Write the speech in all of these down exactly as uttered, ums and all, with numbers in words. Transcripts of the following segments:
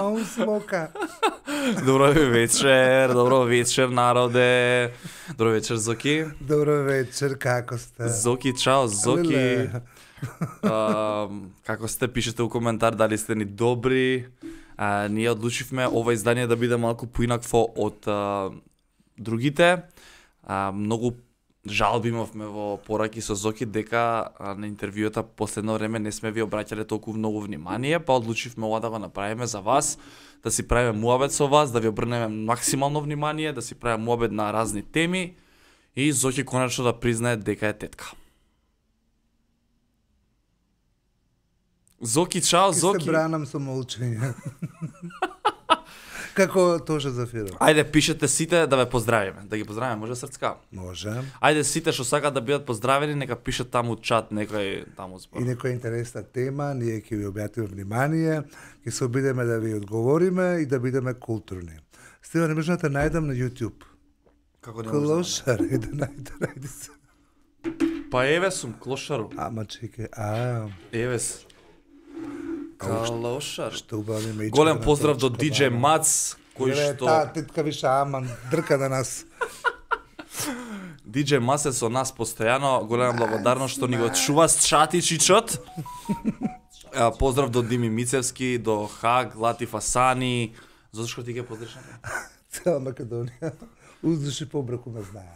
Маун смока. Добро вечер, добро вечер народе. Добро вечер Зоки. Добро вечер, како сте? Зоки, чао, Зоки. Леле. А, како сте, пишете у коментар дали сте ни добри. А, ние одлучивме ова издание да биде малку поинакво од а, другите. А, многу жалби имавме во пораки со Зоки дека а, на интервјуата последно време не сме ви обраќале толку многу внимание, па одлучивме ова да го направиме за вас, да си правиме муабет со вас, да ви обрнеме максимално внимание, да си правиме муабет на разни теми и Зоки конечно да признае дека е тетка. Зоки, чао, Ке Зоки. се бранам со молчење. Како Тоша Зафиров. Ајде, пишете сите да ве поздравиме. Да ги поздравиме, може срцка. Може. Ајде сите што сакаат да бидат поздравени, нека пишат таму чат некој таму збор. И некоја интересна тема, ние ќе ви објатиме внимание, ќе се обидеме да ви одговориме и да бидеме културни. Стива, не можам да те најдам на YouTube. Како не може? Клошар, е да најде, најде се. Па еве сум клошару. Ама чекај, а, Еве се. Калошар. што убави ме. Голем поздрав до диџеј Мац, кој што Та, тетка више аман, дрка на нас. диџеј Мац е со нас постојано. Голема благодарност што ни го чува чатичичот. А, поздрав до Дими Мицевски, до Хаг, Латиф Асани. Зошто што ти ги поздриш? Цела Македонија. Уздуши побраку ме знае.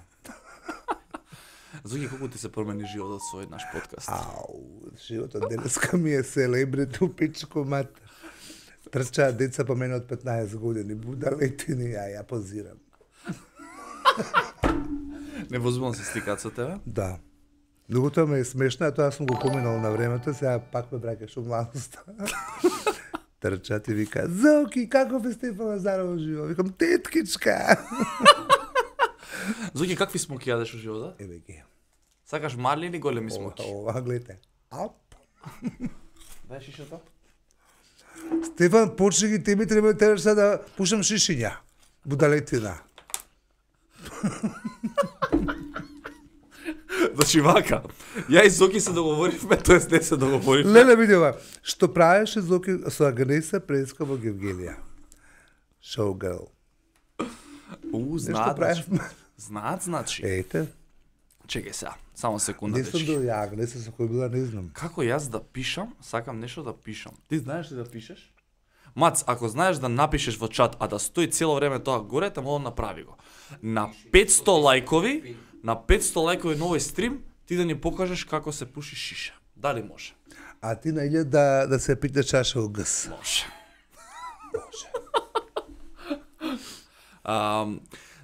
Зоки, колку ти се промени животот со наш подкаст? Ау, животот денеска ми е селебрити у пичко мат. Трчаат деца по мене од петнаесет години, будалетини, а ја позирам. Невозможно се стикаат со тебе? Да. Многото ме е смешно, а тоа сум го поминал на времето, сега пак ме бракаш у младоста. Трчаат и вика, Зоки, каков е Стефан Лазаров живо? Викам, теткичка. Зоки, какви смоки јадеш во животот? Еве ги. Сакаш мали или големи Ова, смоки? ова, гледате. Ап. Дај шишето. Стефан, почни ги тебе, треба треба сега да пушам шишиња. Будалетина. Значи вака, ја и Зоки се договоривме, тоест не се договоривме. Леле, види ова. Што правеше Зоки со Агнеса Преска во Гевгелија? Showgirl. У, Нешто знаат, значи. правевме. Знаат, значи. Ете, Чекај сега, само секунда, не сум дечки. до ја Агнеса со кој била, не знам. Како јас да пишам, сакам нешто да пишам. Ти знаеш ли да пишеш? Мац, ако знаеш да напишеш во чат, а да стои цело време тоа горе, те молам направи го. На петсто лајкови, на петсто лајкови на овој стрим, ти да ни покажеш како се пуши шиша. Дали може? А ти на илјад да, да се пита чаша у гс. Може. А,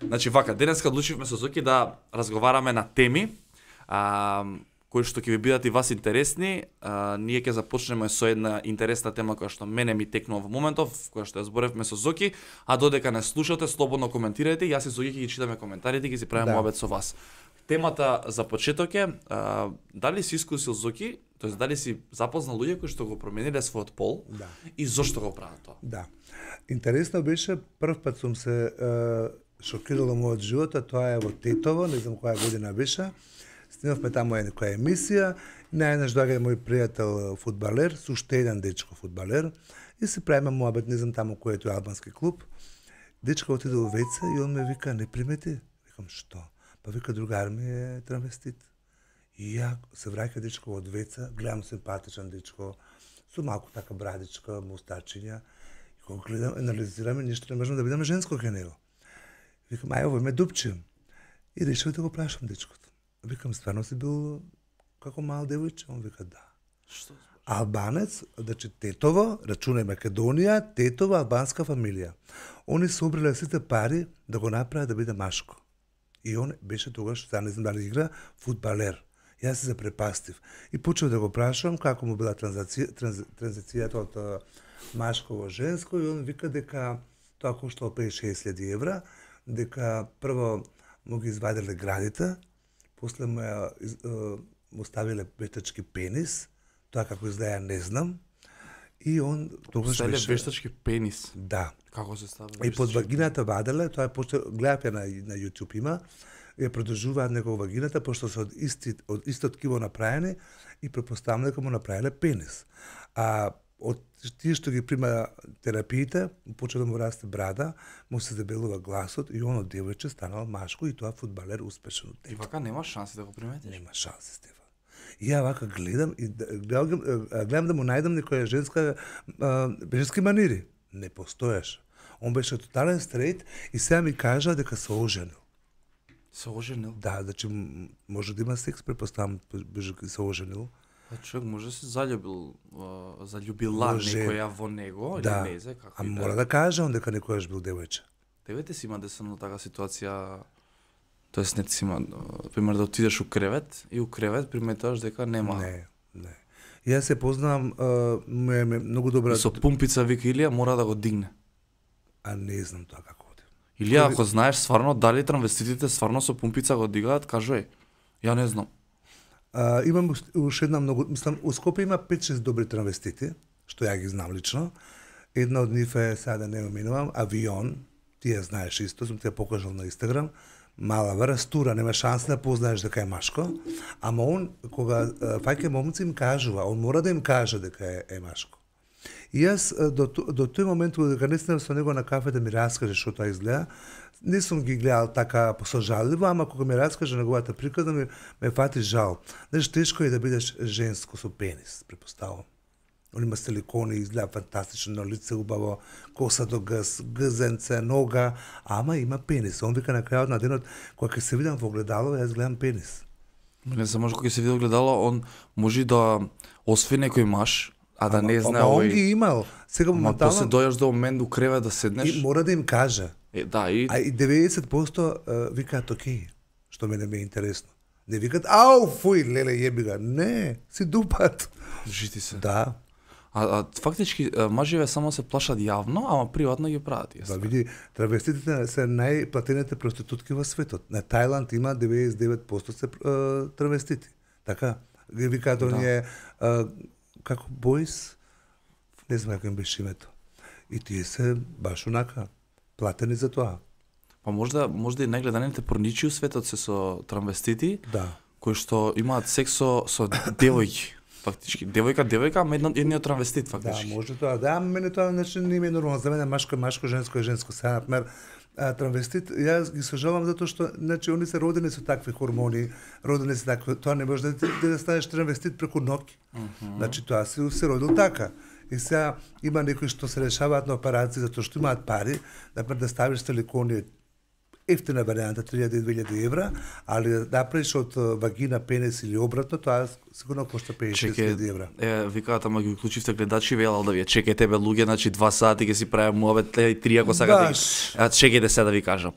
значи вака, денеска одлучивме со Зоки да разговараме на теми а, кои што ќе ви бидат и вас интересни. А, ние ќе започнеме со една интересна тема која што мене ми текнува во моментов, која што ја зборевме со Зоки, а додека не слушате, слободно коментирајте, јас и Зоки ќе ги читаме коментарите и ќе си правиме Да. муабет со вас. Темата за почеток е а, дали си искусил Зоки, тоест дали си запознал луѓе кои што го промениле својот пол Да. и зошто го прават тоа? Да. Интересно беше, прв пат сум се е, шокирала мојот живот, а тоа е во Тетово, не знам која година беше. Снимавме таму една која емисија, најнаш доаѓа мој пријател фудбалер, со уште еден дечко фудбалер, и се правиме муабет, не знам таму кој е тој албански клуб. Дечко отиде во веце и он ме вика, не примети? Викам, што? Па вика, другар ми е травестит. И ја се враќа дечко од веца, гледам симпатичен дечко, со малку така брадичка, мустачиња. И кога гледам, анализираме, ништо не можам да бидам женско кај него. Викам, ај, ово ме дупчим. И решив да го прашам дечкото. Викам, стварно си бил како мал девојче? Он вика, да. Што? Албанец, значи Тетово, рачунај Македонија, Тетово, албанска фамилија. Они собрале сите пари да го направат да биде машко. И он беше тогаш, сега не знам дали игра, фудбалер. Јас се запрепастив. И почнав да го прашувам како му била транзиција, транз, транзицијата од а, машко во женско, и он вика дека тоа коштало петдесет до шеесет илјади евра, дека прво му ги извадиле градите, после му, ја, из, а, му ставиле вештачки пенис, тоа како изгледа не знам, и он тогаш Ставиле беше... вештачки пенис. Да. Како се стави? И под вагината ваделе, тоа е пошто гледав ја на на YouTube има, ја продолжуваат него вагината пошто се од исти од истот ткиво направени и претпоставам дека му направиле пенис. А од тие што ги прима терапиите, почна да му расте брада, му се дебелува гласот и оно девојче станало машко и тоа фудбалер успешен од И вака нема шанси да го приметиш. Нема шанси, Стефан. И ја вака гледам и гледам, гледам да му најдам некоја женска а, женски манири. Не постоеше. Он беше тотален стрейт и сега ми кажа дека се оженил. Се оженил? Да, значи може да има секс, препоставам беше се оженил. А човек може да се заљубил, заљубила некоја во него, да. или не знае како. А мора да каже он дека некојаш бил девојче. Девете си има десено така ситуација, тоест не си има, пример да отидеш у кревет и у кревет приметуваш дека нема. Не, не. Јас се познавам, ме, ме многу добра. И со пумпица вика Илија мора да го дигне. А не знам тоа како оди. Илија, ако знаеш стварно дали транвеститите стварно со пумпица го дигаат, кажувај. Ја не знам. А, имам уште една многу, мислам, у Скопје има пет-шест добри транвестити, што ја ги знам лично. Една од нив е, сега да не уминувам, Авион, ти ја знаеш исто, сум ти ја покажал на Инстаграм, мала врастура, нема шанса да познаеш дека е машко, ама он, кога фаќа момци им кажува, он мора да им каже дека е, е машко. И јас до, до тој момент кога не снем со него на кафе да ми раскаже што тоа изгледа, не сум ги гледал така посожалливо, ама кога ми раскаже неговата приказна ми ме фати жал. Знаеш, тешко е да бидеш женско со пенис, препоставувам. Он има силикони, изгледа фантастично на лице, убаво, коса до гъс, гъзенце, нога, ама има пенис. Он вика на крајот на денот, кога ќе се видам во огледало, јас гледам пенис. Не само може кога ќе се види огледало, он може да осви некој маж, а да ама, не знае ама овој. он ги имал. Сега Ма моментално после дојаш до момент у кревет да седнеш. и мора да им каже. Е, да, и А и деветдесет проценто uh, викаат окей, што мене ми е интересно. Не викаат ау, фуј, леле, јеби ga. Не, си дупат. жити се. Да. А, а фактички мажеве само се плашат јавно, ама приватно ги прават. Да, види, травеститите се најплатените проститутки во светот. На Тајланд има деветдесет и девет проценто се uh, травестити. Така, ги викаат оние uh, како бойс, не знам како им беше името. И тие се баш онака платени за тоа. Па можда можда и најгледаните порничи у светот се со транвестити, Да. кои што имаат секс со, со девојки. Фактички, девојка, девојка, ама една, едниот транвестит, Да, фактички. може тоа. Да, ама мене тоа значи не ми е нормално. За мене машко е машко, женско е женско. Сега, например, а, транвестит, јас ги сожалам затоа што значи они се родени со такви хормони, родени се такви, тоа не може да ти да станеш транвестит преку ноќ. Mm -hmm. Значи тоа се се родил така. И сега има некои што се решаваат на операции затоа што имаат пари, например да ставиш силикони ефтина варијанта три илјади до две илјади евра, али да направиш од вагина, пенис или обратно, тоа сигурно кошта петдесет илјади евра. Е, викаат, ама ги уклучивте гледачи, велал да ви чекајте бе луѓе, значи два сати ќе си правиме муабет, и три ако сакате. Баш. А чекајте се да ви кажам.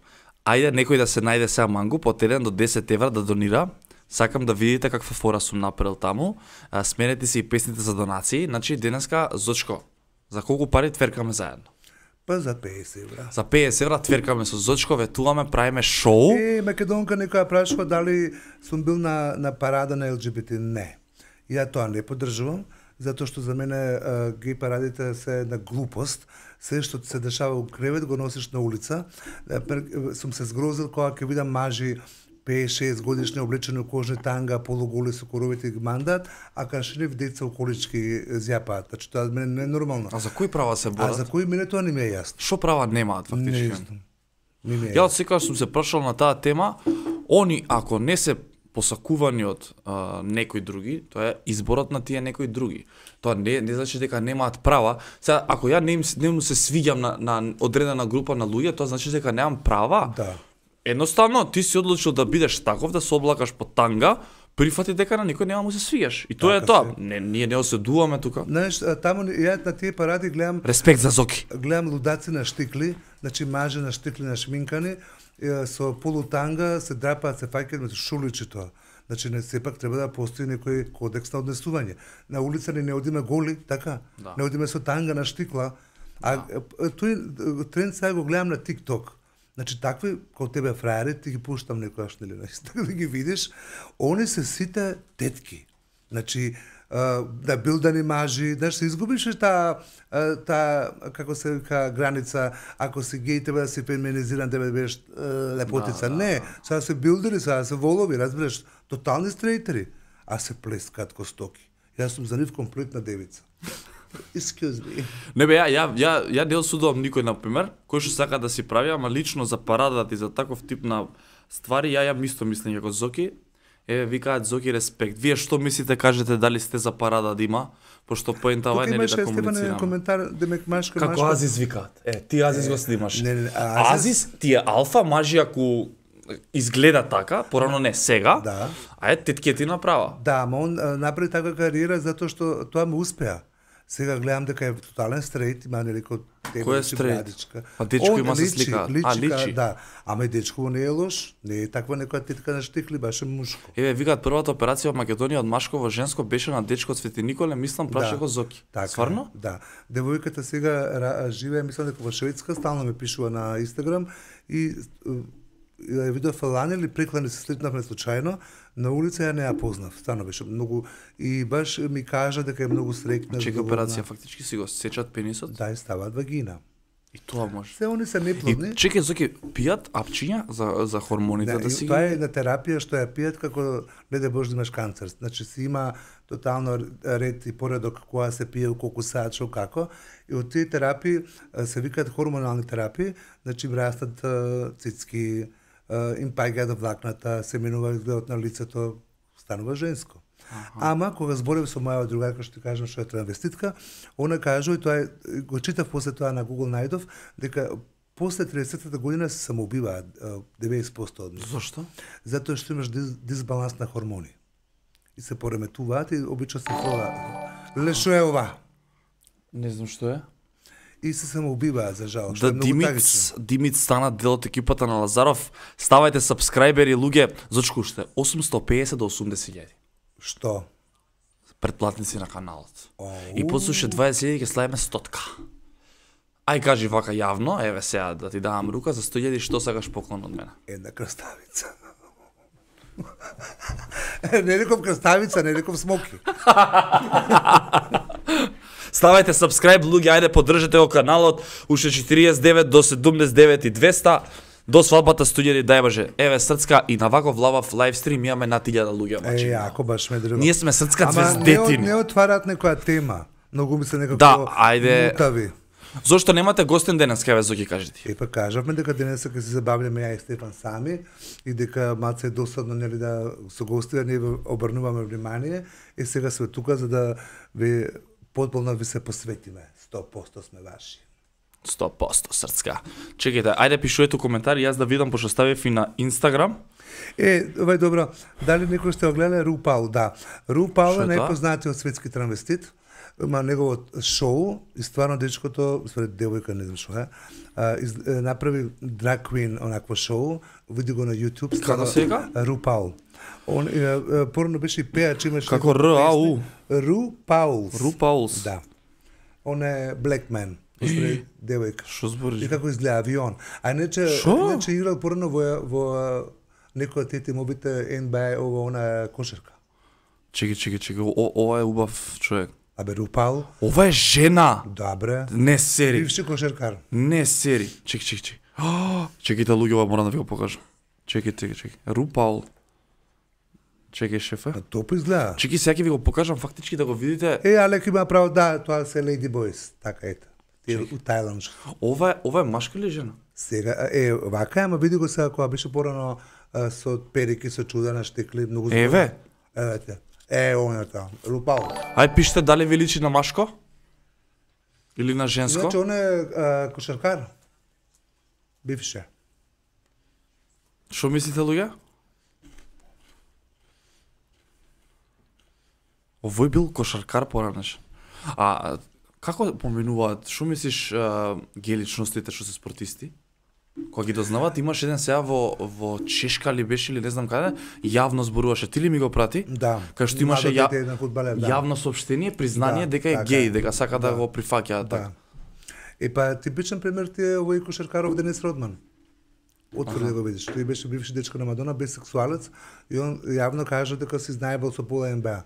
Ајде некој да се најде сега мангу по еден до десет евра да донира. Сакам да видите каква фора сум направил таму. А, сменете си и песните за донации. Значи денеска Зочко, за колку пари тверкаме заедно? Па за петдесет евра. За петдесет евра тверкаме со Зочко, ветуваме, правиме шоу. Е, македонка некоја прашува дали сум бил на, на парада на Ел Џи Би Ти. Не. Ја тоа не поддржувам, затоа што за мене а, гей парадите се една глупост. Се што се дешава у кревет го носиш на улица. Е, сум се згрозил кога ќе видам мажи пет-шест годишни облечени у кожни танга, полуголи со коровите ги мандат, а кашнив деца у колички зјапаат. Значи тоа за мене не е нормално. А за кои права се А борат? за кои мене тоа не ми е јасно. Што права немаат Не фактички? знам. Не ми е Ја од јасно. секогаш сум се прашал на таа тема, они ако не се посакувани од а, некои други, тоа е изборот на тие некои други. Тоа не не значи дека немаат права. Сега ако ја не им, не му се свиѓам на, на одредена група на луѓе, тоа значи дека немам права. Да. Едноставно ти си одлучил да бидеш таков, да се облакаш по танга, прифати дека на никој нема му се свиѓаш. И тоа е Така тоа. се. Не, ние не оседуваме тука. Знаеш, а, таму ја на тие паради гледам Респект за Зоки. гледам лудаци на штикли, значи мажи на штикли на шминкани, е, со полутанга се драпаат, се фаќаат меѓу шуличи тоа. Значи не сепак треба да постои некој кодекс на однесување. На улица ни не одиме голи, така? Да. Не одиме со танга на штикла. А да. Тој тренд сега го гледам на TikTok. Значи такви како тебе фраери ти ги пуштам некојаш нели, така да ги видиш, они се сите тетки. Значи Uh, да билдани мажи, да се изгубиш таа таа како се вика граница, ако си геј тебе да си феминизиран, тебе да бидеш uh, лепотица. Да, да, не, да. сега се билдери, сега се волови, разбираш, тотални стрейтери, а се плескаат ко стоки. Јас сум за нив комплетна девица. Excuse me. Не бе, ја, ја, ја, ја не осудувам никој, например, кој што сака да си прави, ама лично за парадата и за таков тип на ствари, ја ја исто мислам како Зоки. Еве, викаат Зоки респект. Вие што мислите, кажете дали сте за парада да има, пошто поентава е нели да комуницираме. Коментар демек машка машка. Како Азис викаат? Е, ти Азис го снимаш. Не, не, Азис... Азис ти е алфа мажи ако изгледа така, порано не сега. Да. А е тетке ти направа. Да, ама он а, направи така кариера затоа што тоа му успеа. Сега гледам дека е тотален стрейт, има нелико Кој е стрейт? А дечко има се слика. А личи. Да, ама и дечко не е лош, не е таква некоја тетка на штикли, беше мушко. Еве, викаат првата операција во Македонија од машко во женско беше на дечко од Свети Николе, мислам праше го Зоки. Така, Стварно? Да. Девојката сега живее, мислам дека во Шведска, стално ме пишува на Инстаграм и ја видов лани или преклани се слетнавме случајно, на улица ја не ја познав, стварно беше многу и баш ми кажа дека е многу среќна. Чека операција фактички си го сечат пенисот? Да, и ставаат вагина. И тоа може. Се они се неплодни. И чекај, Зоки, пијат апчиња за за хормоните да, да си. Тоа е на терапија што ја пијат како не да Боже имаш канцер. Значи си има тотално ред и поредок кога се пие, колку саат, што како. И од тие терапии се викаат хормонални терапии, значи им растат цицки, им паѓаат влакната, се менува изгледот на лицето, станува женско. Аха. Ама кога зборев со моја другарка што ти кажам што е транвеститка, она кажува и тоа е, го читав после тоа на Google најдов дека после триесеттата година се самоубиваат деветдесет проценти од нив. Зошто? Затоа што имаш дис, дисбаланс на хормони. И се пореметуваат и обично се фола. Леле што е ова? Не знам што е. И се самоубиваат за жал. Да, Димиц, Димиц стана дел од екипата на Лазаров. Ставајте сабскрајбери, луѓе. Зочку уште осумстотини и песет до осумдесет илјади. Што? Претплатници на каналот. Оу. И после уште дваесет илјади ќе славиме стотка. Ај кажи вака јавно, еве сега да ти давам рука за сто илјади, што сакаш поклон од мене? Една крставица. Не реков крставица, не реков смоки. Ставајте сабскрајб, луѓе, ајде поддржете го каналот, уште четириесет и девет до седумдесет и девет и двеста. До свадбата сто илјади, дај Боже. Еве срцка и на ваков лавав лайвстрим имаме над илјада луѓе, мачи. Е, јако баш ме држи. Ние сме срцка Ама звездетини. не, не отварат некоја тема. Многу ми се некако Да, ајде. мутави. Зошто немате гостен денес, кај ве Зоки, кажи ти? Е, па кажавме дека денеска ќе се забавljаме ја и Стефан сами и дека малце е досадно нели да со гостите ние обрнуваме внимание и сега сме тука за да ви потполно ви се посветиме. сто проценти сме ваши. сто проценти срцка. Чекајте, ајде пишувате коментари, јас да видам пошто ставив и на Инстаграм. Е, ова е добро. Дали некој сте го гледале Рупал? Да. Рупал Шо е е тоа? најпознатиот светски транвестит. Има неговото шоу и стварно дечкото, според девојка не знам што е, а, из, е, направи Drag Queen онакво шоу, види го на YouTube. Како се вика? Рупал. Он е, е, порано беше и пеач, имаше Како Р А У? Рупаулс. Рупаулс. Да. Он е black man. Според девојка. Што збориш? И како изгледа авион. А иначе, Шо? иначе играл порано во во некој од тие мобите Н Б А ова она кошерка. Чекај, чекај, чекај, о- ова е убав човек. Абе Рупал, Ова е жена. добре. Не сери. Бивши кошеркар. Не сери. Чекај, чекај, чекај. А, Чекајте луѓе, ова морам да ви го покажам. Чекај, чекај, чекај. Рупаул. Чекај, шефе. А топо изгледа. Чекај, сега ќе ви го покажам фактички да го видите. Е, Алек има право, да, тоа се Lady Boys. Така ете. Тие у Тајланд. Ова е, ова е машка или жена? Сега, е, вака, ама види го сега кога беше порано а, со перики, со чудена штекли, многу збор. Еве. Евете. Е, оно тоа. Рупал. Ај пишете дали ви личи на машко? Или на женско? Значи, он е а, кошаркар. Бивше. Што мислите, луѓе? Овој бил кошаркар поранеш. А како поминуваат? Што мислиш а, ге личностите што се спортисти? Кога ги дознаваат, имаш еден сега во во Чешка ли беше или не знам каде, јавно зборуваше. Ти ли ми го прати? Да. Кај што имаше ја... Младо дете, еден фудбалер, да. јавно соопштение, признание Да, дека е така геј, е. дека сака да, Да. го прифаќа така. Да. Е па типичен пример ти е овој кошаркаров Денис Родман. Отвори да го видиш. Тој беше бивши дечко на Мадона, бисексуалец и он јавно кажа дека се знаебал со Пола Н Б А.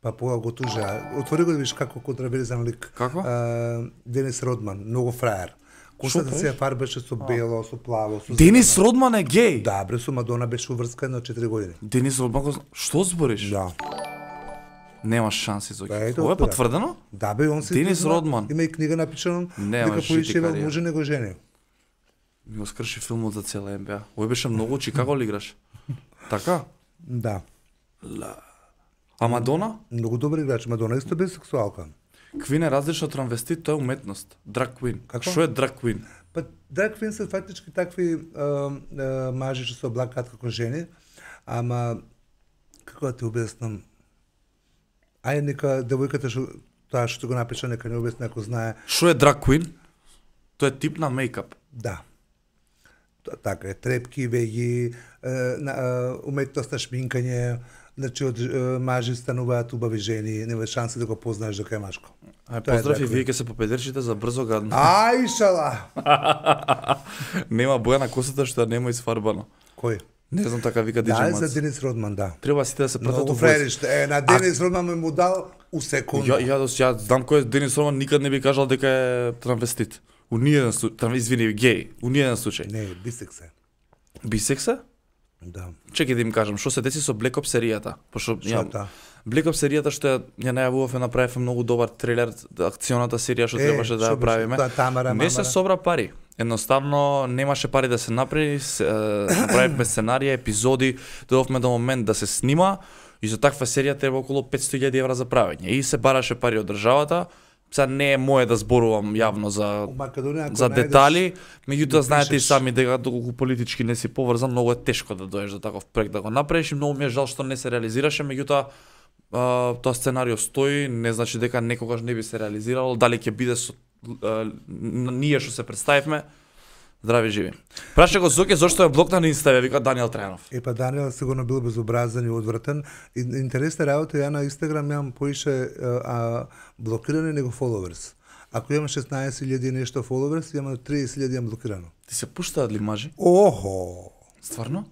Па Пола го тужа. Отвори го да видиш како контраверзен лик. Како? А, Денис Родман, многу фраер. Косата Шо се ја фарбеше со бело, со плаво, со Денис Родман е геј. Да, бре, со Мадона беше уврскана од четири години. Денис Родман, го зна- што збориш? Да. Нема шанси Зоки. Па, ето, Ова е тоа. потврдено? Да бе, он се Денис издржува. Родман. Има и книга напишана Нема дека жити поишева кариера. може него жени. Ми го скрши филмот за цела Н Б А. Ој беше многу, Чикаго ли играш? Така? Да. Ла. А Мадона? Многу добар играч, Мадона исто бисексуалка. Квин е различно од транвестит, тоа е уметност. Драг квин. Како? Што е драг квин? Па драг квин се фактички такви а, а, мажи што се облакаат како жени, ама како да ти објаснам? Ајде нека девојката што таа што го напиша нека не објасни ако знае. Што е драг квин? Тоа е тип на мејкап. Да. Т- Така е, трепки, веги, е, на, е, уметност на шминкање, значи од е, мажи стануваат убави жени, нема шанси да го познаеш дека е машко. Ај, Тоа е поздрав и драг вие квин. ќе се попедерчите за брзо гадно. Ај, шала! Нема боја на косата што нема изфарбано. Кој? Не знам, така вика Диджей Да, Мац. за Денис Родман, да. Треба сите да се пратат Многу у војс. фраериште. Е, на Денис Родман ме му дал у секунда. Ја, ја, ја знам кој е Денис Роман, никад не би кажал дека е транвестит. У ниеден случај, тран, извини, геј, у ниеден случај. Не, бисекс е. Бисекс е? Да. Чекај да им кажам, што се деси со Black Ops серијата? Пошто Што ја, е таа? Black Ops серијата што ја, ја најавувавме, направивме многу добар трейлер, акционата серија што Е, требаше да што ја беше? правиме. Таа Тамара, Не се мамара. собра пари. Едноставно немаше пари да се направи, се, е, направивме сценарија, епизоди, дојдовме до момент да се снима и за таква серија треба околу петсто илјади евра за правење. И се бараше пари од државата. Сега не е мое да зборувам јавно за У Македонија ако за најдеш- детали, меѓутоа знаете и пишеш. сами дека доколку политички не си поврзан, многу е тешко да доеш до таков проект да го направиш и многу ми е жал што не се реализираше, меѓутоа а, тоа сценарио стои, не значи дека некогаш не би се реализирало, дали ќе биде со а, н- ние што се представивме. Здрави живи. Праша го Зоке зошто е блокна на Инста, вика Даниел Трајанов. Е, па Даниел сигурно бил безобразен и одвратен. И, интересна работа, ја на Инстаграм имам поише а, а, блокирани него фоловерс. Ако имам шеснаесет илјади и нешто фоловерс, имам триесет илјади имам блокирано. Ти се пуштаат ли мажи? Охо! Стварно?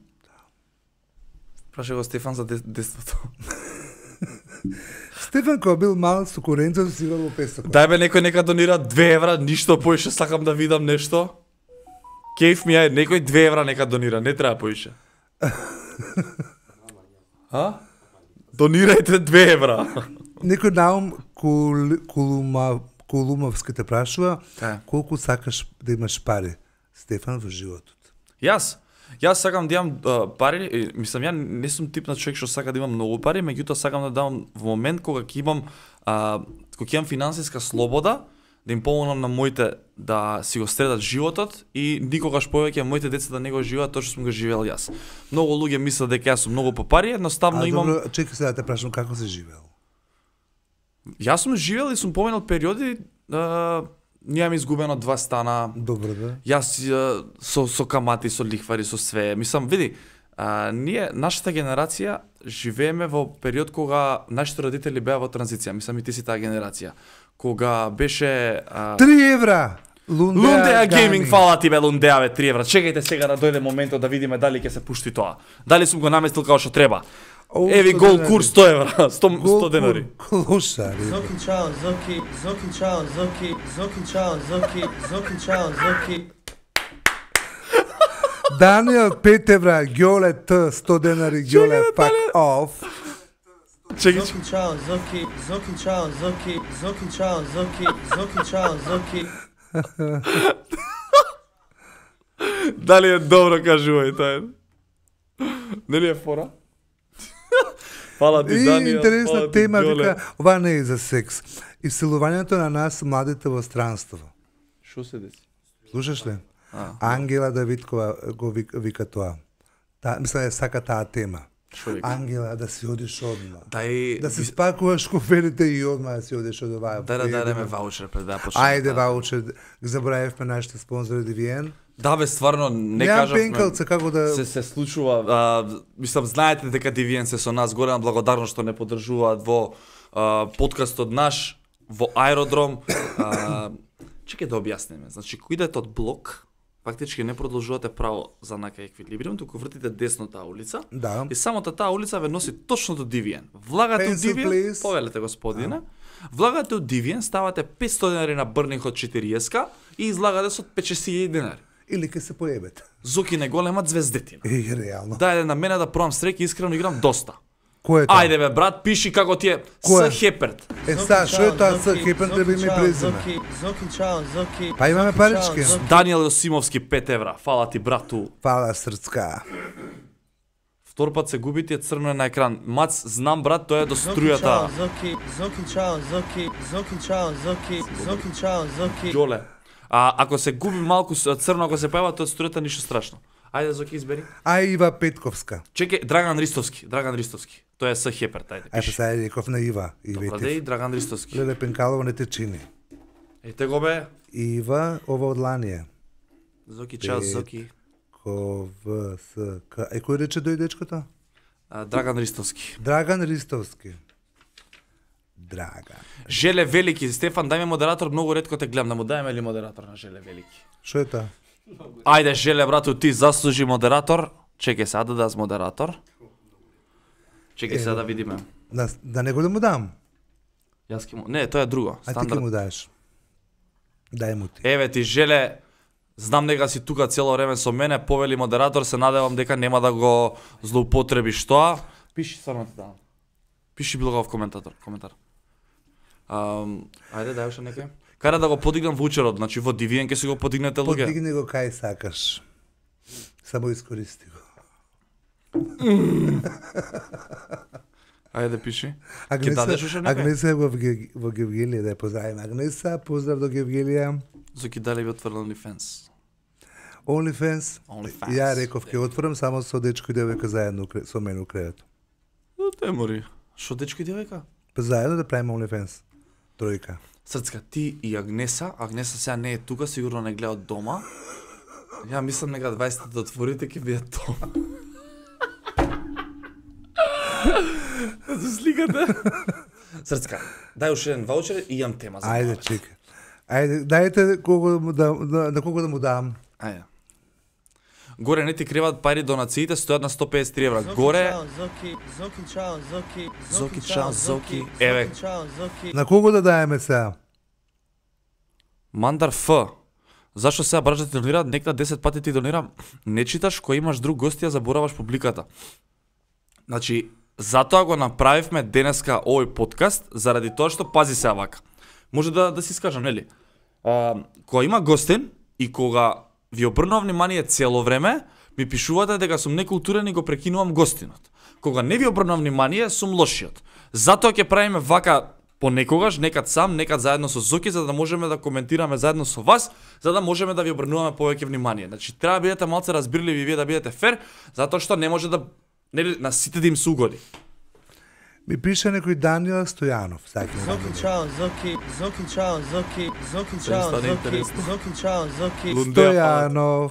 Праша го Стефан за дес- детството. Стефан кога бил мал со коренцето си играл во песок. Дај бе некој нека донира две евра, ништо поише, сакам да видам нешто. Кејф ми е, некој две евра нека донира, не треба поише. А? Донирајте две евра. Некој наум кул, кулума, Кулумовски те прашува Е. колку сакаш да имаш пари, Стефан, во животот. Јас, јас сакам да имам а, пари, и, мислам ја не сум тип на човек што сака да имам многу пари, меѓутоа сакам да давам во момент кога ќе имам а, кога ќе имам финансиска слобода, да им помогнам на моите да си го средат животот и никогаш повеќе моите деца да не го живеат тоа што сум го живеел јас. Многу луѓе мислат дека јас сум многу по пари, едноставно А, имам. добро, чекай сега да те прашам како си живеел. Јас сум живеел и сум поминал периоди, а, немам изгубено два стана. Добро да. Јас а, со со камати, со лихвари, со све. Мислам, види, а, ние нашата генерација живееме во период кога нашите родители беа во транзиција. Мислам и ти си таа генерација. Кога беше а, Три евра! Лундеа, Лундеа Гейминг, фала ти бе Лундеа бе три евра. Чекајте сега да дојде моментот да видиме дали ќе се пушти тоа. Дали сум го наместил како што треба. О, Еви сто гол денари. курс сто евра, сто, Гол сто денари. кур- Клуша, ри. Zoki Chow, Zoki, Zoki Chow, Zoki, Zoki Chow, Zoki, Zoki Chow, Zoki. Даниел пет евра, Ѓоле Т, сто денари, Ѓоле fuck off. Чекај, Zoki Chow, Zoki, Zoki Chow, Zoki, Zoki Chow, Zoki, Zoki Chow, Zoki. дали е добро кажувај тоа? Нели е фора? Фала ти, И Даниел. интересна фала ти, тема, Ѓоле. вика, ова не е за секс. Исилувањето на нас, младите во странство. Шо се деси? Слушаш ли? А. Ангела Давидкова го вика, вика тоа. Та, мисля да сака таа тема. Шо вика? Ангела, да си одиш одма. Дај, Да си спакуваш коферите и одма да си одиш од оваа. Дај да дадеме ваучер пред да почнеме. Ајде, ваучер. Заборавивме нашите спонзори Ди Ви Ен. Да бе, стварно, не Немам кажавме. пенкалца како да... Се се случува, а, мислам, знаете дека Ди Ви Ен се со нас, голема благодарност што не поддржуваат во а, подкастот наш, во аеродром. А, чекај да објасниме. Значи, кој идете од блок, фактички не продолжувате право за нака еквилибриум, туку вртите десно таа улица. Да. И самата таа улица ве носи точно до Ди Ви Ен. Влагате у Pencil, Ди Ви Ен, please. повелете господине. Влагате у Ди Ви Ен, ставате петсто денари на Брнинг од четириесет и излагате со пет-шест илјади денари. Или ке се поебете. Зоки не голема звездетина. И реално. Дајде на мене да пробам среќа, искрено играм доста. Кој е тоа? Ајде бе, брат, пиши како ти е Кој е? С Хеперт. Е, са, што е тоа С Хеперт, треба име и презиме. Зоки, Зоки, чао, Зоки. Па имаме парички. Даниел Јосимовски пет евра. Фала ти, брату. Фала срцка. Втор пат се губи ти е црно е на екран. Мац, знам брат, тоа е до Зоки, струјата. чао, Зоки, Зоки, чао, Зоки, Зоки, чао, Зоки, Зоки, чао, Зоки. Ѓоле. А ако се губи малку с- црно, ако се појава тоа струјата, ништо страшно. Ајде Зоки избери. А Ива Петковска. Чекај, Драган Ристовски, Драган Ристовски. Тоа е С Хеперт, ајде. Ај па Пиши. сега реков на Ива. Добра Ивете. деј, Драган Ристовски. Леле Пенкалова не те чини. Ете го бе. Ива, ова од ланија. Зоки, чао, Пет. Зоки. Ко, В, С, К. Е, кој рече дој дечкото? А, Драган Ристовски. Драган Ристовски. Драган. Желе Велики, Стефан, дај ми модератор, многу ретко те гледам, да му дајме ли модератор на Желе Велики? Што е тоа? Ајде, Желе, брату, ти заслужи модератор. Чекај сега да дадам модератор. Чекај сега да видиме. Да, да не го да му дам. Јас ке му... Не, тоа е друго. А ти ке Стандард. му даеш. Дај му ти. Еве ти, Желе, знам дека си тука цело време со мене, повели модератор, се надевам дека нема да го злоупотребиш тоа. Пиши само ти давам. Пиши било каков коментатор, коментар. Ам, ајде, дај уште некој. Кај да го подигнам вучерот, значи во Дивиен ќе си го подигнете луѓе. Подигни го кај сакаш. Само искористи го. Ајде пиши. Ќе Агнеса, дадеш уште некој? Агнеса е во, Ге- во Гевгелија, да ја поздравиме. Агнеса, поздрав до Гевгелија. Зоки дали би отворил OnlyFans. OnlyFans. OnlyFans. Ја реков ќе отворам само со дечко и девојка заедно у кре- со мене у креветот. Те мори. Шо дечко и девојка? Па заедно да правиме OnlyFans. Тројка. Срцка, ти и Агнеса, Агнеса сега не е тука, сигурно не гледа од дома. Ја мислам нека дваесет да отворите ќе биде тоа. За сликата. Срцка, дај уште еден ваучер и имам тема за Ајде, ваучер. чека. Ајде, дајте кого да му да, на, на кого да му дам. Ајде. Горе не ти креват пари, донациите стојат на сто педесет три евра. Зоки, Горе, чао, Зоки, Зоки, чао, Зоки. Зоки, чао, Зоки. Зоки, Еве. чао, Зоки. На кого да даеме сега? Мандар Ф. Зашо сега браш да ти донира, некта десет пати ти донира, не читаш, кој имаш друг гост, ја забораваш публиката. Значи, затоа го направивме денеска овој подкаст, заради тоа што, пази се вака. Може да, да си скажам, нели? А, кога има гостин и кога ви обрнувам внимание цело време, ми пишувате дека сум некултурен и го прекинувам гостинот. Кога не ви обрнувам внимание, сум лошиот. Затоа ќе правиме вака понекогаш, некад сам, некад заедно со Зоки, за да можеме да коментираме заедно со вас, за да можеме да ви обрнуваме повеќе внимание. Значи, треба да бидете малце разбирливи и вие да бидете фер, затоа што не може да нели на сите да им се угоди. Ми пише некој Даниел Стојанов. Сакам да Зоки, чао, Зоки, Зоки, чао, Зоки, Зоки, чао, стане Зоки, интересно. Зоки, чао, Зоки. Стојанов.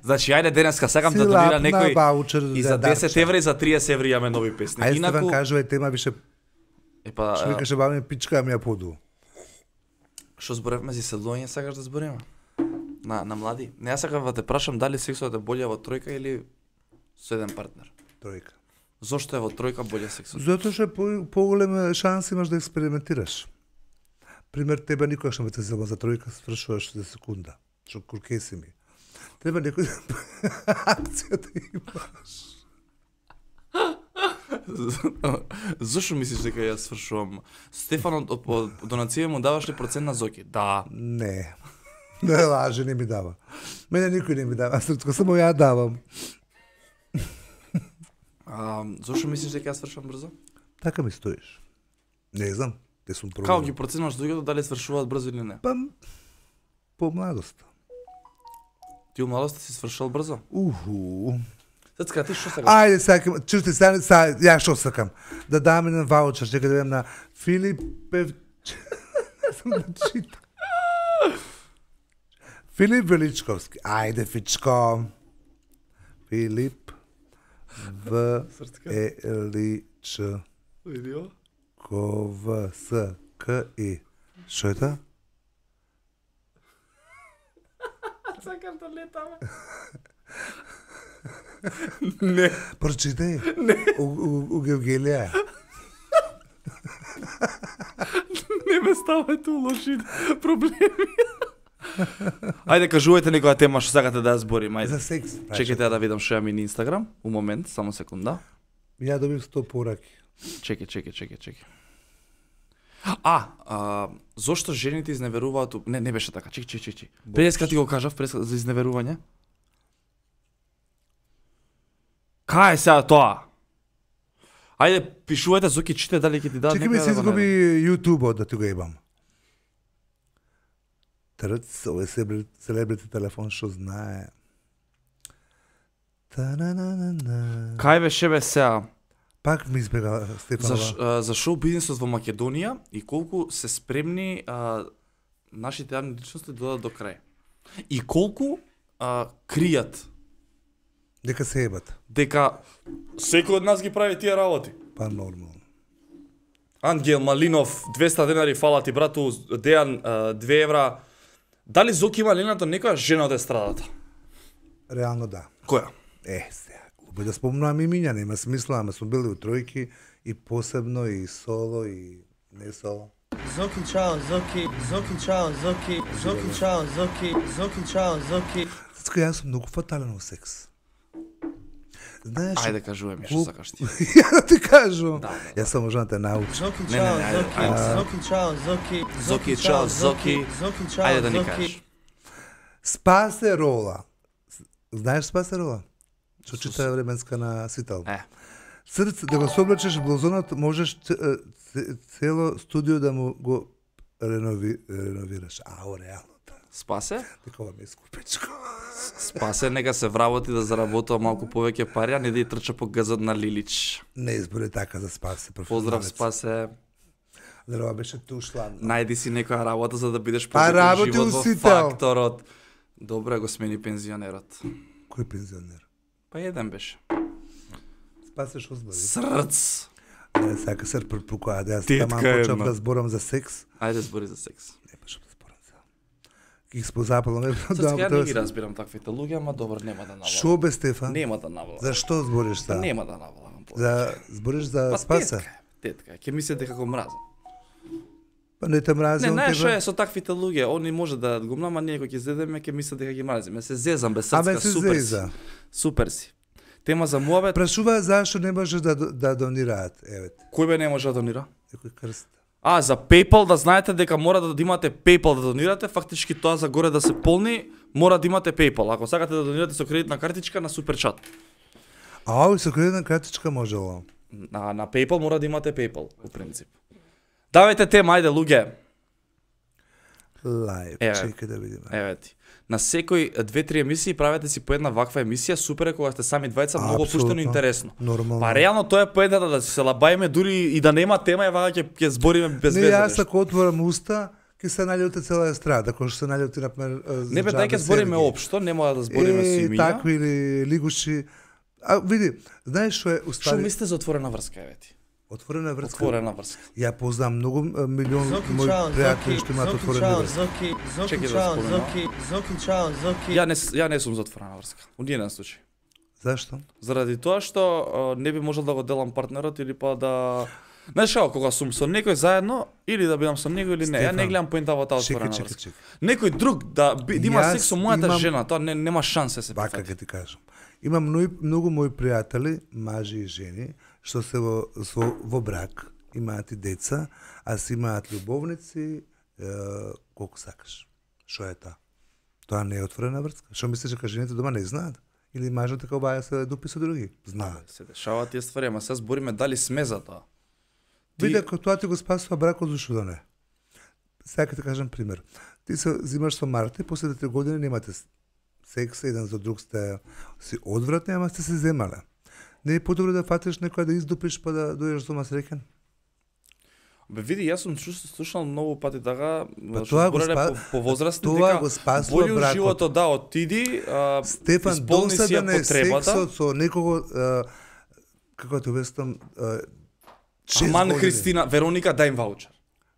Значи, ајде денеска сакам Си да донира лапна некој ваучер и за за десет дарче. евра и за триесет евра имаме нови песни. Ајде Стефан Инаку, кажувај тема више, епа, што викаше баба ми пичка ми ја поду. што зборевме за седлување, сакаш да збориме? На на млади. Не, јас сакам да те прашам дали сексот е боле во тројка или со еден партнер. Тројка. Зошто е во тројка боле сексот? Затоа што по, поголема шанса имаш да експериментираш. Пример, тебе никогаш не те зело за тројка, свршуваш за секунда. Што куркеси ми. Треба некој акција да имаш. Зошто мислиш дека јас свршувам? Стефан од, од, од донација му даваш ли процент на Зоки? Да. Не. Не лаже, не ми дава. Мене никој не ми дава, срцко, само ја давам. А, зошто мислиш дека јас свршувам брзо? Така ми стоиш. Не знам, те сум Како пробувал. ги проценуваш луѓето дали свршуваат брзо или не? Па, по младост. Ти у младоста си свршувал брзо? Уху. Сацка, ти што сакаш? Ајде, сакам, чујте, сега, сега, ја што сакам? Да дам еден ваучер, чека да видам на Филип Пев... Не знам да читам. Филип Величковски. Ајде, Фичко. Филип В Е Ли Ч Видио? Ко В С К И. Што е тоа? Сакам да летаме. Не. Прочитај. Не. У, у, у Гевгелија. Не ме ставајте у лоши проблеми. Ајде, кажувајте некоја тема што сакате да ја зборим, ајде. За секс. Чекайте да видам што ја ми на Инстаграм. У момент, само секунда. Ја добив сто пораки. Чекај, чекај, чекај, чекај. А, а, зошто жените изневеруваат? у- Не, не беше така. Чекај, чекај, чекај. Преска ти го кажав, преска за изневерување. Кај е сега тоа? Ајде, пишувајте, Зоки, чите дали ќе ти дадат Чекай ми некоја се да го изгуби најдам. YouTube-от да ти го ебам. Трц, овој селебрити, селебрити телефон што знае. Та-на-на-на-на. Кај беше бе сега? Пак ми избега За, Стефанова. ш- а, за шоу бизнисот во Македонија и колку се спремни а, нашите јавни личности да додат до крај. И колку а, кријат Дека се ебат. дека секој од нас ги прави тие работи. Па нормално. Ангел Малинов, двеста денари, фала ти брату, Дејан, а, две евра. Дали Зоки има ленато некоја жена од естрадата? Реално да. Која? Е, сега, глупо да спомнувам имиња, нема смисла, ама сме били у тројки и посебно и соло и не соло. Zoki ciao, Zoki, Zoki ciao, Zoki, Zoki ciao, Zoki, Zoki ciao, Zoki. Сацко, јас сум многу фатален во секс. Знаеш, Ајде кажувај ми што Глуп- сакаш ти. ја да ти кажувам. Да, да, Јас само можам да те научам. Zoki Ne, ne, ciao, ne, ajde, Zoki, ajde. Zoki ciao, Zoki, Zoki, ciao, Zoki. Zoki ciao, Ајде да ни Zoki. кажеш. Спасе рола. Знаеш Спасе рола? Што чита временска на Сител. Е, Срце, да го соблечеш блузонот, можеш ц- ц- цело студио да му го ренови, реновираш. Ао, реално. спасе? Такова ми е скупечко. Спасе, нека се вработи да заработува малку повеќе пари, а не да ја трча по газот на Лилич. Не избори така за Спасе. Поздрав, Спасе. Здраво беше тушлан. Најди си некоја работа за да бидеш Па подобен работи живот у во Сител. факторот. Добре го смени пензионерот. Кој пензионер? Па еден беше. Спасе што збори? Срц. Не, сака се препукаа, да јас Тетка таман почнав една. да зборам за секс. Ајде збори за секс. Не па што да зборам за. Ги спозапало ме. Срц, ја не ги разбирам таквите луѓе, ама добро, нема да навалам. Шо бе Стефан? Нема да навалам. Зашто збориш за? Нема да навалам. За збориш за Па Спаса? тетка, е, тетка, е. ќе мислите како мразам. Па не те мрази Не, он знаеш што тебе. е со таквите луѓе, они може да го мнама, ние кога ќе зедеме ќе мислат дека ги мразиме. Се зезам без Абе срцка, се супер зеза. си. Супер си. Тема за муабет, Прашува зашто не можеш да да донираат, еве. кој бе не може да донира? Некој крст. А, за PayPal да знаете дека мора да имате PayPal да донирате, фактички тоа за горе да се полни, мора да имате PayPal. Ако сакате да донирате со кредитна картичка на Суперчат. А овој со кредитна картичка можело. На, на PayPal мора да имате PayPal, у принцип. Давајте тема, ајде луѓе. Лајв, Еве. чекај да видиме. Еве ти. На секој две-три емисии правете си по една ваква емисија, супер е кога сте сами двајца, многу Апсолутно. пуштено и интересно. Нормално. Па реално тоа е поентата да се лабајме дури и да нема тема, ева ќе ќе збориме без Не, веза. јас нешто. ако отворам уста, ќе се наљути цела естрада, кој што се наљути на пример за Не бе, дај ќе Џабе збориме Сергеј. општо, нема да збориме со Е, имиња. такви или лигуши. А види, знаеш што е Што устави мислите за отворена врска, еве ти? отворена врска? Отворена врска. Ја познам многу а, милион Zoki мои ciao, пријатели Zoki, што имаат Zoki отворени ciao, врски. Zoki, Zoki Чекай да ciao, споменам. Zoki, Zoki ciao, Zoki. Ја не с- ја не сум за отворена врска. У ниеден случај. Зашто? Заради тоа што а, не би можел да го делам партнерот или па да знаеш како кога сум со некој заедно или да бидам со него или не. Ја не Стефан, гледам поента во таа Чекај, отворена чекај, врска. чекај. Некој друг да, би, да има Јас секс со мојата имам- жена, тоа не, нема шанса да се Вака прифати. ќе ти кажам. Имам многу, многу мои пријатели, мажи и жени, што се во, со, во брак, имаат и деца, а си имаат љубовници, е, колку сакаш. Што е тоа? Тоа не е отворена врска. Што мислиш дека жените дома не знаат? Или мажот дека обаја се дупи со други? Знаат. Се дешаваат тие ствари, ама сега збориме дали сме за тоа. Ти- Види, ако тоа ти го спасува бракот, зашто да не? Сега ќе ти кажам пример. Ти се зимаш со Марта и после три години немате с- секс, еден за друг сте си одвратни, ама сте се земале. Не е подобро да фатиш некоја да издупиш па да дојдеш дома среќен? Бе види, јас сум чу- слушнал многу пати така, Па што тоа го зборене спа- по, по возрастни тоа дека го спасува бољу бракот. животот да отиди, а, Стефан, исполни си ја досаден е потребата. сексот со некого, а, како да обяснам, а, шест Аман години. Христина, Вероника, дај им ваучер.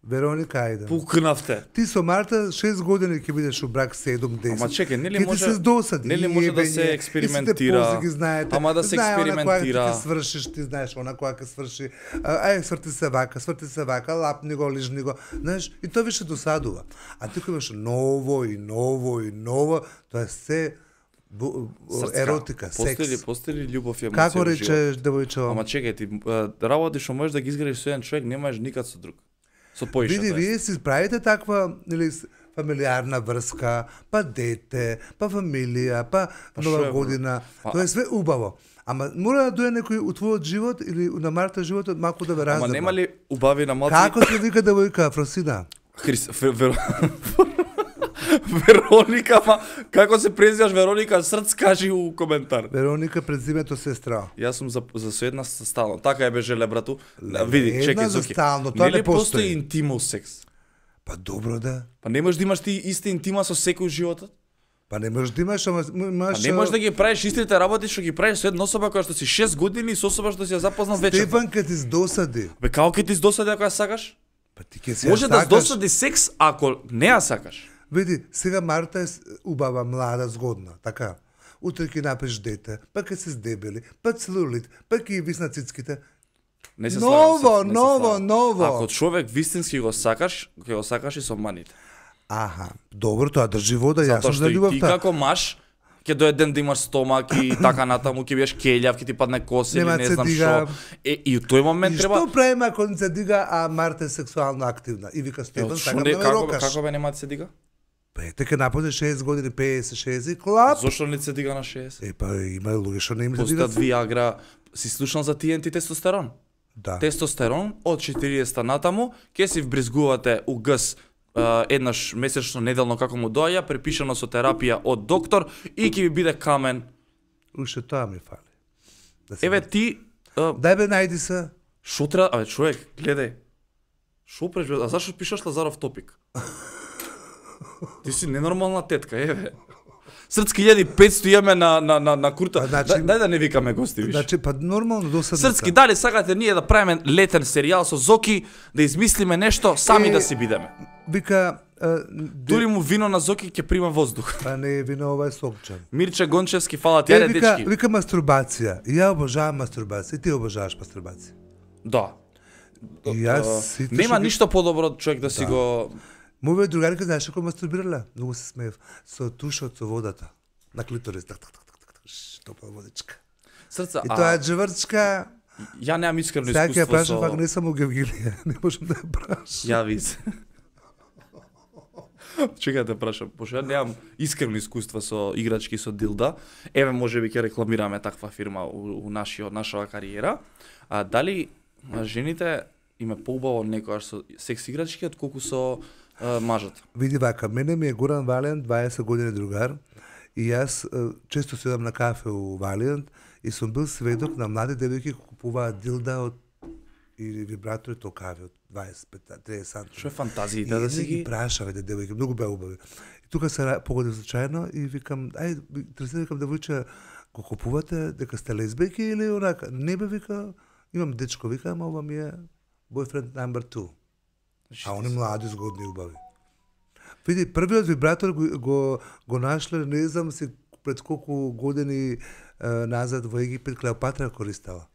Вероника, ајде. Пукнавте. Ти со Марта шест години ќе бидеш у брак седум десет. Ама чекај, нели Ќе ти може- се досади, нели може да се јебење, експериментира? И сите пози ги знаете. Ама да се Знае она која експериментира. ти ќе свршиш, ти знаеш она која ќе сврши. А, ај, сврти се вака, сврти се вака, лапни го, лижни го. Знаеш, и тоа више досадува. А ти кој имаш ново и ново и ново, тоа е се Бу, Срцка. еротика, Постои ли, секс. постои ли љубов и емоција Како во живот? речеш девојчо? Ама чекај ти, а, работи што можеш да ги изградиш со еден човек, немаш никад со друг. Со поише. Види, тоа е. вие си правите таква, нели, с- фамилиарна врска, па дете, па фамилија, па, Па шо нова е, година. Па- Тоа е све убаво. Ама мора да дојде некој у твојот живот или на Марта животот малку да ве Ама раздава. нема ли убави на малци? Како се вика девојка Фросина? Хрис... Фер... Вер... Вероника, ма како се презиваш Вероника Срц, кажи у коментар. Вероника презимето сестра. Јас сум за, за со една со стално. Така е бе желе, брату. Види, една чекај, за Зоки. стално, тоа Нели не постои. постои интимал секс? Па добро да. Па не можеш да имаш ти иста интима со секој животот? Па не можеш да имаш, ама Па имаш... не можеш да ги правиш истите работи што ги правиш со една особа која што си шест години и со особа што си ја запознал вечер. Стефан ке ти здосади. Бе како ќе ти здосади ако ја сакаш? Па ти ке си ја Може да сакаш. здосади секс ако не ја сакаш. Види, сега Марта е с- убава, млада, згодна, така. Утре ќе напиш дете, па ќе се здебели, па целулит, па ќе висна цицките. Не се Ново, слагам, се- не се ново, слагам. ново. Ако човек вистински го сакаш, ќе го сакаш и со маните. Аха, добро, тоа држи вода, јас Затоа сум што за и ти љубовта. како маж ќе дојде ден да имаш стомак и така натаму ќе биеш келјав, ќе ти падне коса или Нема не се знам дига. што. Е и у тој момент И треба што правиме ако не се дига, а Марта е сексуално активна? И вика Е, Стефан, шо сакам не, да ме како, рокаш. како бе нема да се дига? Па ете, ке нападне шест години, петдесет, шест, клап. Зошто не се дига на шест? Е, па има луѓе што не им се Постојат дига. Виагра, си слушнал за Ти Ен Ти тестостерон? Да. Тестостерон од четириесет натаму ќе си вбризгувате у ГС Uh, еднаш месечно неделно како му доаѓа, препишано со терапија од доктор и ќе ви биде камен. Уште тоа ми фали. Да се Еве ти uh, Дај бе, најди се. шо треба, абе човек, гледај. Шо преш, бе? А зашо пишаш Лазаров топик? Ти си ненормална тетка, еве. Срцки илјади и петсто имаме на на на на курта. А, значи- Дај, дај да не викаме гости више. Значи, па нормално досадно. Срцки, дали сакате ние да правиме летен серијал со Зоки, да измислиме нешто, сами Е, да си бидеме. Вика, а, де- Дури му вино на Зоки ќе прима воздух. па не е вино, ова е сокчан. Мирче Гончевски, фала ти, Е, ајде вика, дечки. вика мастурбација. И ја обожавам мастурбација. И ти обожаваш мастурбација. Да. И јас А, сите Нема што ги- ништо подобро од човек да си Да. го... Моја другарка знаеш како мастурбирала? Многу се смеев. Со тушот со водата. На клиторис. Так, так, так, так, так, ш, топла водичка. Срца, И а, тоа е джврчка. ја немам искрено Сега ќе ја искуство прашам, со... пак не сам у Гевгилија. Не можам да ја прашам. Ја виз. Чекај да те прашам, пошто ја немам искрено искуство со играчки со дилда. Еве можеби ќе рекламираме таква фирма у, у нашиот нашава кариера. А дали а, жените им е поубаво некојаш со секс играчки отколку со а, мажот? Види вака, мене ми е Горан Валијант, дваесет години другар, и јас е, често седам на кафе у Валијант и сум бил сведок на млади девојки кои купуваат дилда од или вибратори токави од дваесет пет триесет сантиметри. Што е фантазиите И да си едни ги ги... прашаве де девојки, многу беа убави. И тука се ра- погоди случајно и викам, ај, тресе викам девојче, го купувате дека сте лесбијки или онака? Не бе, вика, имам дечко, вика, ама ова ми е boyfriend number two. А они млади, згодни, убави. Види, првиот вибратор го, го, го нашле, не знам си пред колку години е, назад во Египет Клеопатра користела.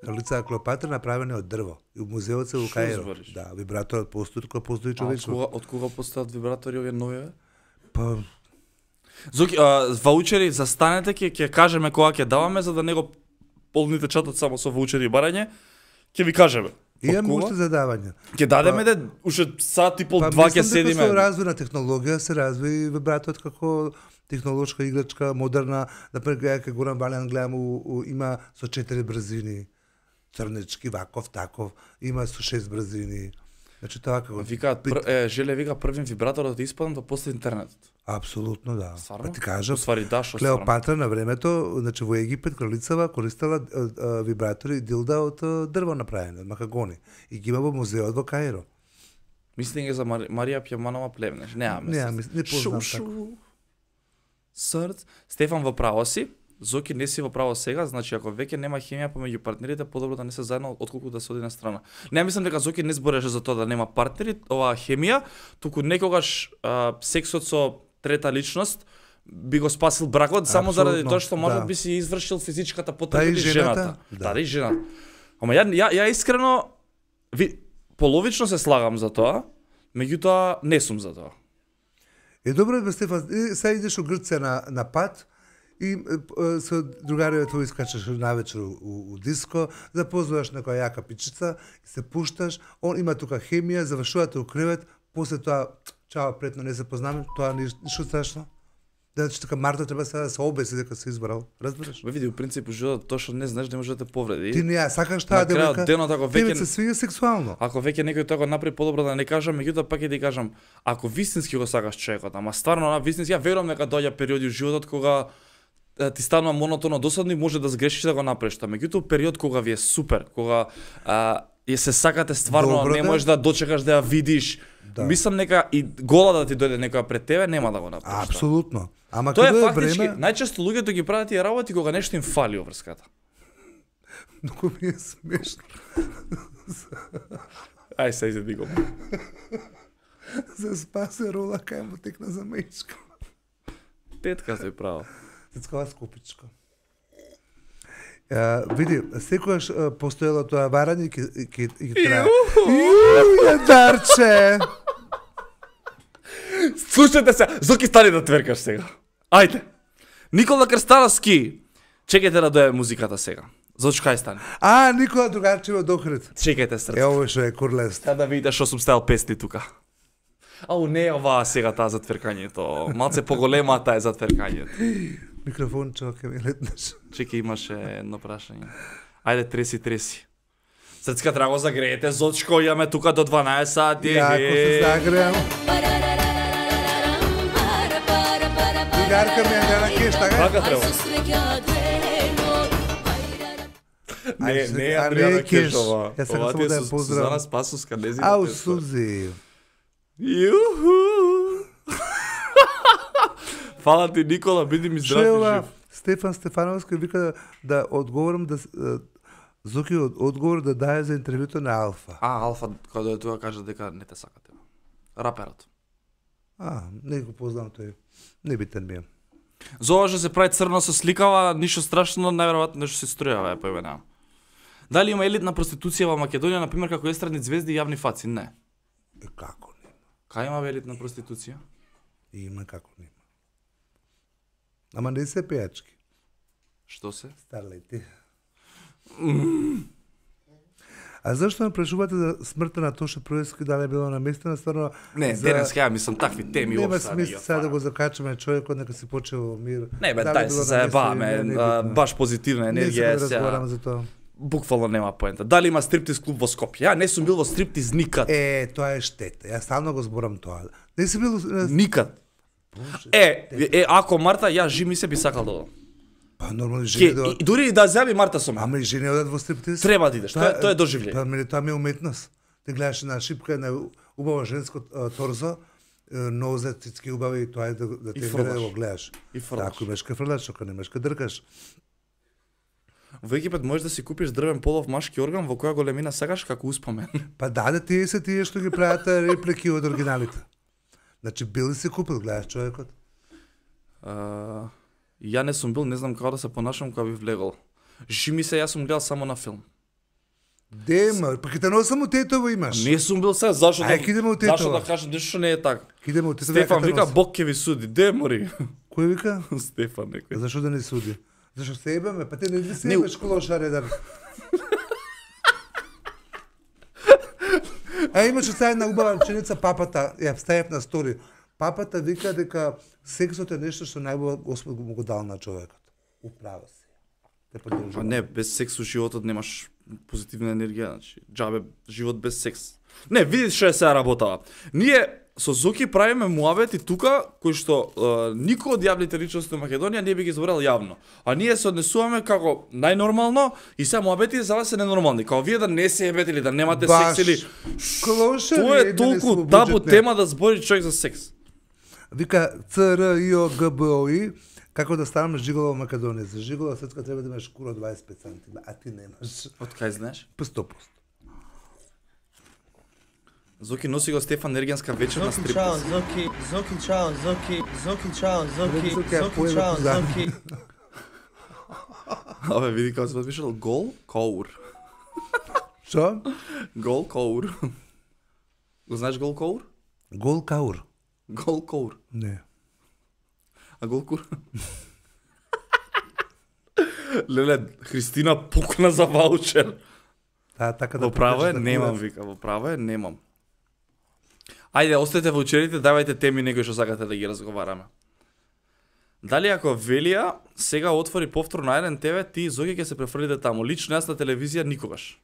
Кралица Клеопатра направена од дрво. И у музеот се во Шо Каиро. збориш? Да, вибраторот постои, кој постои А од човечко. кога, од кога постојат вибратори овие нови? Па, Зоки, а, ваучери, застанете, ќе ќе кажеме кога ќе даваме, за да не го полните чатот само со ваучери и барање. Ќе ви кажеме. имам Од кога? уште задавања. Ќе дадеме де уште сат и пол, два ќе мислам дека со седиме. развој на технологија се разви вибраторот како технолошка играчка, модерна. Например, ја кај Горан Валијан гледам, у, у, има со четири брзини. Црнечки, ваков, таков. Има со шест брзини. Значи тоа како... Викаат, пр... е, желе вика првин вибраторот да испадам да после интернетот. Апсолутно, да. Стварно? Па ти кажам, Уствари да, што стварно. Клеопатра на времето, значи во Египет кралицава користела а, а, вибратори и дилда од а, дрво направени, од макагони. И ги има во музеот во Каиро. Мислим е за Мари... Марија Пјаманова плевнеш. Немаме. Не, мис- не познам Шу, Срц. Стефан во право си. Зоки не си во право сега, значи ако веќе нема хемија помеѓу партнерите, подобро да не се заедно отколку да се оди на страна. Не мислам дека Зоки не збореше за тоа да нема партнери, оваа хемија, туку некогаш а, сексот со трета личност би го спасил бракот само заради Апсолутно, тоа што можат да. би си извршил физичката Да, потреба и и жената, жената. да. Да, да и жената. Ама ја ја, ја искрено ви половично се слагам за тоа, меѓутоа не сум за тоа. Е добро бе Стефан, е, сега идеш у Грција на на пат и е, со другариве твои искачаш навечер у, у, у диско, запознаваш некоја јака пичица и се пушташ, он има тука хемија, завршувате у кревет, после тоа чао, претно не се познаме, тоа ништо страшно. Значи така Марта треба сега да се обеси дека се избрал, разбираш? Ве види, у принцип у животот тоа што не знаеш не може да те повреди. Ти не ја сакаш таа На крајот девојка. денот, ако Тебе веќе- се свиѓа сексуално. Ако веќе некој тоа го направи подобро да не кажам, меѓутоа пак ќе ти кажам, ако вистински го сакаш човекот, ама стварно на вистински, ја верувам дека доаѓа периоди у животот кога е, ти станува монотоно досадно и може да сгрешиш да го направиш тоа. Меѓутоа период кога ви е супер, кога а, ја се сакате стварно, Добро, не да. можеш да дочекаш да ја видиш. Да. Мислам нека и гола да ти дојде некоја пред тебе, нема да го направиш. тоа. Апсолутно. Ама Тоа е кога е фактички, време, најчесто луѓето ги прават тие работи кога нешто им фали во врската. многу ми е смешно. Ај се изе го. За спасе рола кај му текна за мечка. Петка се право. Цецкава скупичка. Uh, види, секојаш uh, постоело тоа варање и ќе ќе ќе трае. Иу, јадарче! Слушате се, Зоки стани да тверкаш сега. Ајде. Никола Крстановски. Чекајте да дојде музиката сега. Зочко кај стани. А, Никола Другарчева до Охрид. Чекајте срце. Е, ово што е курлест. Сега да видите што сум ставил песни тука. Ау, не е оваа сега таа за тверкањето. Малце поголема таа е за тверкањето. Микрофон ќе ми летнеш. Чекај, имаше едно прашање. Ајде, треси, треси. Срцка треба го загреете, Зочко, имаме тука до дванаесет сати. Јако се загреам. Другарка ми е дела кешта, га? Така треба. Не, Ајде, не е а не Андријана е кеш. Кешова. Јас сакам Ова ти само е да ја Су- поздравам. Сузана Спасовска, не знам. Ау, Сузи. Јуху. Фала ти, Никола, биди ми Што здрав е и ова? жив. Стефан Стефановски вика да, да одговорам да с- е, Зоки од одговор да даде за интервјуто на Алфа. А, Алфа, кога дојде тука, кажа дека не те сакате. Раперот. А, не го познам тој. Не битен ми е. За ова што се прави црно со сликава, ништо страшно, најверојатно нешто се струјава, е поименам. Дали има елитна проституција во Македонија, например, како естрадни звезди и јавни фаци? Не. Е, како нема? Кај има елитна проституција? Има како нема. Ама не се пејачки. Што се? Старлети. А зашто ме прашувате за смртта на Тоша Проески, дали е било наместена стварно? Не, за... денес ја мислам такви теми Нема уопште. смисла сега да го закачаме човекот, нека си почува мир. Не бе, Дали дај било се наместено или заебаваме, не, а, небитно. баш позитивна Не енергија сега е да сега. разговараме за тоа. Буквално нема поента. Дали има стриптиз клуб во Скопје? Ја не сум бил во стриптиз никад. Е, тоа е штета. Јас стално го зборам тоа. Не си бил... Никад. Е, е, ако Марта, ја жими се би сакал да одам. Па нормално Ке, жени да... и, дури и да зјави Марта со мене. Ама и жени одат во стриптиз. Треба да идеш, тоа, е- тоа е доживлење. Па мене тоа ми е уметност. Ти гледаш на шипка на убаво женско а, торзо, е, нозе, цицки убави и тоа е да, да И те фрлаш. гледа да го гледаш. И фрлаш. Ако имаш ка фрлаш, ако немаш ка дркаш. Во Египет можеш да си купиш дрвен полов машки орган во која големина сакаш како успомен. Па да, да тие се тие што ги прават а, реплики од оригиналите. Значи бил си купил, гледаш човекот. Uh, ја не сум бил, не знам како да се понашам кога би влегол. Жими се, јас сум гледал само на филм. Дема, па ќе те носам у тетово имаш. Не сум бил се, зашо Ај, да, ќе идеме у зашо Тетово. да кажам нешто што не е така. Идеме у тетово. Стефан ќе те вика, носам. Бог ќе ви суди. Де мори? Кој вика? Стефан некој. Зашо да не суди? Зашо се ебаме? Па те не ли се Не, ебаш колошар еден? А имаше сега една убава реченица папата, ја ставив на стори. Папата вика дека сексот е нешто што најбола Господ му го дал на човекот. Управо се. Те Па поддржувам. не, без секс у животот немаш позитивна енергија, значи џабе живот без секс. Не, види што е сега работава. Ние со Зоки правиме муавети тука кои што е, никој од јавните личности во Македонија не би ги зборел јавно. А ние се однесуваме како најнормално и сега муавети за вас се ненормални. Као вие да не се ебете или да немате Баш. секс или Клошари, тоа е едни не толку се табу обуџетне. тема да збори човек за секс. Вика Ц Р И О Г Б О И како да станам жиголо во Македонија. За жиголо светска треба да имаш кура дваесет и пет сантима, а ти немаш. Од кај знаеш? По сто проценти. Зоки носи го Стефан Ергенска вечер на Zoki Chow, стриптиз. Zoki, Zoki Chow, Zoki, Zoki Chow, Zoki, Zoki, ја Zoki поеме Chow, позади. Zoki. Абе, види како се подпишал гол коур. Што? Гол коур. Го знаеш гол коур? Гол каур. Гол коур. Не. А гол кур? Леле, Христина покна за ваучер. Та, така да Во право е, покажеш да немам, курец. вика, во право е, немам. Ајде, остајте ваучерите, давајте теми некои што сакате да ги разговараме. Дали ако Велија сега отвори повтор на еден ТВ, ти Зоки ќе се префрлите таму. Лично јас на телевизија никогаш.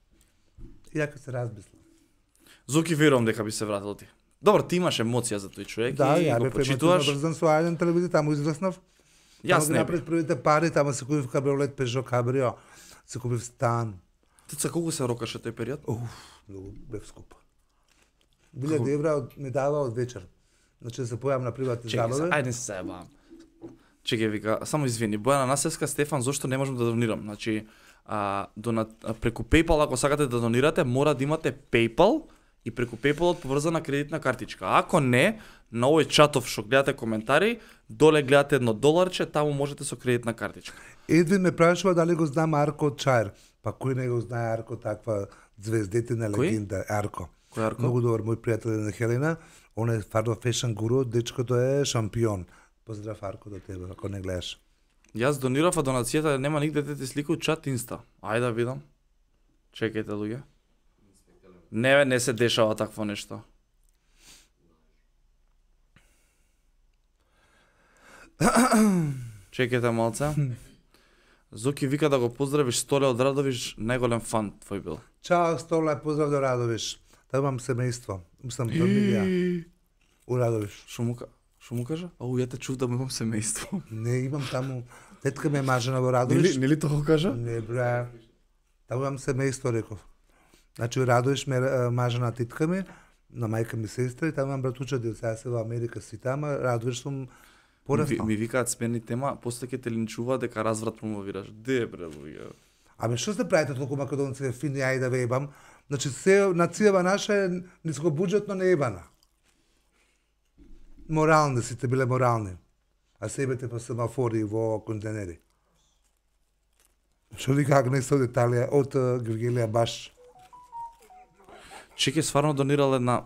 Иако се размислам. Зоки верувам дека би се вратил ти. Добро, ти имаш емоција за тој човек Да, и ја го бе почитуваш. брзан со еден телевизија, таму израснав. Јас Таму ги не би. направив првите пари, таму се купив кабриолет Peugeot Cabrio, се купив стан. Теца, колку се рокаше тој период? Уф, многу бев скуп. Билјади евра од- ми дава од вечер. Значи да се појавам на приватни Чекај, се, забави. ајде се заебавам. Чекај, вика, само извини, Бојана Насевска, Стефан, зошто не можам да донирам? Значи, а, дона, а, преку PayPal, ако сакате да донирате, мора да имате PayPal и преку PayPal поврзана кредитна картичка. Ако не, на овој чатов што гледате коментари, доле гледате едно доларче, таму можете со кредитна картичка. Едвин ме прашува дали го знам Арко од Чаир. Па кој не го знае Арко, таква звездетина Кој? легенда, Арко. Кој Арко? Многу добар мој пријател е на Хелена, он е фарно фешн гуру, дечкото е шампион. Поздрав Арко до тебе, ако не гледаш. Јас донирав, а донацијата нема нигде да ти сликаат чат инста. Ајде да видам. Чекајте, луѓе. Не, бе, не се дешава такво нешто. Чекајте малце. Зоки вика да го поздравиш Столе од Радовиш, најголем фан твој бил. Чао, Стола, поздрав до Радовиш. Та имам семејство. Мислам фамилија у Радовиш. Шо му, ка- шо му кажа? Ау, ја те чув да му имам семејство. Не, имам таму. Тетка ми е мажена во Радовиш. Нели, нели тоа го кажа? Не, бре. Таму имам семејство, реков. Значи, у Радовиш ме е, мажена тетка ми, на мајка ми сестра, и таму имам братуча, дел сега се во Америка си тама, Радовиш сум Ми, пораснал. ми викаат смени тема, после ќе те линчуваат дека разврат промовираш. Де бре, луѓе. Ами што се правите толку македонци фини, ај да ве ебам? Значи, се нацијава наша е нискобуџетно не ебана. Морални, сите биле морални. А себете по семафори во контенери. Што вика Агнеса од Италија, од uh, Гергелија баш. Чеке стварно донирал една...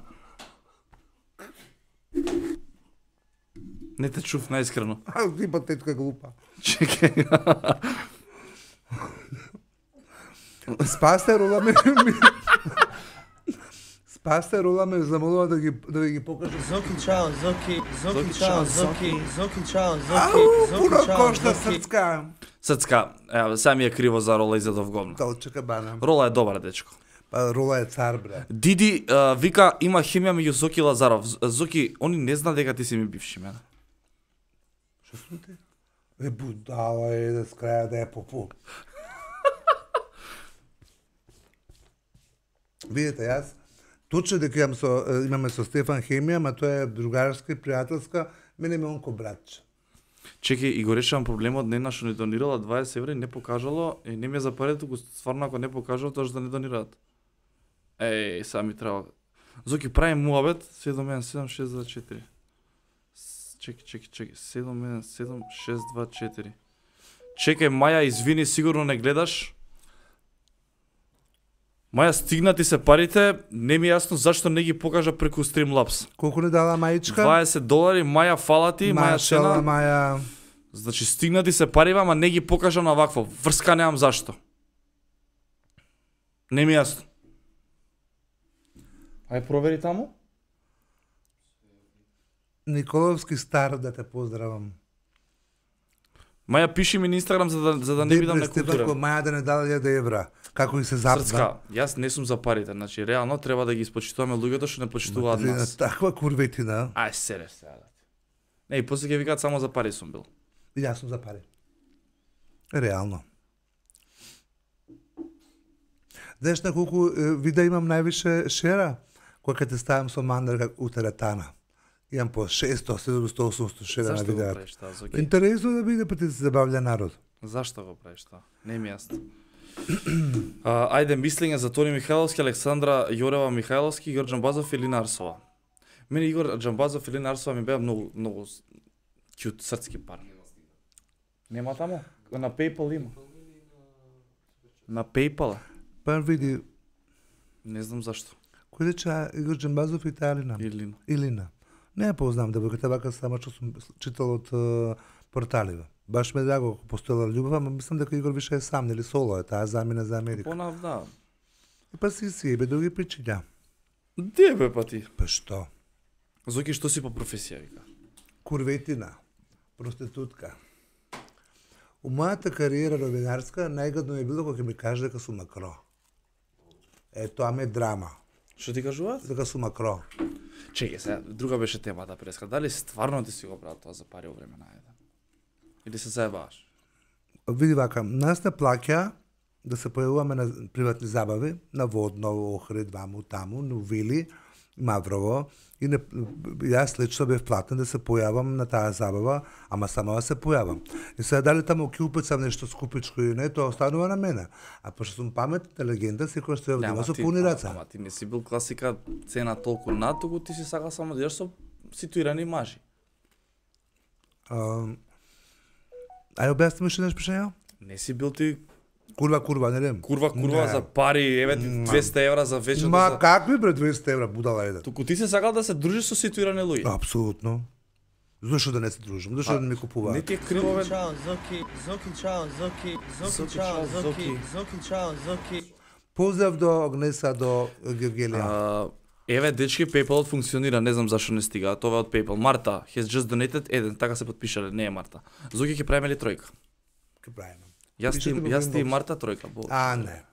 Не те чув најискрено. А, ти па тетка глупа. Чеке. Спасте рола ме... Спасте рола ме замолува да ги, да ви ги покажа. Зоки чао, Зоки, Зоки, Зоки чао, чао, Зоки. Зоки, Зоки чао, Ау, Зоки, пуно Зоки чао, кошта Зоки. срцка. Сацка, еве, сега ми е криво за Рола изедов говна. Да, очека бана. Рола е добар дечко. Па рола е цар, бре. Диди а, вика има хемија меѓу Зоки и Лазаров. З- Зоки, они не знаат дека ти си ми бивши мене. Што сум ти? Е, будала е да скраја да е попу. Видите, јас точно дека имам со, е, имаме со Стефан хемија, ма тоа е другарска и пријателска, мене ме онко братче. Чеки, и го решавам проблемот, не на што не донирала дваесет евра и не покажало, и не ми е за парите, туку стварно ако не покажало, тоа што да не донираат. Еј, сега ми треба. Зоки, прави муабет, седум еден седум шест два четири. С- Чеки, чеки, чеки, седум еден седум шест два четири. Чекај, Маја, извини, сигурно не гледаш. Маја, стигнати се парите, не ми е јасно зашто не ги покажа преку Streamlabs. Колку не дала мајичка? дваесет долари, Маја, фала ти, Маја Машала, цена. Маја. Значи стигнати се пари, ама не ги покажа на вакво. Врска немам зашто. Не ми е јасно. Ај провери таму. Николовски стар, да те поздравам. Маја, пиши ми на Инстаграм за да, за да не бидам некултурен. Стефанко, Маја да не дала илјада евра. Како и се запна. Срцка, јас не сум за парите, значи реално треба да ги испочитуваме луѓето што не почитуваат Ти на нас. таква курветина. Ај сере сега. Не, и после ќе викаат само за пари сум бил. И јас сум за пари. Реално. Знаеш на колку е, видеа имам највише шера? Кога те ставам со мандар как у теретана. Имам по шесто, седумсто, осумсто шера на Зашто го видеа. правиш тоа, Зоки? Интересно да биде, па ти се забавлja народ. Зашто го правиш тоа? Не ми е јасно. А, ајде, мислење за Тони Михајловски, Александра Јорева Михајловски, Игор Џамбазов или Арсова. Мене Игор Џамбазов или Арсова ми беа многу многу с- кјут срцки пар. Нема таму? На PayPal има. На PayPal? Па види, Не знам зашто. кој рече Игор Џамбазов и Талина? Илина. Илина. Не ја познам, да дека вака само што сум читал од е, порталиве. Баш ме драго ако постоела љубов, ама мислам дека Игор више е сам, нели соло е, таа замина за Америка. Понав, да. И па си си ебе други причиња. Де бе па ти? Па што? Зоки, што си по професија, вика? Курветина, проститутка. У мојата кариера новинарска најгадно е било кога ќе ми каже дека сум макро. Е, тоа ме драма. Што ти кажуваат? Дека сум макро. Чеке се, друга беше темата преска. Дали стварно ти си го брал тоа за пари во време на еден? Или се заебаш? Види вака, нас не плаќа да се појавуваме на приватни забави, на Водно, Охрид, ваму, таму, на Вили, Маврово, и не, јас лично бев платен да се појавам на таа забава, ама само да се појавам. И сега дали таму ќе упецам нешто скупичко или не, тоа останува на мене. А пошто сум паметна легенда, секој што ја има со пуни раца. Ама ти не си бил класика цена толку над, туку ти си сакал само да јаш со ситуирани мажи. Uh, ај објасни ми што нешто пишања? Не си бил ти Курва, курва, не дем. Курва, курва за пари, еве ти двесте евра за вечер. Ма за... какви бре двесте евра, будала еден? Туку ти се сакал да се дружиш со ситуирани луѓе. Апсолутно. Зошто да не се дружим? Зошто да не ми купуваат? Не ти е крилове. Чао, Зоки, Зоки, чао, Зоки, Зоки, чао, Зоки, Зоки, чао, Зоки. Поздрав до Огнеса, до Гевгелија. А, еве дечки, PayPal функционира, не знам зашо не стига. Тоа е од PayPal. Марта has just donated еден, така се потпишале, не е Марта. Зоки ќе правиме ли тројка? Ке правиме. Јас ти, јас ти и Марта тројка, бо. А, не.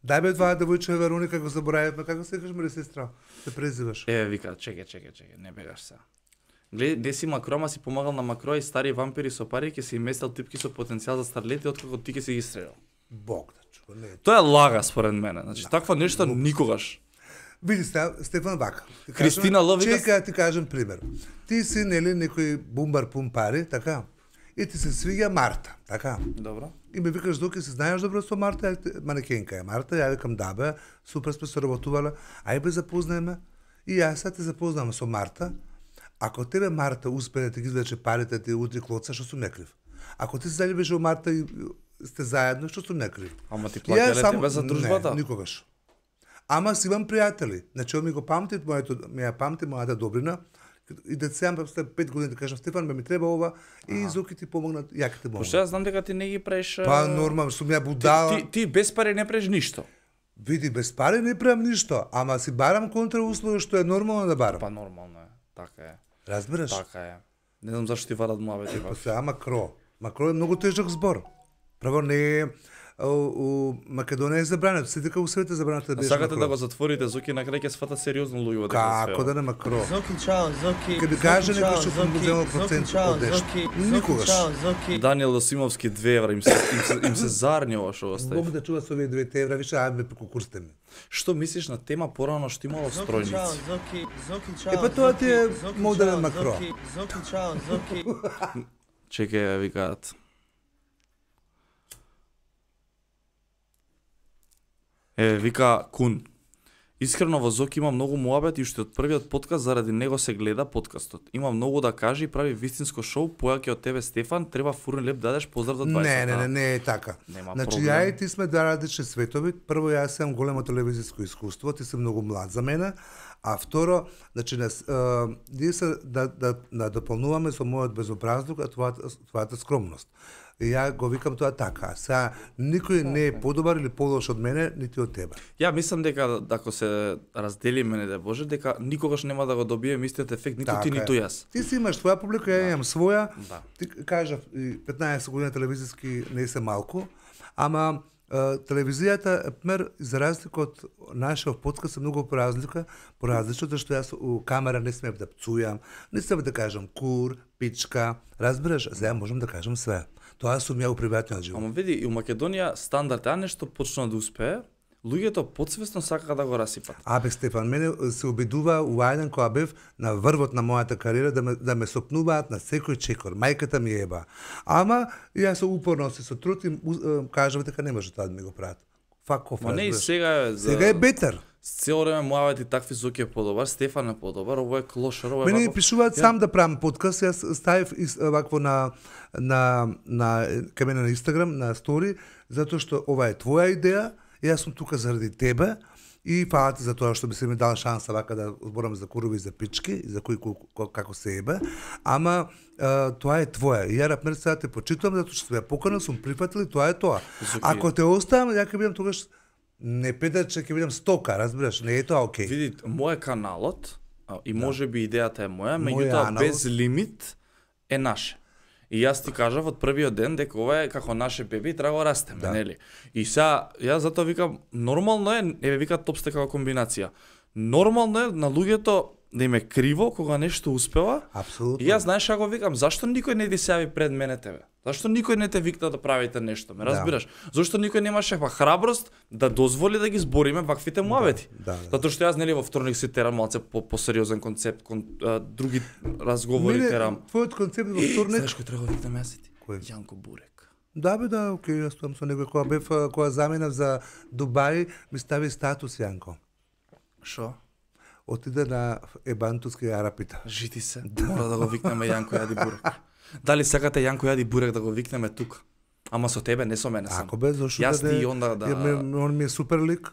Дај бе това девојче Вероника, го заборавивме, како се кажеш ме сестра? Се презиваш. Еве вика, чекај, чекај, чекај, не бегаш се. Гледај, не си Макро, ама си помагал на Макро и стари вампири со пари, ќе си им местел типки со потенцијал за старлети, откако ти ќе си ги стрелял. Бог да чува, не. Тоа е лага според мене. Значи, таква нешто никогаш. Види Стефан вака. Кристина Ло вика... Чека ти кажем пример. Ти си нели некој бумбар пум пари, така? И ти се свиѓа Марта, така? Добро. И ме викаш доки се знаеш добро со Марта, манекенка е Марта, ја викам да бе, супер сме соработувале, ај бе запознаеме. И јас сега те запознавам со Марта. Ако тебе Марта успее да ти ги извлече парите, ти утри клоца, што сум некрив. Ако ти се заљубиш во Марта и сте заедно, што сум некрив. Ама ти плаќале тебе за дружбата? Не, никогаш. Ама си имам пријатели. Значи, он ми го памти, моето, ми ја памти мојата добрина. И децембар после пет години да кажам Стефан, ме ми треба ова и Зоки ти помогна, ја ќе те помогна. Пошто јас знам дека ти не ги правиш. Па нормално, сум ја будала. Ти, ти, ти без пари не правиш ништо. Види, без пари не правам ништо, ама си барам контрауслови што е нормално да барам. Па нормално е, така е. Разбираш? Така е. Не знам зашто ти варат муабети. Па сега Макро. Макро е многу тежок збор. Право не е у, у Македонија е забрането, се дека у свет е забрането да бидеш Сакате Макро. да го затворите, Зоки на крај ќе сватат сериозно луѓе во дека Како да не Макро? Зоки, чао, Зоки. Ке би каже некој што сум земал процент од нешто. Никогаш. Чао, Зоки. Даниел Досимовски две евра им се им се, им се зарни ова што остави. Бог да чува со овие две евра, више ајде преку курсте ми. Што мислиш на тема порано што имало Зоки, чао, стројници? Зоки, Зоки, чао. Е, па тоа ти е Зоки, модерен чао, Макро. Зоки, Зоки, чао, Зоки. Чекај, викаат. Е, вика Кун. Искрено во Зоки има многу муабет и уште од првиот подкаст заради него се гледа подкастот. Има многу да каже и прави вистинско шоу, појаќе од тебе Стефан, треба фурен леп дадеш поздрав до дваесет. Не, не, не, не е така. Нема Значи проблем. ја и ти сме два различни светови. Прво јас имам големо телевизиско искуство, ти си многу млад за мене, а второ, значи нас е, ние се да да да дополнуваме со мојот безобразлук, а твојата твојата скромност. И ја го викам тоа така. Сега никој не е подобар или полош од мене, нити од тебе. Ја мислам дека ако се разделиме, не да Боже, дека никогаш нема да го добиеме истиот ефект, ниту Така ти, е. ниту јас. Ти си имаш твоја публика, ја имам своја. Да. Ти кажав, и петнаесет години телевизиски не се малку, ама е, телевизијата, например, за разлика од нашиот подкаст е многу поразлика, поразлично, зашто јас у камера не смеев да пцујам, не смеев да кажам кур, пичка, разбираш, сега можам да кажам све. Тоа сум ја у приватниот живот. Ама види, и у Македонија стандард, а нешто почна да успее, луѓето подсвесно сакаат да го расипат. Абе, Стефан, мене се обидува у ајден кога бев на врвот на мојата кариера да ме, да ме сопнуваат на секој чекор. Мајката ми еба. Ама, јас упорно се со труд и кажав дека не може тоа да ми го прават. Fuck off, Ма не и разбираш. сега е за... Сега е бетер. Цело време муабети такви Зоки е подобар, Стефан е подобар, ово е клошар, ово е Мене ми вако... пишуваат сам да правам подкаст, јас ставив ис- вакво на на на кај мене на Инстаграм, на стори, затоа што ова е твоја идеја, јас сум тука заради тебе И фала ти за тоа што би се ми дал шанса вака да зборам за курови и за пички, и за кој како се ебе, ама а, тоа е твое. И ја например сега те почитувам затоа што ја поканал, сум прифатил и тоа е тоа. Зоки... Ако те оставам, ја ќе бидам тогаш не педаче, ќе бидам стока, разбираш, не е тоа окей. Види, мој каналот и може би идејата е моја, Мој меѓутоа аналог. без лимит е наше. И јас ти кажав од првиот ден дека ова е како наше беби, треба да растеме, Да. нели? И сега јас затоа викам нормално е, еве викаат топсте како комбинација. Нормално е на луѓето да им е криво кога нешто успева. Апсолутно. И јас знаеш како викам, зашто никој не ти се јави пред мене тебе? Зашто никој не те викна да правите нешто, ме разбираш? Зашто никој немаше па храброст да дозволи да ги збориме ваквите муавети? Да, да. Затоа што јас нели во вторник си терам малце по посериозен концепт, кон, а, други разговори Мене, терам. твојот концепт во Е, вторник. знаеш кој треба да викнеме јас и ти? Кој? Јанко Бурек. Да бе, да, окей, јас тоа со него кога бев а, кога заминав за Дубај, ми стави статус Јанко. Шо? Отиде на ебантуски арапита. Жити се. Мора да го викнеме Јанко Јади Бурек. Дали сакате Јанко Јади Бурек да го викнеме тука? Ама со тебе, не со мене сам. Ако бе, зашто Јас да ти не- и онда да... Ја ме- он ми е супер лик.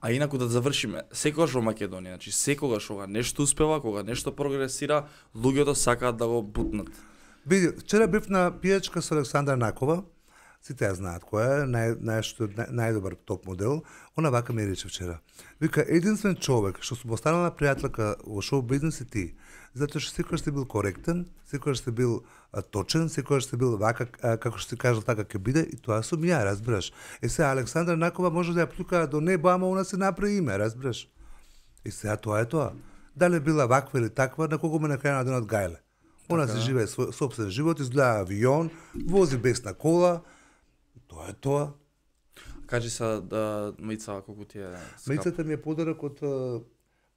А инаку да завршиме, секогаш во Македонија, значи секогаш кога нешто успева, кога нешто прогресира, луѓето сакаат да го бутнат. Види, вчера бев на пијачка со Александра Накова. Сите ја знаат која е, нај, најшто, нај, најдобар топ модел. Она вака ми рече вчера. Вика, единствен човек што сум останала пријателка во шоу бизнес и ти. Затоа што секогаш сте бил коректен, секогаш сте бил а, точен, секогаш сте бил вака, а, како што си кажал, така ќе биде, и тоа сум ја, разбираш. Е сега, Александра Накова може да ја плюка до небо, ама она се направи име, разбираш. И сега тоа е тоа. Дали била ваква или таква, на кого ме на крај на денот гајле. Она се живее свој собствен живот, изгледа авион, вози бесна кола. Тоа е тоа. Кажи се да Мица колку ти е скап. Мејцата ми е подарок од а,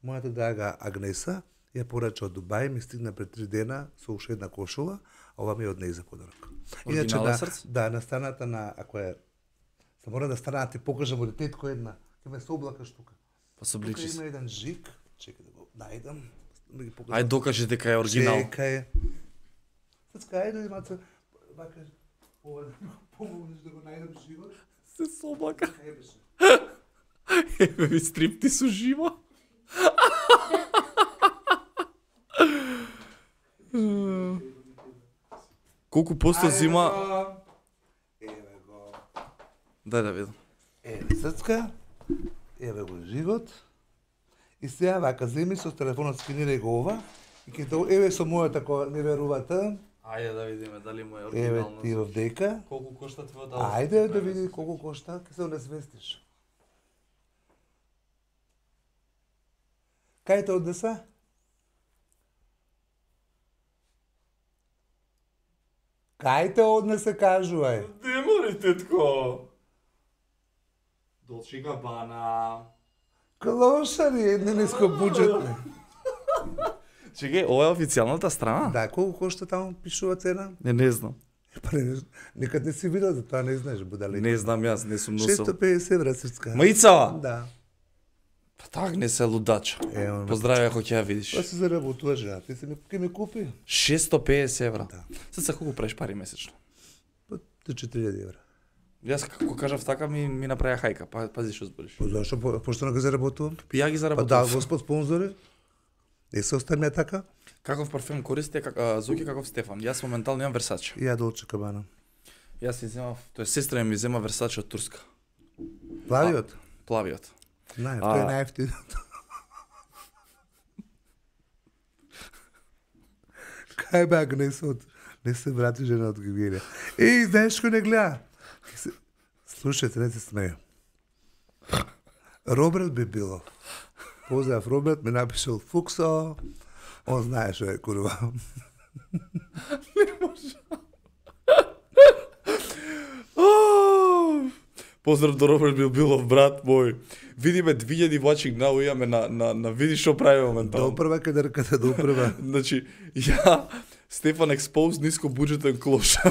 мојата драга Агнеса. Ја порача од Дубај, ми стигна пред три дена со уште една кошула, а ова ми е од неј за подарок. Иначе Оригинален да, срц? да, на страната на, ако е, се мора да стана да ти покажам од детко една, ќе ме се облакаш тука. Па се Тука обличи има се. еден жик, чекај да го најдам, да ги покажам. Ај докажи дека е оригинал. Чекај. Сацка, ајде, маца, вака, ова да ми го помогнеш да го најдам живот. Се соблака. Кај беше? Еве ви стрипти со живо. Колку посто зима? Еве го. Дај да видам. Еве Сацка, еве го живот. И сега вака земи со телефонот скинирај го ова. И ќе тоа, еве со мојата која не верувате. Ајде да видиме дали му е Еве оригинално. ти овдека. Колку кошта твојот Ајде да види колку кошта, ќе се онесвестиш. Кај те однеса? Кај те однесе, кажувај? Демори, тетко. Долче Габана. Клошари, едни нискобуџетни. Чекај, ова е официјалната страна? Да, колку кошта таму пишува цена? Не, не знам. Па не, никад не си видел, за тоа не знаеш, будали. Не знам јас, не сум носел. шестоста педесет евра срцка. Мајцава? Да. Па так не се лудача. Е, он Поздравија ако ќе ја видиш. Тоа се заработува жена, ти се ми, ке ми купи. шестоста педесет евра. Да. Сад се колку правиш пари месечно? Па, до четири илјади евра. Јас како кажав така ми ми направија хајка, па пази што збориш. Па зашо, по- пошто не го заработувам? Па ја ги Па заработував. да, господ спонзори. Не се оставиме така. Каков парфем користите, как, а, Зоки каков Стефан? Јас моментално имам Версаче. И ја Долче Габана. Јас си земав, тоа е сестра ми зема Версаче од Турска. Плавиот? Плавиот. Не, А- тој е најефтиниот. Кај бе Агнесот? Не се врати жена од Гигелија. Еј, знаеш кој не гледа? Се- Слушајте, не се смеја. Роберт би било. Поздрав Роберт, ми напишал Фуксо. Он знае што е курва. Ау! Поздрав до Роберт Билбилов, брат мој. Видиме две илјади watching now имаме на на на види што прави моментално. Допрва кај дрката, допрва. Значи, ја Стефан експоз ниско буџетен клоша.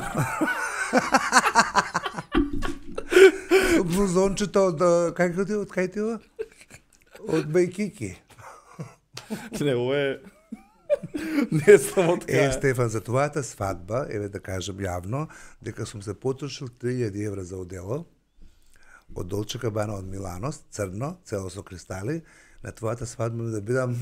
Блузончето од, а, како ти, од кај ти ова? Од Бајкики. Не, ова е не знам од Е, кај. Стефан, за твојата свадба, еве да кажам јавно, дека сум се потрошил три илјади евра за одело. од Долче Габана од Милано, црно, цело со кристали, на твојата свадба да бидам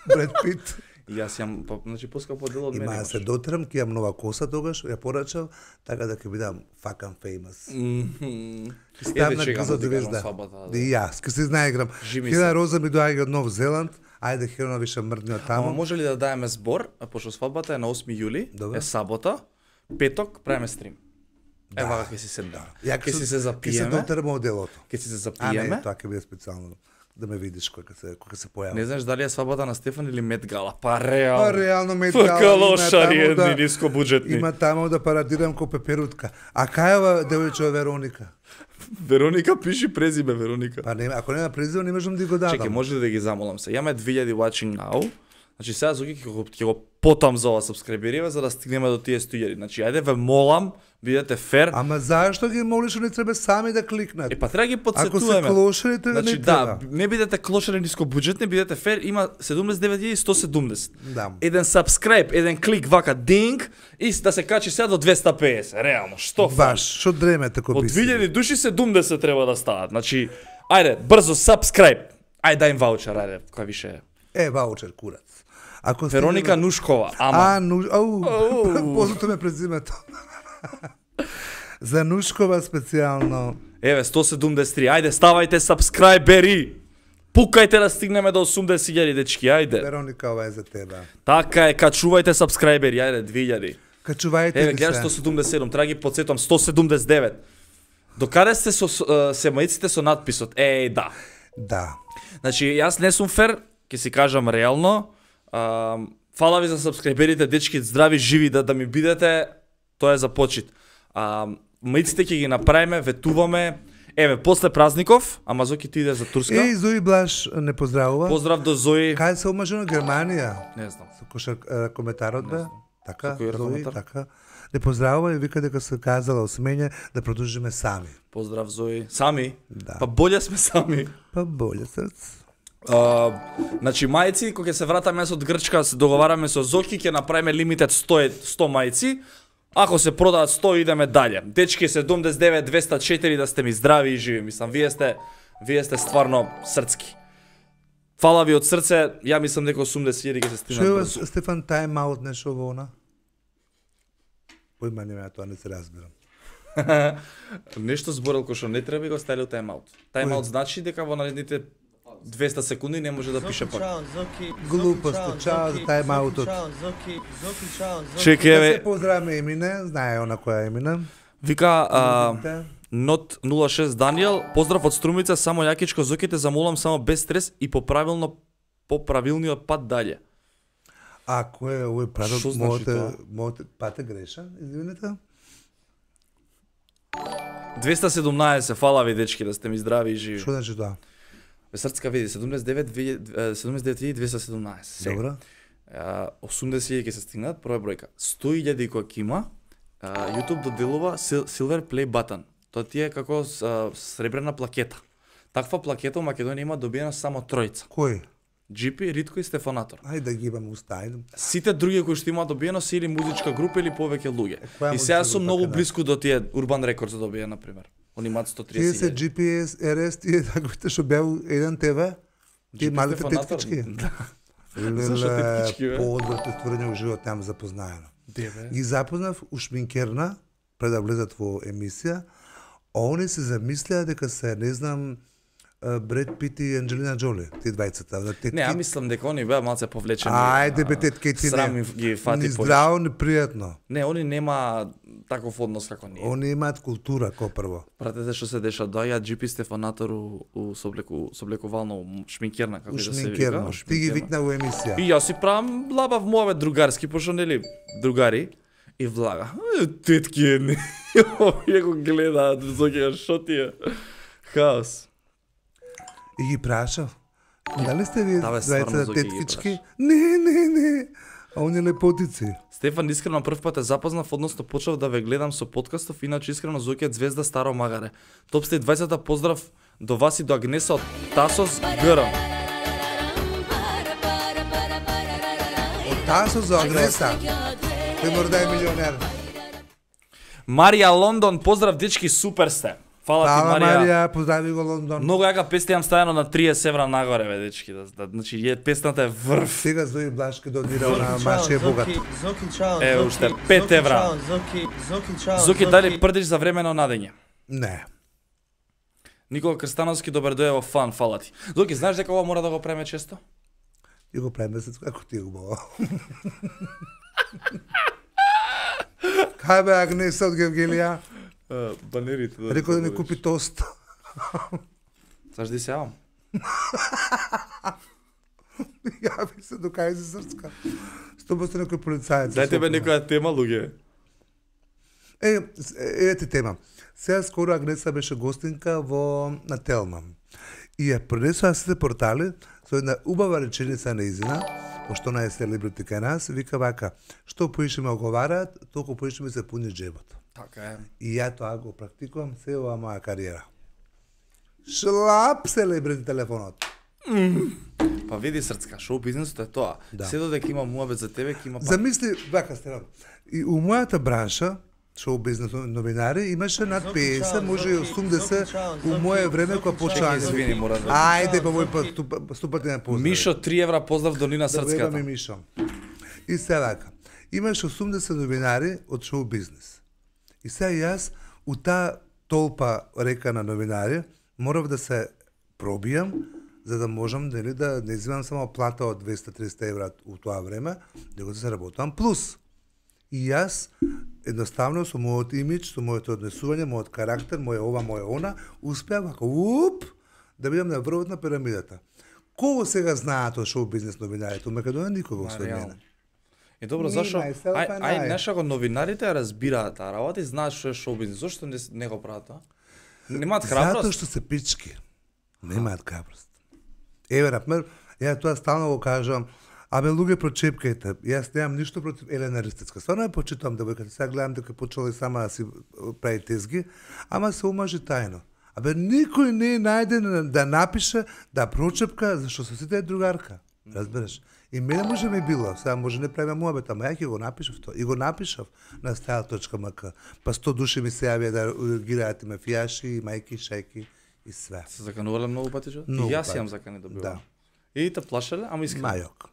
Бред Пит. И јас јам, па, значи поскапо дело од мене. Има да се дотерам, ќе имам нова коса тогаш, ја порачав, така да ќе бидам fucking famous. Мхм. Ставна грзо звезда. И јас, ке се знаиграм. Хелена Роза ми доаѓа од Нов Зеланд, ајде Хелена више мрдни од таму. Ама може ли да даеме збор, пошто свадбата е на осми јули, Добре. е сабота, петок правиме стрим. Да. Ева ќе си се да. Ја Ќе си се Ќе се запиеме. дотерам од делото. Ќе си се А не, запиеме. тоа ќе биде специјално да ме видиш кога се кога се појави. Не знаеш дали е свадбата на Стефан или Мет Гала. Па Па реално. реално ме Фака лошари едни ниско буџетни. Има таму да парадирам ко пеперутка. А кајава девојче Вероника? Вероника пиши презиме Вероника. Па не, ако нема презиво не можам да го дадам. Чекај, може ли да ги замолам се? Јаме две илјади watching now. Значи сега Зоки ќе го, ќе го потам за ова сабскрајбериве за да стигнеме до тие сто илјади. Значи ајде ве молам, бидете фер. Ама зашто ги молиш, не треба сами да кликнат? Е па треба ги Ако се подсетуваме. клошери, тоа Значи не да, треба. не бидете клошери ниско буџетни, бидете фер, има седумдесет и девет илјади сто седумдесет. Да. Еден subscribe, еден клик вака динг и да се качи сега до двеста и педесет. Реално, што фали? Баш, што дремете ко Од би две илјади души седумдесет треба да стават. Значи, ајде, брзо subscribe. Ајде дај им ваучер, ајде, кој више. Е, ваучер курац. Ако Вероника стигнеме- Нушкова, ама А, ну, ау, Ау. познато ме презимето. За Нушкова специјално. еве сто седумдесет и три. Ајде, ставајте subscriberi. Пукајте да стигнеме до осумдесет илјади дечки, ајде. Вероника, ова е за тебе. Така е, качувајте subscriberi, ајде две илјади. Качувајте Еве, ги гледаш се. сто седумдесет и седум, треба ги подсетувам сто седумдесет и девет. Докаде сте со е, семаиците со надписот? Еј, да. Да. Значи, јас не сум фер, ќе си кажам реално. А, фала ви за сабскрајберите, дечки, здрави, живи, да, да ми бидете, тоа е за почит. А, маиците ќе ги направиме, ветуваме. Еве, после празников, ама Зоки ти иде за Турска. Еј, Зои Блаш не поздравува. Поздрав до Зои. Кај се омажено Германија? Не знам. Со кошар коментарот бе? Така, Со кој Зои, коментар? така. Не поздравува и вика дека се казала осмење да продолжиме сами. Поздрав Зои. Сами? Да. Па боле сме сами. Па боле срц. Uh, значи мајци, кога ќе се вратаме од Грчка, се договараме со Зоки, ќе направиме лимитет сто, сто мајци. Ако се продаат сто, идеме дале. Дечки седумдесет и девет двеста и четири, да сте ми здрави и живи. Мислам, вие сте, вие сте стварно срцки. Фала ви од срце, ја мислам дека осумдесет илјади ќе се Што стигнат е брзо. Стефан тайм-аут нешто во она? Појма нема, тоа не се разбирам. Нешто зборел кој што не треба и го ставил тайм-аут. Тайм-аут значи дека во наредните двеста секунди не може да пише пак. Глупост, чао за тайм-аутот. Чекай, Да еве, се поздравиме Емине, знае она која Емине. вика а, Нот нула шест Даниел, поздрав од Струмица, само јакичко Зоките замолам само без стрес и по правилно по правилниот пат дале. А кој е овој пратот? Што значи тоа? Мојте, мојте пат е грешен, извинете. двеста и седумнаесет, фала ви дечки да сте ми здрави и живи. Што значи тоа? Бе срцка види седумдесет и девет седумдесет и девет илјади двеста и седумнаесет. Сега. Добро. А, осумдесет илјади ќе се стигнат, прва бројка. сто илјади кој ќе има, а, YouTube доделува Sil- Silver Play Button. Тоа ти е како а, сребрена плакета. Таква плакета во Македонија има добиена само тројца. Кој? джи пи, Ритко и Стефанатор. Ајде да ги имам устајдам. Сите други кои што имаат добиено се или музичка група или повеќе луѓе. која И сега музичка сум група многу ќе даде? близко до тие Urban Records да добија на пример. Они имаат сто Тие триесет се илјади. джи пи ес, ер ес, тие таковите што беа еден те ве? Тие малите Стефанатор? теткички? Да. Зашо теткички, бе? Поодбрато створење во живот нема запознаено. Деве. Ги запознав у шминкерна, пред да влезат во емисија, а они се замислеа дека се, не знам, Бред Пит и Анджелина Джоли, тие двајцата. Да, Не, ја мислам дека они беа малце повлечени. Ајде бе, а, тетке, ти Срам не. им ги фати Ни повеќе. здраво, ни пријатно. Не, они нема таков однос како ние. Они имаат култура, ко прво. Пратете што се деша, доаѓа джи пи Стефанатор у, у соблеку, соблекувално у шминкерна, како У и да се шминкерно. вика. у Ти ги шминкерна. викна во емисија. И јас си правам лабав мове другарски, пошто нели другари и влага. «Е, тетки едни. Ја го гледаат, зоќа шо ти е. Хаос. И ги прашав. Дали сте вие Да, бе, стварно, двајцата Зоки ги теткички? Не, не, не. А они лепотици. Стефан, искрено прв пат те запознав, односно почнав да ве гледам со подкастов, иначе искрено Зоки звезда Старо Магаре. Топ сте двајцата поздрав до вас и до Агнеса од Тасос Грм. Од Тасо за Агнеса. Тој мора да е милионер. Марија Лондон, поздрав дечки, супер сте. Фала ти, Фала Марија. Марија, поздрави го Лондон. Многу јака песна имам ставено на триесет евра нагоре, бе, дечки. Да, да, значи, е, песната е врв. Сега Зои Блашки донирал на Zoki, Машије ciao, Богат. Zoki, Zoki, ciao, Е, Zoki, уште пет Zoki, евра. ciao, Zoki, Zoki, ciao, Зоки, дали прдиш за време на надење? Не. Никола Крстановски, добар дојде во фан, фала ти. Зоки, знаеш дека ова мора да го преме често? И го правим месец, како ти го бава. Кај бе Агнеса од Гевгелија? Банерите. Рекол да ни купи тост. Знаеш да се јавам? Јави се до кај си Срцка. Сто поsto некој полицаец. Дајте бе некоја тема, луѓе. Е, е, е ти тема. Сега скоро Агнеса беше гостинка во на Телма. И ја пренесува сите портали со една убава реченица неизина, пошто она е селебрити кај нас, вика вака, што поише ме оговараат, толку поише ми се пуни джебот. Така е. И ја тоа го практикувам се ова моја кариера. Шлап селебрити телефонот. Па види Срцка, шоу бизнисот е тоа. Да. Се додека има муабет за тебе, ќе има пак. Замисли, вака Стефан, и у мојата бранша, шоу бизнес новинари, имаше над петдесет, може и осумдесет у моје време кога почнаа. Чекај, извини, мора да. Ајде по мој пат, ступа- ступате на поздрав. Мишо, три евра поздрав до Нина Да ми Срцката. Мишо. И сега вака, имаше осумдесет новинари од шоу бизнес. И сега јас, у таа толпа река на новинари, морав да се пробијам, за да можам дали да не земам само плата од двеста до триста евра у тоа време, него да се работам плюс. И јас, едноставно, со мојот имидж, со моето однесување, мојот карактер, моје ова, моје она, успеав вака, уп, да бидам на врвот на пирамидата. Кого сега знаат од шоу бизнес новинарите? У Македонија никого Ма, освен реално. мене. И добро, Me, зашо? myself Ај, and ај, I. нешто го новинарите ја разбираат таа работа и знаат што е шоу бизнес. Зошто не, не го прават тоа? Немаат Затоа храброст? што се пички. Немаат храброст. Еве, например, ја тоа стално го кажам, абе луѓе прочепкајте. Јас немам ништо против Елена Ристецка. Стварно ја почитувам девојката. Сега гледам дека почела и сама да си прави тезги, ама се омажи тајно. Абе никој не е најден да напише, да прочепка, зашто со сите е другарка. Разбереш? И мене може ми било, сега може не правиме муабет, ама ја ќе го напишав тоа. И го напишав на style точка ем ка. Па сто души ми се јавија да ургираат и мафијаши, и мајки, шајки и све. Се заканувале многу пати, што? И Многу јас пати. имам закани добивам. Да. И те плашеле, ама искрено. Мајок.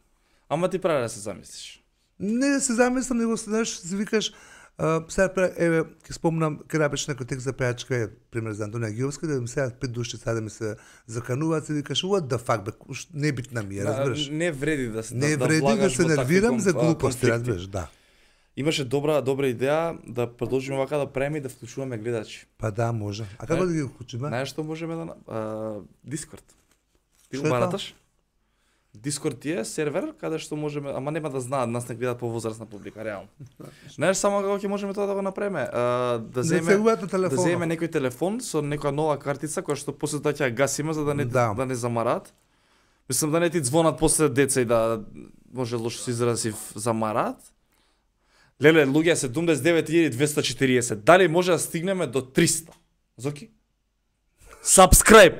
Ама ти прави да се замислиш. Не се замислам, него знаеш, си викаш, а, сега пре- еве ќе спомнам кај напиш некој текст за пејачка, е пример за Антонија Гиовска, да ми сега пет души сега да ми се закануваат, си викаш what the fuck бе, уш- небитна ми е, разбираш. Не вреди да се Не да, вреди да влагаш се во такви нервирам кон- за а, глупости, конфликти. разбираш, да. Имаше добра добра идеја да продолжиме вака да правиме и да вклучуваме гледачи. Па да, може. А како Не. да ги вклучиме? Знаеш што можеме да на- а, Дискорд. Ти Што го е тоа? бараташ? Дискорд ти е сервер каде што можеме, ама нема да знаат, нас не гледаат повозрасна публика, реално. Знаеш само како ќе можеме тоа да го направиме? А, да Не земе се угат на да телефонот. земеме некој телефон со некоја нова картица која што после тоа ќе ја гасиме за да не Да. да, не замараат. Мислам да не ти звонат после деца и да може лошо се изрази замараат. Леле, луѓе, седумдесет и девет илјади двесте и четириесет. Дали може да стигнеме до триста? Зоки? Subscribe.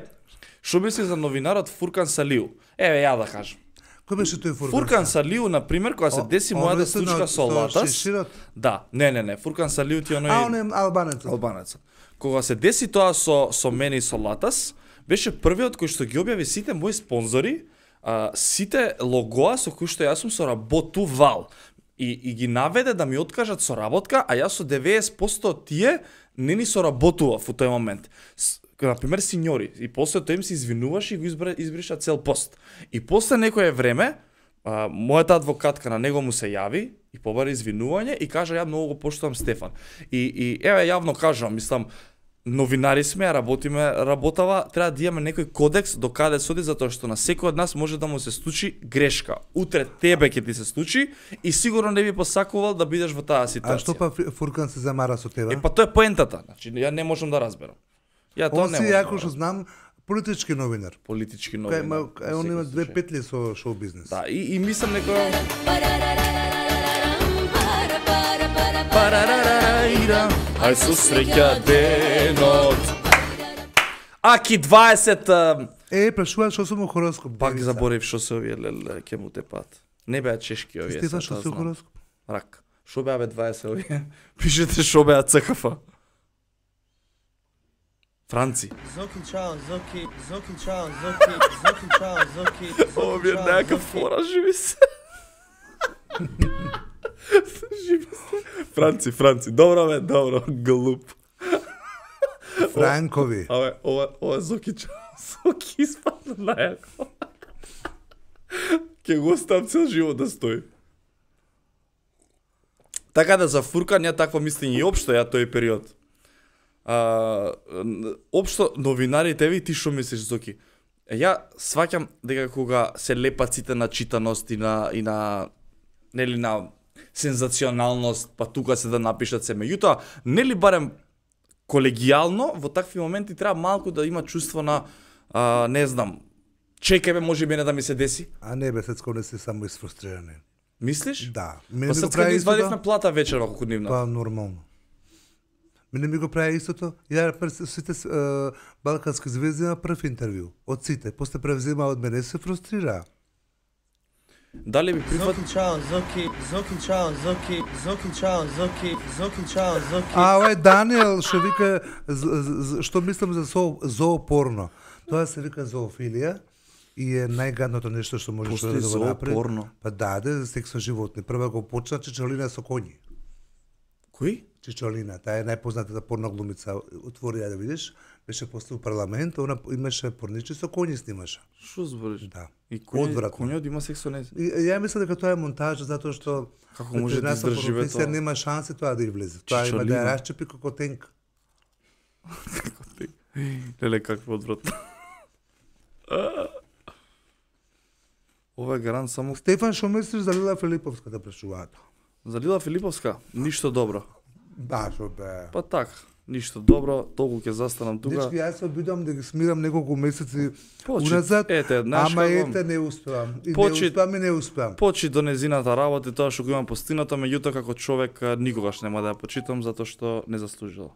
Што мисли за новинарот Фуркан Салиу? Еве ја да кажам. Кој беше тој Фуркан? Фуркан Салиу, на пример, кога се О, деси оној мојата со на- случка со со Латас. шеширот? Да, не, не, не, Фуркан Салиу ти оној А, он е албанецот. албанецот. Кога се деси тоа со со мене и со Латас, беше првиот кој што ги објави сите мои спонзори, а, сите логоа со кои што јас сум соработувал. И, и ги наведе да ми откажат соработка, а јас со деведесет проценти од тие не ни соработував во тој момент. С, например, синьори. И после тоа им се извинуваш и го избра, избриша цел пост. И после некое време, а, мојата адвокатка на него му се јави и побари извинување и кажа ја многу го поштувам Стефан. И, и еве јавно кажувам, мислам, новинари сме, работиме работава, треба да имаме некој кодекс до каде соди, затоа што на секој од нас може да му се случи грешка. Утре тебе ќе ти се случи и сигурно не би посакувал да бидеш во таа ситуација. А што па Фи- Фуркан се замара со тебе? Е, па тоа е поентата. Значи, ја не можам да разберам. Ја тоа Он не си, можам јако да што разберам. знам, политички новинар. Политички Кај, новини. ма, кај, он има две петли со шоу бизнес. Да, и, и мислам некоја... Ај со среќа денот. Аки дваесет... а, Е, прашува што сум у хороскоп. Пак Девица. заборев што се овие леле ќе му тепат. Не беа чешки овие. Стефан, сад, што таа си у знам. хороскоп? Рак. Шо беа бе дваесет овие? Пишете шо беа ЦКФ. Франци. Зоки чао, Зоки, Зоки чао, Зоки, Зоки чао, Зоки. Ова ми е некаква фора, живи се. Живи се. Франци, Франци. Добро бе, добро, глуп. Франкови. Абе, ова, ова Зоки чао, Зоки испадна најако. Ке го оставам цел живот да стои. Така да за фурка не такво мислење и општо ја тој период. А, општо новинарите ви ти што мислиш Зоки? Е, ја сваќам дека кога се лепат сите на читаност и на и на нели на сензационалност, па тука се да напишат се, меѓутоа нели барем колегијално во такви моменти треба малку да има чувство на а, не знам, чекај ме, може би не да ми се деси. А не бе, сецко не си само изфрустрирани. Мислиш? Да. Па сега да извадивме плата вечерва колку нивна. Па нормално. Мене ми го прави истото. Ја пред сите е, балкански звезди на прв интервју. Од сите. После превзема од мене се фрустрира. Дали би прифат... Зоки чао, Зоки, Зоки чао, Зоки, Зоки чао, Зоки, Зоки чао, Зоки. А, ова е Даниел што вика, з- з- што мислам за зоо, зоопорно. Тоа се вика зоофилија и е најгадното нешто што можеш Постои да го направи. зоопорно. Па да, да, за секс со животни. Прва го почна Чичолина со коњи. Кој? Чичолина, таа е најпознатата порно глумица. Отвори ја да видиш, беше после парламент, она имаше порничи со коњи снимаше. Што збориш? Да. И кој Одвратно. коњот има секс со нејзе? И, ја мислам дека тоа е монтажа затоа што Како може да ветеринарска издржи бе професија тоа? нема шанси тоа да ја влезе. Тоа има да Чичолина. ја расчепи како тенк. Леле, какво одвратно. Ова е гарант само Стефан, што мислиш за Лила Филиповска да прашуваат? за Лила Филиповска. Ништо добро. Да, што бе. Па така, ништо добро, толку ќе застанам тука. Дечки, јас се обидам да ги смирам неколку месеци Почит, уназад, ете, знаеш ама како? ете не успеам. И Почит- не успеам и не успеам. Почит до незината работа и тоа што го имам постигнато, меѓутоа како човек а, никогаш нема да ја почитам затоа што не заслужила.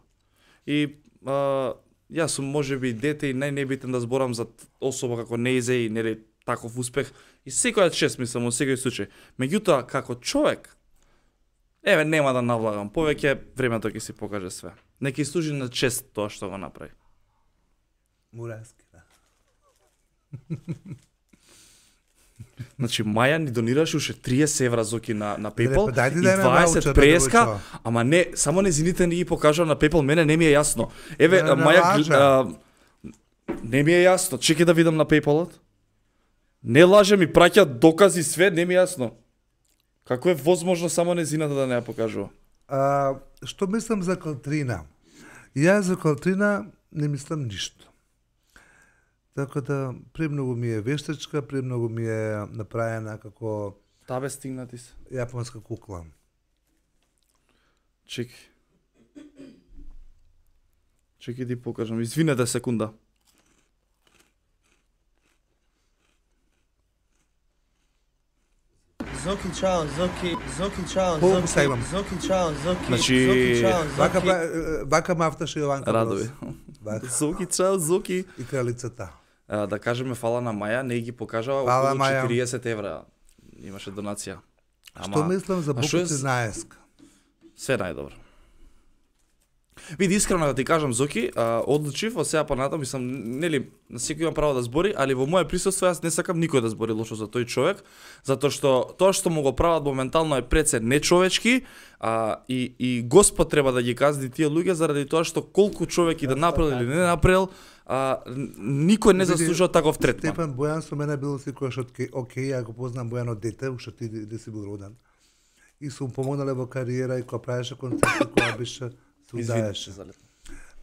И а, јас сум можеби дете и најнебитен да зборам за т- особа како неизе и нели таков успех и секоја чест мислам во секој случај. Меѓутоа како човек еве нема да навлагам, повеќе времето ќе си покаже све. Нека служи на чест тоа што го направи. Мураски, да. Значи Маја ни донираше уште триесет евра Зоки на на PayPal па дајте и да ја дваесет научат, преска, да ама не, само незините не ги покажа на PayPal, мене не ми е јасно. Еве Не, не Маја лажа. а, не ми е јасно. Чекај да видам на PayPal-от. Не лаже, ми праќа докази све, не ми е јасно. Како е возможно само незината да не ја покажува? А, што мислам за Калтрина? Јас за Калтрина не мислам ништо. Така да, премногу ми е вештачка, премногу ми е направена како Табе стигнати се. јапонска кукла. Чекај. Чекај ти покажам. Извинете секунда. Зоки чао, Зоки, Зоки чао, Колку Зоки, са имам? Зоки чао, Зоки, Значи, Зоки чао, Вака, Зоки. па- вака мафташе Јованка Радови. Брос. Вака. Зоки, чао, Зоки. И кралицата. А, да кажеме фала на Маја, не ги покажава Фала, околу Маја. четириесет евра. Имаше донација. Што мислам за а што е букуци с- наеска? Се најдобро. Види, искрено да ти кажам, Зоки, а, одлучив од сега понатам, мислам, нели, на секој имам право да збори, али во моје присуство јас не сакам никој да збори лошо за тој човек, затоа што тоа што му го прават моментално е пред се нечовечки, а, и, и Господ треба да ги казни тие луѓе заради тоа што колку човек и да направил или не направил, а, н- никој не Види, заслужува таков третман. Стефан Бојан со мене бил секојаш од ке- окей, ја го познам Бојан од дете, уште ти де си бил роден. И сум помогнале во кариера и кога правеше концерти, кога беше се Извини, удаеше. за лето.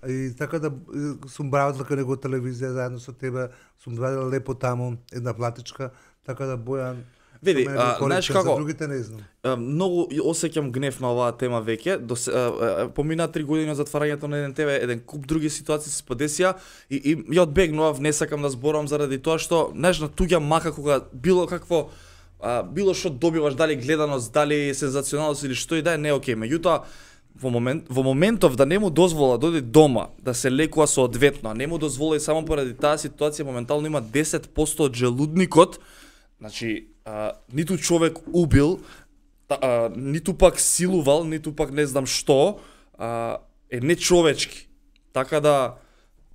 И така да е, сум бравил дека него телевизија заедно со тебе, сум радил лепо таму, една платичка, така да Бојан Види, со мене бил а, знаеш коректен, како? за другите не знам. А, многу и осеќам гнев на оваа тема веќе. До се- а, а, помина три години од затварањето на еден тебе, еден куп други ситуации се подесија и, и ја одбегнував, не сакам да зборам заради тоа што знаеш на туѓа мака кога било какво а, било што добиваш, дали гледаност, дали сензационалност или што и да е, не е окей. Меѓутоа во момент во моментов да не му дозвола да оди дома, да се лекува соодветно, а не му дозвола и само поради таа ситуација моментално има десет проценти од желудникот. Значи, а, ниту човек убил, та, а, ниту пак силувал, ниту пак не знам што, а, е нечовечки. Така да,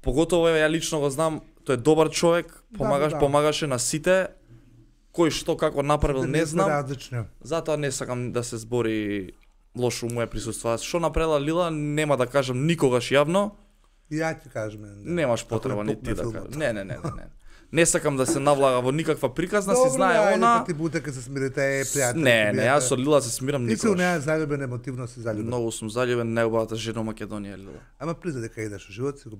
поготово ја лично го знам, тој е добар човек, помагаш, да. помагаше на сите, кој што како направил не знам. Различно. Затоа не сакам да се збори лошо моје присуство. Што направила Лила, нема да кажам никогаш јавно. Ја ти кажеме. Немаш потреба ни Ако е ти да филмот. кажеш. Не, не, не, не, не. Не сакам да се навлага во никаква приказна, си знае Добро, она. ајде, ти бутека се смирите, е пријател. Не, не, јас со Лила се смирам Ти си у никогаш. неа заљубен, емотивно си заљубен. Многу сум заљубен, најубавата жена во Македонија Лила. Ама призна дека идеш во живот си го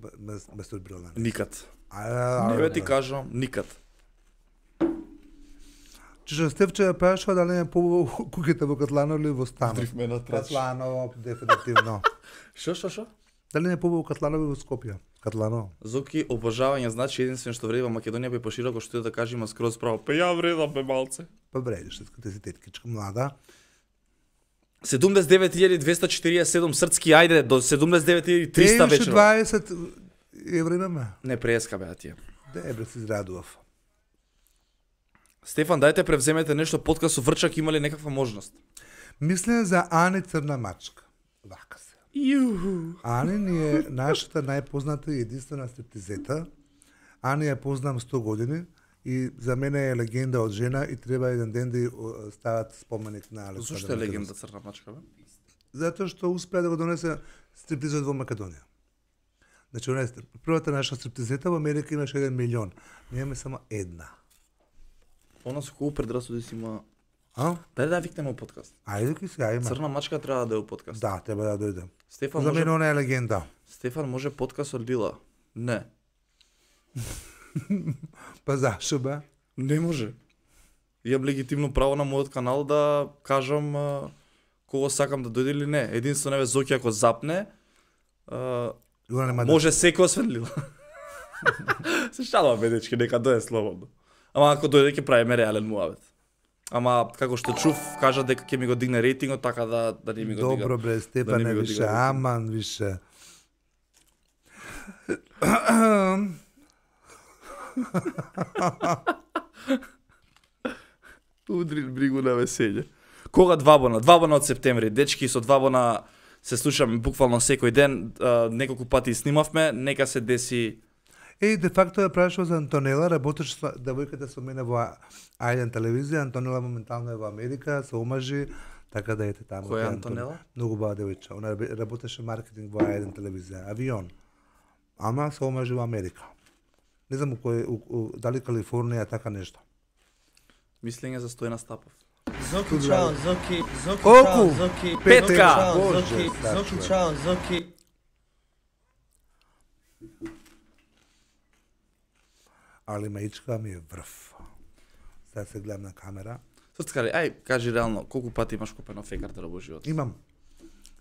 мастурбирал на неа. Никад. А, Не бе ти кажам, никад. Че Стефче ја прашува дали не побаво куќите во Катланово или во станот. Дрифме на трач. Катланово, дефинитивно. Шо, шо, шо? Дали не побаво Катланово во Скопје? Катланово. Зоки, обожавање значи единствено што вреди во Македонија бе пошироко што и да кажи има скроз право. Па ја вредам бе малце. Па бредиш, ти си теткичка млада. седумдесет и девет илјади двесте четириесет и седум срцки, ајде, до седумдесет и девет илјади триста Евише вечера. дваесет евра имаме. Не преска бе, а тие. Дебре си израдував. Стефан, дајте превземете нешто подкаст со Врчак, има ли некаква можност? Мислеме за Ани Црна мачка. Вака се. Јуху. Ани ни е нашата најпозната и единствена стриптизета. Ани ја познам сто години и за мене е легенда од жена и треба еден ден да ја о, стават споменик на Александра. Зошто е легенда Црна мачка, бе? Затоа што успеа да го донесе стриптизот во Македонија. Значи, она е стрип- првата наша стриптизета во Америка имаше еден милион. Ние имаме само една. Она со колку предрасуди си има. А? Дај да ја викнеме у подкаст. Ајде ки сега има. Црна мачка треба да е у подкаст. Да, треба да дојде. Стефан За може мене она е легенда. Стефан може подкаст од Лила. Не. Па зашо бе? Не може. Имам легитимно право на мојот канал да кажам а, кого сакам да дојде или не. Единствено еве Зоки ако запне, а, Она нема да. може секој освен Лила. Се шалам бе дечки, нека дојде слободно. Ама ако дојде ќе правиме реален муабет. Ама како што чув, кажа дека ќе ми го дигне рейтингот, така да да не ми го дига. Добро бре, Да не Степане, ми го више, дига. аман, више. Удри бригу на веселје. Кога двабона? Двабона од септември. Дечки, со двабона се слушаме буквално секој ден, а, неколку пати снимавме, нека се деси. Еј, де факто ја прашува за Антонела, работеше со девојката со мене во Ајден телевизија, Антонела моментално е во Америка, се омажи, така да ете таму. Која е Антон- Антонела? Многу бава девојче. Она рабе- работеше маркетинг во Ајден телевизија, авион. Ама се омажи во Америка. Не знам у кој, у, у, дали Калифорнија, така нешто. Мислење за Стојна Стапов. Zoki Чао, Zoki, Zoki Колку? Чао, Zoki, Петка! Zoki Чао, Боже, Zoki, стаче. Zoki Чао, Zoki. Али маичка ми е врв. Сега се гледам на камера. Срцкари, ај, кажи реално, колку пати имаш купено фекартера во живот? Имам.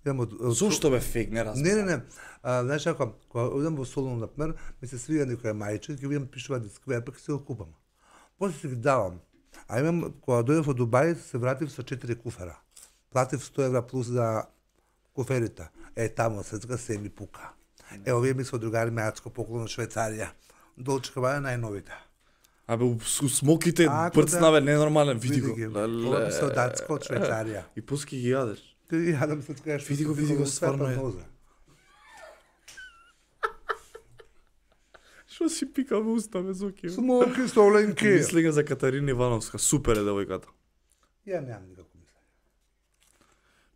Имам од, од Зошто бе фейк, не разбирам. Не, не, не. А, знаеш ако, кога одам во Солун, например, ми се свија некоја мајче, ќе видам пишува дисквер, пак се го купам. После си ги давам. А имам, кога дојдов од Дубај, се вратив со четири куфера. Платив сто евра плюс за куферите. Е, тамо, сецка се ми пука. Е, овие ми со другари ме ацко поклон од Швајцарија. Долчка баја најновите. Абе, у с- у смоките Ако прцна да- бе, ненормален, види го. ги. Леле. Ова ми се од Датска, од Швајцарија. И пуски ги јадеш. Ти јадам се така што Види го, си види го, во стварно света е. ноза. Што си пика во уста, бе, Зоки? Смоки, соленки. Мислење за Катарина Ивановска, супер е девојката. Ја немам никако мислење.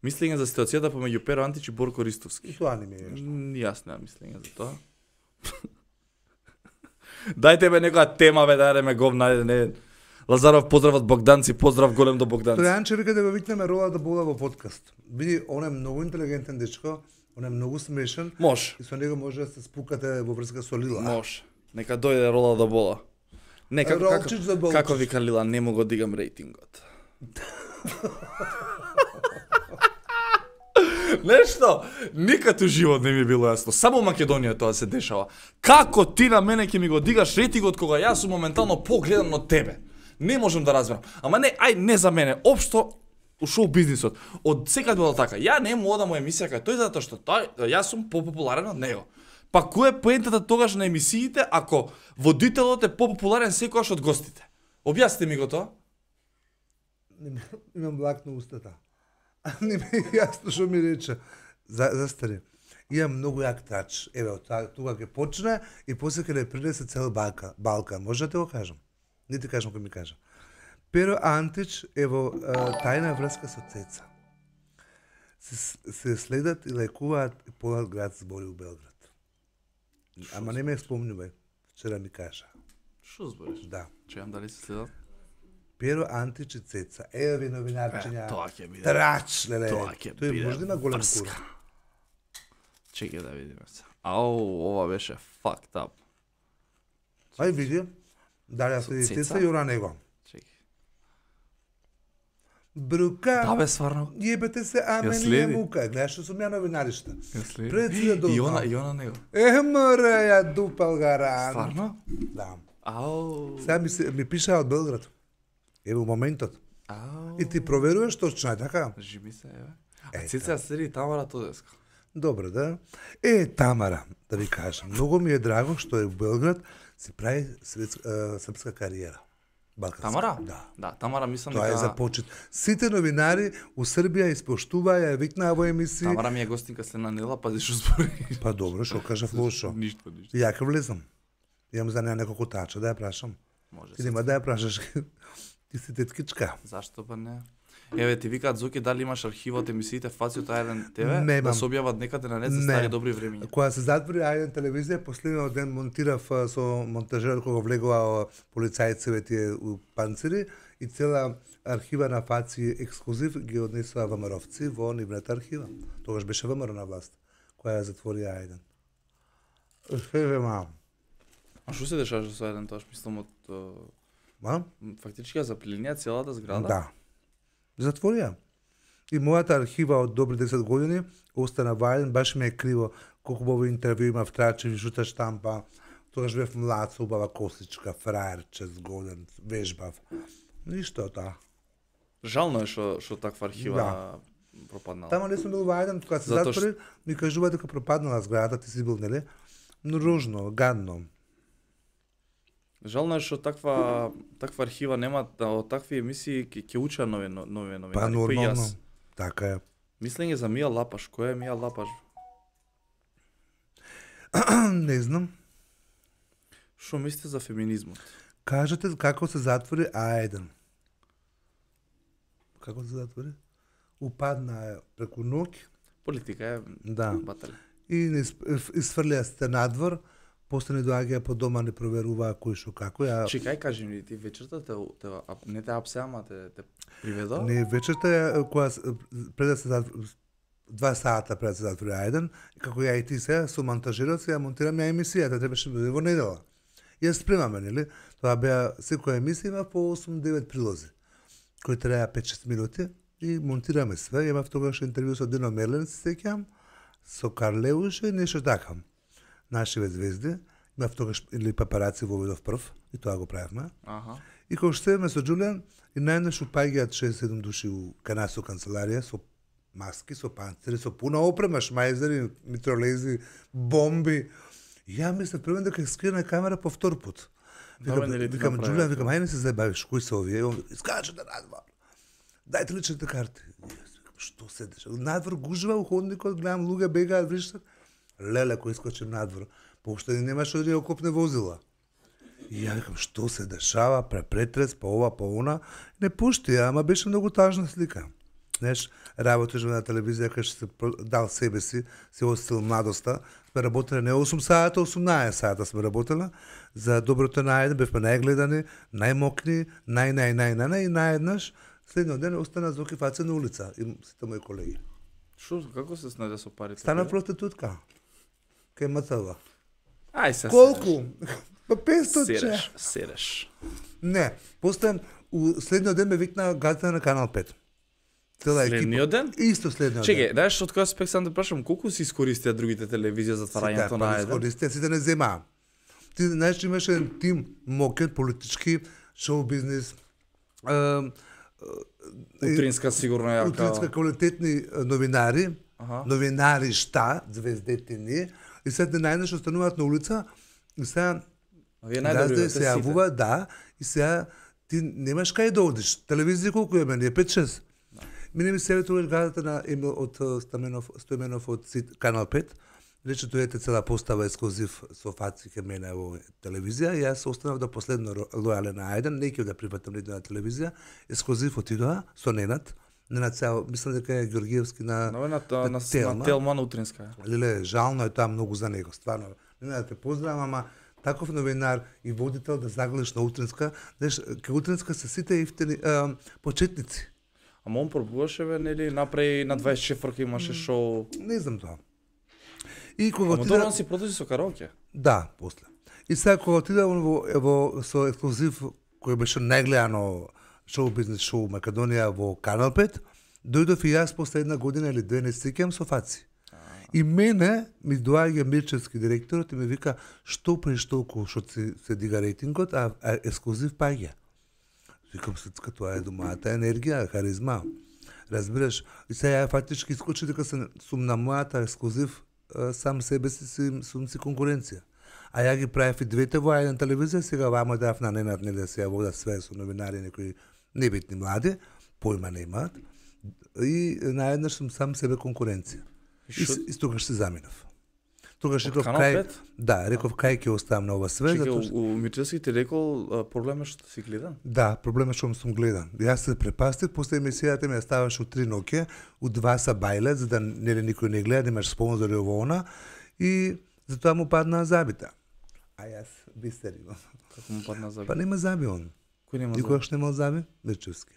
Мислење за ситуацијата помеѓу Перо Антич и Борко Ристовски. И тоа не ми е нешто. М, Јас немам мислење за тоа. Дајте бе некоја тема, бе, дајте ме говна, ајде, не. Лазаров, поздрав од Богданци, поздрав голем до Богданци. Тројанче вика да го викнеме Рола да бола во подкаст. Види, он е многу интелигентен дечко, он е многу смешен Може, и со него може да се спукате во врска со Лила. може. Нека дојде Рола да бола. Не, како, Ролчич за како, болчич. како вика Лила, не му го дигам рейтингот. Нешто, никад у живот не ми е било јасно. Само у Македонија тоа се дешава. Како ти на мене ќе ми го дигаш рейтингот кога јас сум моментално погледан од тебе? Не можам да разберам. Ама не, ај не за мене, општо у шоу бизнисот. Од секад било така. Ја не му одам у емисија кај тој затоа што тој јас сум попопуларен од него. Па кој е поентата тогаш на емисиите ако водителот е попопуларен секогаш од гостите? Објасните ми го тоа. Не ми- Имам влак на устата. А не ми е јасно што ми рече. За, застари. Имам многу јак трач. Еве, од тука ќе почне и после ќе не принесе цел Балкан. Балкан. Може да те го кажам? Не ти кажам кој ми кажа. Перо Антич е во тајна врска со Цеца. Се, се следат и лекуваат и полат град збори у Белград. Ама не ме спомнувај. Вчера ми кажа. Што збориш? Да. Чујам дали се следат? Перо Антич и Цеца. Еве ви новинарчиња. Е, тоа ќе биде. Трач, леле. Тоа ќе Тој биде може да има голем врска. кур. Чекај да видиме се. Ау, ова беше fucked up. Ај види. Дали Со се Цеца? Цеца и ора него. Чекај. Брука. Да бе, стварно. Јебете се, а Ја мене следи. ја мука. Гледаш што сум ја новинаришта. Ја следи. Пред си да И она, долго. и она него. Е, мора ја дупал гаран. Стварно? Да. Ау. Сега ми, се, ми пишаа од Белград. Еве у моментот. Ау. И ти проверуваш точно, е така? Живи се, еве. Е, А Цеца ја следи Тамара Тодеска. Добро, да? Е, Тамара, да ви кажам, многу ми е драго што е у Белград, си прави светска, е, српска кариера. Балканска. Тамара? Да. Да, Тамара мислам Тоа е дека за почет. Сите новинари у Србија испоштуваа, ја викнаа во емисии. Тамара ми е гостинка след нела, пази што збори. Па добро, што кажав лошо. Ништо, ништо. Ја ќе влезам. Имам за неа неколку тача, да ја прашам. Може Ти се. нема да ја прашаш. Ти си теткичка. Зашто па не? Еве ти викаат Зоки дали имаш архива од емисиите Фаци од Ајден ТВ да Немам. се објават некаде на нет за Не. стари добри времиња. Кога се затвори Ајден телевизија, последниот ден монтирав а, со монтажерот кога влегува полицајците тие у панцири и цела архива на Фаци ексклузив ги однесува ВМРО-вци во нивната архива. Тогаш беше ВМРО на власт, која ја затвори Ајден. Еве мам. А што се дешаваше со Ајден тоа? Мислам од uh, Мам? фактички ја заплилинија целата зграда. Да. Затворија. И мојата архива од добри десет години остана во Ајден, баш ми е криво колку убави интервју имав, трачеви, жута штампа. Тогаш бев млад, со убава косичка, фраерче, згоден, вежбав. Ништо од тоа. Жално е што што таква архива Да. пропаднала. Тама не сум бил во Ајден, кога се Затоа затвори, ми кажува дека пропаднала зградата, ти си бил, нели? Но ружно, гадно. Жално е што таква таква архива нема да, од такви емисии ќе ќе уча нови нови новинари. Па кои нормално. јас. Така е. Мислење за Мија Лапаш, која е Мија Лапаш? Не знам. Што мислите за феминизмот? Кажете како се затвори Ајден. Како се затвори? Упадна е преку ноќ. Политика е Да. батали. И не изфрлија сте надвор, после не доаѓаа по дома, не проверуваа кој што како. Ја... Чекај, кажи ми, ти вечерта те, те ап- не те апсе, ама те, те приведо? Не, вечерта ја, кога с- пред да се затвори, два сата пред да се затвори Ајден, и како ја и ти се, со монтажерот се ја монтирам ја емисијата, требаше да биде во недела. Ја спремаме, нели? Тоа беа, секоја емисија има по осум-девет прилози, кои траја пет-шест минути, и монтираме све. Имав тогаш интервју со Дино Мерлен, се сеќам, со Карлеуш и нешто така. Нашиве звезди, имав тогаш или папараци во Видов прв, и тоа го правевме. Аха. И кога што седеме со Џулијан, и најнаш упаѓаат шест-седум души у канасо канцеларија, со маски, со панцири, со пуна опрема, шмајзери, митролези, бомби. И ја мислев првен дека ќе скрине камера по втор пат. Добре, Викам, нели ти викам направи? Џулијан, викам, ајде не се забавиш, кои се овие? И он искачате надвор. Дајте личните карти. И јас викам, што се деша? Надвор гужва у ходникот, гледам луѓе бегаат, вришат. Леле, кој искочим надвор. Поуште немаше да ја окопне возила. И ја викам, што се дешава, препретрес, па ова, па она. Не пушти ја, ама беше многу тажна слика. Знаеш, работиш на телевизија, кај што се про- дал себе си, се остил младоста. Сме работеле не осум сата, осумнаесет сата сме работеле. За доброто на Ајден бевме најгледани, најмокни, нај, нај, нај, нај, нај, и наеднаш, следниот ден остана Зоки Фаци на улица, и сите мои колеги. Шо, како се снајде со парите? Стана проститутка. Кај МЦВ. Ај се. Колку? Па петстотин. Сереш, сереш. Не, после у следниот ден ме викна газда на Канал пет. Цела екипа. Следниот ден? Исто следниот Чекај, ден. знаеш од кој аспект сам да прашам, колку си искористија другите телевизија за тварањето на Ајден? Сите, сите не земаа. Ти знаеш, че имаше еден тим мокен, политички, шоу бизнес, е, Утринска сигурно јака. утринска квалитетни новинари, Аха. новинари шта, звездете ни, и сега најнаш остануваат на улица, и сега А вие газда најдобри се јавува, да, и сега ти немаш кај да одиш. Телевизија колку е мене, пет-шест. Мине ми себе тогаш газата на Емил од Стаменов, Стојменов од Сит, Канал пет, рече дојдете цела постава ексклузив со Фаци ке мене во телевизија, и јас останав до последно лојален на Ајден, не ќе да прифатам ниту на телевизија, ексклузив отидоа со Ненад, Ненад цел, мислам дека е Ѓоргиевски на на на, на, на, Телма. на Телма на утринска. Леле, жално е тоа многу за него, стварно. Ненад, те поздравам, ама таков новинар и водител да загледаш на утринска, знаеш, ке утринска се сите ифтени а, почетници. Ама он пробуваше бе, нели, направи на дваесет четвртка имаше шоу. Не знам тоа. И кога Ама отида... тоа он си продолжи со караоке. Да, после. И сега кога отида во, во со ексклузив кој беше најгледано шоу бизнес шоу Македонија во Канал пет, дојдов и јас после една година или две не сеќам со Фаци. И мене ми доаѓа Мирчевски директорот и ми вика што преш толку што се, се дига рейтингот, а, а ексклузив паѓа. Викам сецка, тоа е домаата енергија, харизма. Разбираш? И сега ја фактички искочи дека сум на мојата ексклузив сам себе си сум си конкуренција. А ја ги правев и двете во една телевизија, сега вамо дав на Ненад, нели да се ја водат све со новинари, некои небитни млади, појма немаат. И наеднаш сум сам себе конкуренција. И, и тогаш се заминав. Тогаш реков кај, да, реков кај ќе оставам на ова све. Чекай, затоа што... у Мирчевски ти рекол проблемот што си гледан? Да, проблемот што сум гледан. Јас се препастив, после емисијата ми ја ставаш у три ноќе, у два са бајле, за да нели никој не гледа, немаш спонзори во она, и затоа му падна забита. А јас бистеривам. Како му падна заби? Па нема заби он. Кој нема заби? Никогаш нема заби? Мирчевски.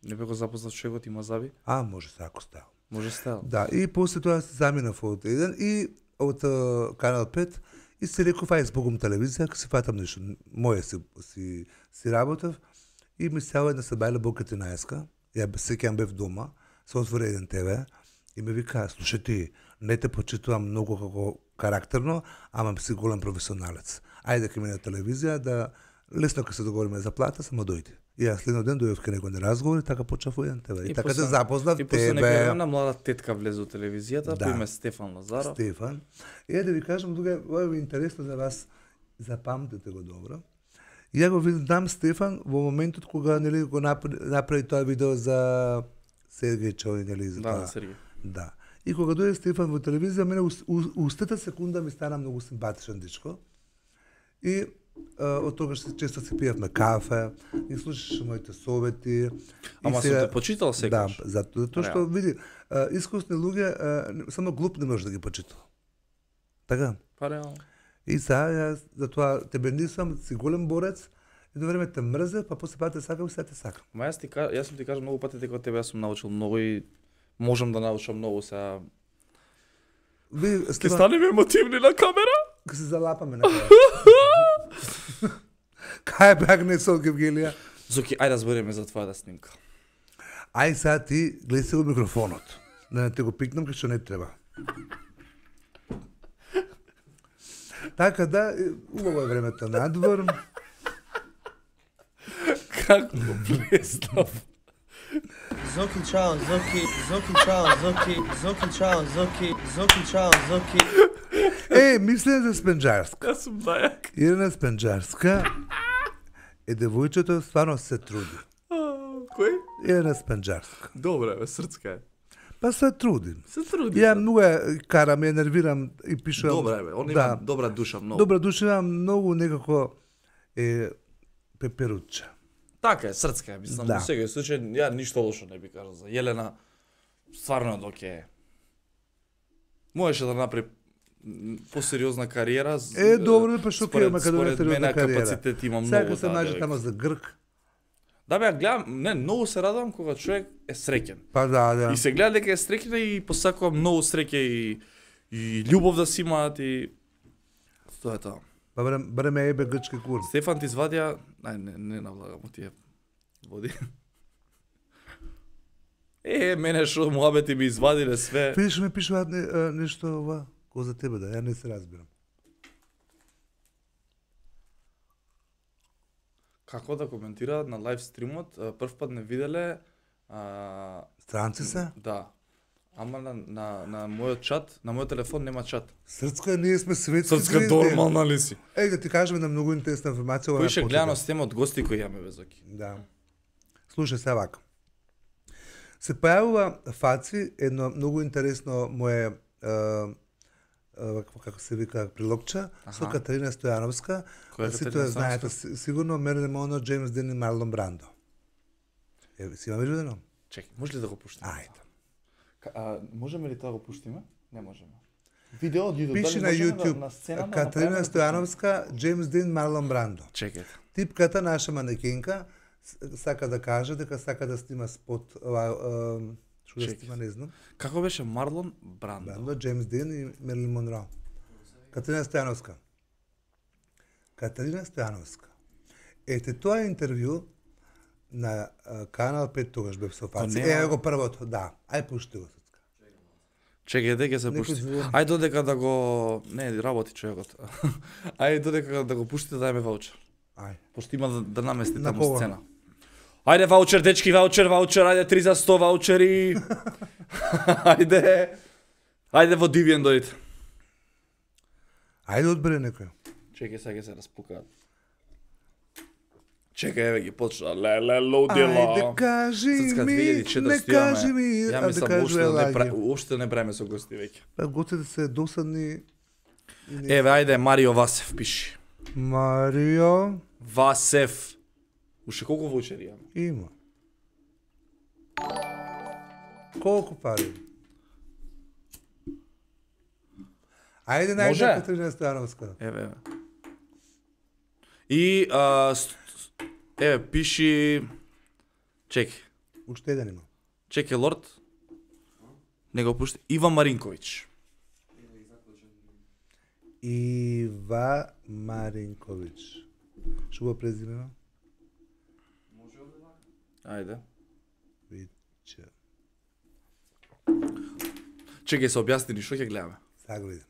Не бе го запознат човекот има заби? А, може се ако става. Може става. Да, и после тоа се заминав од еден и од uh, Канал пет и се реков ај збогом телевизија, ќе се фатам нешто, моје си, си, си работав и ми става една се бајле Бока тринаесетка, ја сеќам бев дома, се отвори еден те ве и ме вика, слушај ти, не те почитувам многу како карактерно, ама си голем професионалец. Ајде ке мине телевизија да лесно ке се договориме за плата, само дојди. И јас следно ден дојдов ке некој на разговор и така почнав во еден те ве. И, и така те запознав и тебе. И после некоја една млада тетка влезе во телевизијата, да. по име Стефан Лазаров. Стефан. И е да ви кажам, дуга, ова е интересно за вас, запамтете го добро. И ја го видам Стефан во моментот кога нели го направи, направи тоа видео за Сергеј Чови, нели за да, тоа. Сергеј. Да. И кога дојде Стефан во телевизија, мене устата секунда ми стана многу симпатичен дечко. И Uh, од тогаш често се пиевме кафе, и слушаше моите совети. Ама сега... се те почитал секогаш? Да, затоа зато што види, uh, искусни луѓе uh, само глуп не може да ги почитува. Така? Па реално. И сега јас затоа тебе нисам, си голем борец, едно време те мрзе, па после пат те сакам и сега те сакам. Ма јас ти јас сум ти кажал многу пати дека од тебе јас сум научил многу и можам да научам многу сега. Ви, Ке Стефан, станеме емотивни на камера? ке се залапаме на крај. Кај беа не од Гевгелија? Зоки, ајде да збориме за твојата снимка. Ај сега ти гледај се го микрофонот. Да не те го пикнам кај што не треба. Така да, убаво е времето надвор. Како го представ? Зоки чао, Зоки, Зоки чао, Зоки, Зоки чао, Зоки, Зоки чао, Зоки. Е, мислам за Спенџарска. Јас сум дајак. Ирена Спенџарска е девојчето стварно се труди. Кој? Ирена Спенџарска. Добре, бе, срцка е. Па се труди. Се труди. Ја многу е карам, ја нервирам и пишувам. Добре, бе, он да. има добра душа многу. Добра душа има многу некако е пеперучче. Така е, срцка е, мислам, Да. во секој случај ја ништо лошо не би кажал за Јелена. Стварно е доке. Можеше да направи м, посериозна кариера. з- Е, добро, па што според- ќе Македонија според мене сериозна кариера. капацитет има Сега многу. се да, најде девојка. тамо за Грк. Да бе, ја гледам, не, многу се радувам кога човек е среќен. Па да, да. И се гледа дека е среќен и посакувам многу среќа и и љубов да си имаат и тоа е тоа. Па барем, барем ја ебе грчки кур. Стефан ти извадија, ај не не навлагам од тие води. Е, мене шо муабети ми извадиле све. Видиш ми пишуваат не, а, нешто ова, ко за тебе да, ја не се разбирам. Како да коментираат на лайв стримот, а, прв пат не виделе а, Странци се? да. Ама на, на, на мојот чат, на мојот телефон нема чат. Срцка, ние сме светски Срцка звезди. нормална ли си? Еј, да ти кажеме на многу интересна информација. ова Кој на ше почеток. гледано с тема од гости кои јаме безоки. Да. Слушај се вака. Се појавува Фаци едно многу интересно мое е, вакво како се вика прилогча, со Катерина Стојановска. Која е Сите Катерина ја знаете си- сигурно Мерлин Монро, Джеймс Дин и Марлон Брандо. Е, си имаме видено? Чекай, може ли да го пуштиме? Ајде. Ка- А, можеме ли тоа да го пуштиме? Не можеме. Видео од YouTube, Пише дали на можеме YouTube да, на сцена да Катерина направиме? Стојановска, Джеймс Дин, Марлон Брандо. Чекайте. Типката наша манекенка с- сака да каже дека сака да снима спот, ова, а, што да Чекай. снима, не знам. Како беше Марлон Брандо? Брандо, Джеймс Дин и Мерлин Монро. Катерина Стојановска. Катерина Стојановска. Ете, тоа е интервју на а, Канал пет, тогаш бев со Па фаци. нема- Еве го првото, да. Ај пушти го Цецка. Чекајте, ќе се Некој пушти. звон. Ајде додека да го... Не, работи човекот. Ајде додека да го пуштите, дајме ваучер. Ај. Пошто има да, да намести На таму кого? сцена. Ајде ваучер, дечки, ваучер, ваучер, ајде три за сто ваучери. Ајде. Ајде во Дивиен дојдете. Ајде одбери некој. Чекај, сега ќе се распукаат. Чекај, еве ги почна. Леле, лудила. Ајде кажи Ццка, ми, две илјади и четиристотини не кажи ми, Ја а да мислам, кажу уште не, пра... елаги. уште не правиме со гости веќе. Па готите се досадни. и не- Еве, ајде, Марио Васев пиши. Марио Васев. Уште колку ваучери имаме? има. Колку пари? Ајде најде Може? Катерина Стојановска. Еве, еве. И, а, с- с- еве, пиши... Чеки, Уште еден има. чеки, лорд. Не го пушти. Ива Маринковиќ. Ива Маринковиќ. Што го презиме? Ајде. Виче. Чекај се објасни ни, што ќе гледаме? Сега го видам.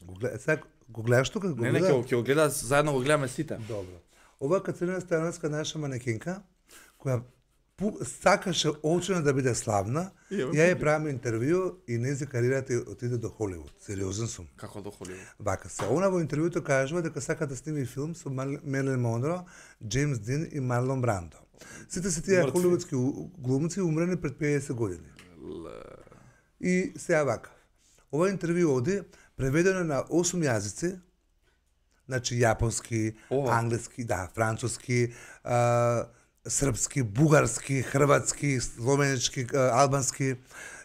Го гледа, сега го гледаш тука? Го Не, не, гледа? ќе го- ќе го гледа, заедно го гледаме сите. Добро. Ова Катерина Стојановска наша манекенка, која пу, сакаше очено да биде славна, Ја, ја ја правиме интервју и нејзи кариерата ја отиде до Холивуд. Сериозен сум. Како до Холивуд? Вака се. Она во интервјуто кажува дека сака да сними филм со Мар- Мерлин Монро, Джеймс Дин и Марлон Брандо. Сите се тие Мртви. холивудски у- глумци умрени пред педесет години. И сега вака. Ова интервју оди преведено на осум јазици, значи јапонски, Ова. англиски, да, француски, а, српски, бугарски, хрватски, словенички, а, албански.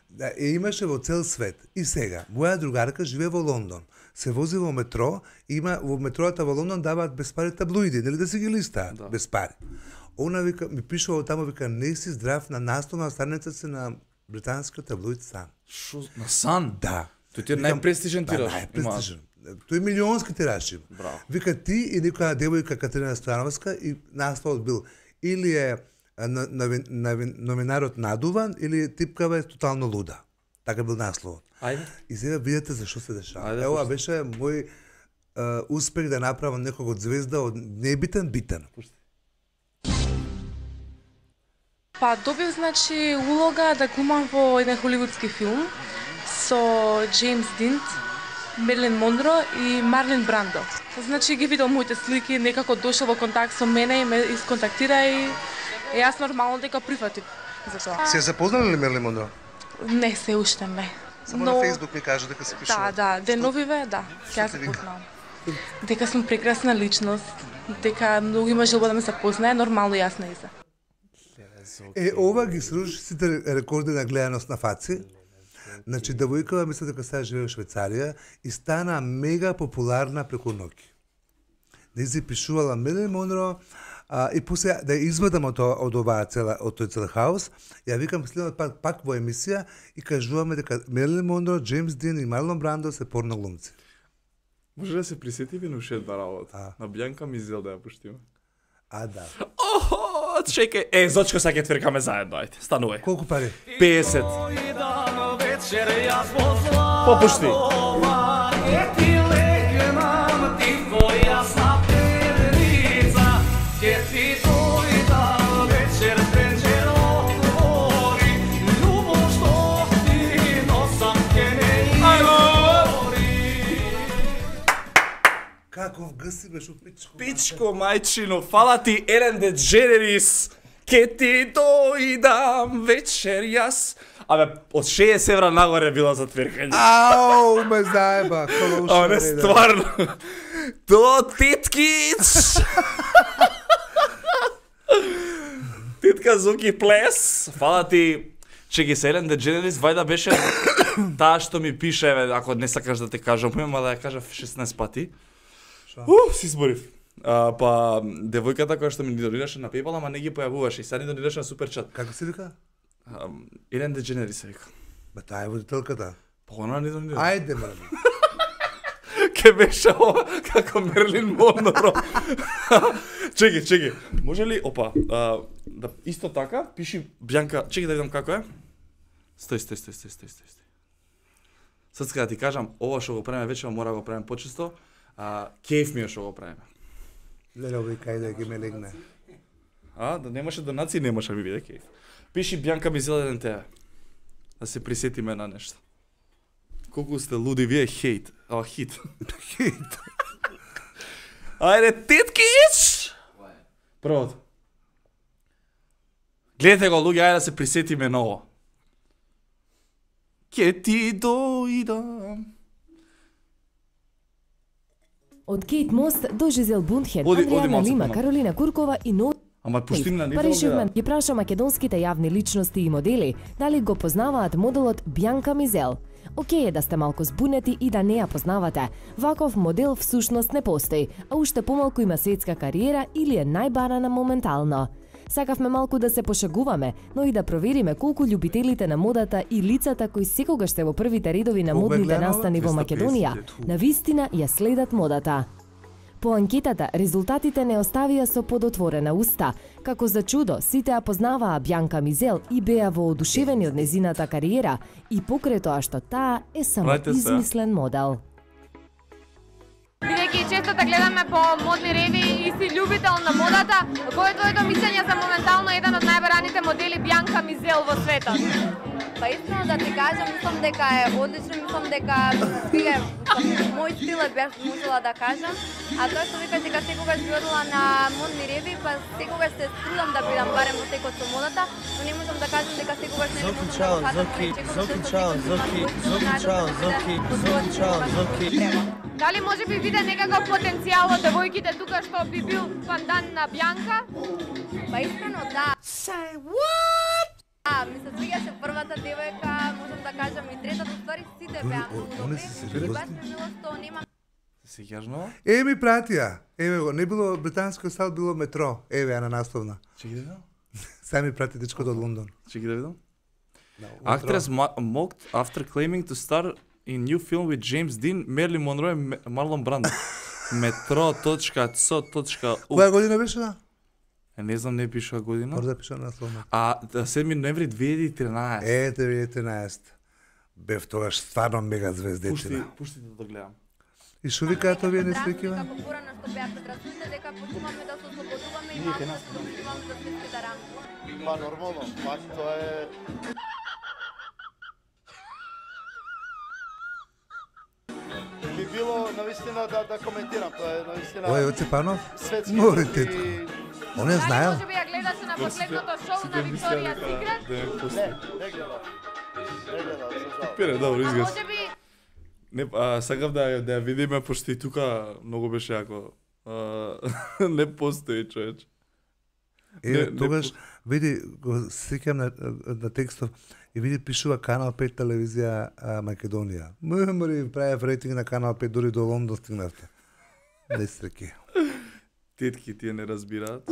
Да, и имаше во цел свет. И сега, моја другарка живее во Лондон. Се вози во метро, има во метроата во Лондон даваат без пари таблоиди, нели да си ги листаат, Да. без пари. Она вика, ми пишува таму, вика, не си здрав на насловна страница си на британскиот таблоид Сан. Шо, на Сан? Да. Тој ти е Викам, најпрестижен Да, тираж. најпрестижен. Тој е милионски тираж има. Браво. Вика ти и некоја девојка Катерина Стојановска и насловот бил или е а, на- новин- новин- новинарот надуван или типкава е тотално луда. Така бил насловот. Ајде. И сега видите за што се дешава. Ајде, Ева пушти. беше мој а, успех да направам неког од звезда од небитен битен. Пушти. Па добив значи улога да глумам во еден холивудски филм со Джеймс Дин, Мерлин Монро и Марлин Брандо. Значи ги видел моите слики, некако дошол во контакт со мене и ме исконтактира и е, јас нормално дека прифатив за тоа. Се запознали ли Мерлин Монро? Не, се уште не. ми кажа дека се Да, да, деновиве, да, ќе ја запознавам. Дека сум прекрасна личност, дека многу има желба да ме запознае, нормално јас не изе. Е, ова ги сруши сите рекорди на гледаност на фаци. Значи, девојкава мисля дека сега живее во Швајцарија и стана мега популарна преку ноќ. Нејзи пишувала Мерлин Монро, а, и после да ја извадам од, тоа- од оваа цела, од тој цел хаос, ја викам следот пак, пак во емисија и кажуваме дека Мерлин Монро, Джеймс Дин и Марлон Брандо се порно глумци. Може да се присетиме на уште една работа. А. На Бјанка Мизел да ја пуштиме. А, да. Охо, чекај. Е, Зочко, сега ќе твиркаме заедно, ајде. Станувај. Колку пари? песет. Попушти. Каков гъси беше пичко. Пичко, мајчино, фала ти, Елен Дедженерис. ке ти дојдам вечер јас. Абе, од шеесет евра нагоре била за твиркање. Ау, ме заеба, коло уште. Абе, не, стварно. То Титкич. Титка Зуки Плес. Фала ти, че ги Елен Дедженерис, вајда беше таа што ми пише, еве, ако не сакаш да те кажам, ма да ја кажав шеснаесет пати. Уф, си зборив. А, па, девојката која што ми донираше на PayPal, ама не ги појавуваше и сега ни донираше на Суперчат. Како се вика? Елен Дедженерис се вика. Ба таа е водителката. Па она не донираше. Ајде, ме. Ке беше ова како Мерлин Монро. Чеки, чеки. Може ли, опа, а, да исто така пиши Бјанка, чеки да видам како е. Стој, стој, стој, стој, стој, стој. Sad kada ti kažem, ovo što го правиме вече, мора го правим почесто, а кеф ми е што го правиме. Леле, овој кај да ги ме легне. А, да немаше донации, немаше ми биде кеф. Пиши Бјанка ми зелен тебе. Да се присетиме на нешто. Колку сте луди вие, хейт. А, хит. Хейт. Ајде, Титкич! Првото. Гледате го, луѓе, ајде да се присетиме на ово. Ке ти дојдам. Од Кейт Мост до Жизел Бунтхен, Оди- оди Андријана малце Лима, понапред. Каролина Куркова и Но... Ама пушти на Па решивме ги праша македонските јавни личности и модели дали го познаваат моделот Бјанка Мизел. Океј е да сте малку збунети и да не ја познавате. Ваков модел всушност не постои, а уште помалку има светска кариера или е најбарана моментално. Сакавме малку да се пошагуваме, но и да провериме колку љубителите на модата и лицата кои секогаш се во првите редови на Кога модните гледала? настани во Македонија, навистина ја следат модата. По анкетата, резултатите не оставија со подотворена уста. Како за чудо, сите ја познаваа Бјанка Мизел и беа воодушевени од незината кариера и покрај тоа што таа е само Прајте се. измислен модел. Бидејќи често да гледаме по модни реви и си љубител на модата, кој е твоето мислење за моментално еден од најбараните модели Бјанка Мизел во светот? Па искрено да ти кажам, мислам дека е одлично, мислам дека стиле, мој стил е беш можела да кажам, а тоа што викаш дека секогаш би одела на модни реви, па секогаш се трудам да бидам барем во текот со модата, но не можам да кажам дека секогаш не Зоки, можам чао, да го фатам, Зоки, пречекам Зоки, што чао, секогаш Зоки, да Зоки, најдам чао, да Зоки, бидам Зоки, чао, Зоки. треба. Дали може би виде некаков потенцијал од девојките тука што би бил пандан на Бјанка? Па искрено да. Say what? А, ми се свиѓаше првата девојка, можам да кажам и третата, ствари сите беа Они- многу они добри. се И сериозни? баш ми мило што нема Се јажно? Е, ми пратија. Еве го, не било британско сал, било метро. Еве ја на насловна. Чеки да видам. Сега ми прати дечкото од Лондон. Чеки да видам. Метро. Actress mo- mocked after claiming to star in new film with James Dean, Marilyn Monroe and Ma- Marlon Brando. Метро точка цо точка у. Која година беше? Да? Е, не знам, не пиша година. Може да пише на насловна. А да, седми ноември две илјади и тринаесет. Е, две илјади и тринаесет. Бев тогаш стварно мега Пушти, звездетина. пушти да гледам. И шо викаат овие несвекива? како порано што беа предрасудите дека почнуваме да се ослободуваме и Ние малку ке да нас, се откриваме за светските рамки. Па нормално, пак тоа е би било навистина да да коментирам, тоа е навистина Ој, Оцепанов? светски Морите. и- Он ја Дали знаел? може би ја гледаше на последното шоу на Викторија Секрет? Да, Не, пусти. не гледам. Не гледам, за жал. Пере, добро, А изгас. може би Не, а, сакав да, ја- да ја видиме, пошто и тука многу беше јако. А, не постои човеч. Е, Не, не тогаш, види, го сеќам на, на текстов, и види пишува Канал пет телевизија а, Македонија. Мори, правев рейтинг на Канал пет, дури до Лондон стигнавте. Не среќи. Тетки тие не разбираат.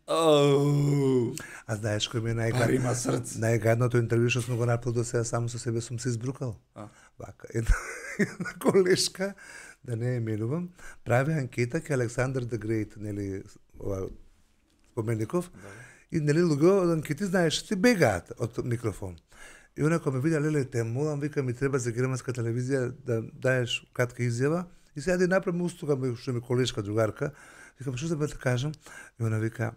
Оу. А знаеш кој ми е Бар најгад... има срце. најгадното интервју што сум го направил до сега, само со себе сум се избрукал. А. Вака, една, една колешка, да не ја именувам, прави анкета ке Александър the Great, нели, ова, спомеников, и нели луѓе од анкети, знаеш, ти бегаат од микрофон. И она кога ме вида, леле, те молам, вика, ми треба за германска телевизија да даеш кратка изјава, и сега да направам устуга, што ми колешка, другарка, викам, што да бе да кажам? И она вика,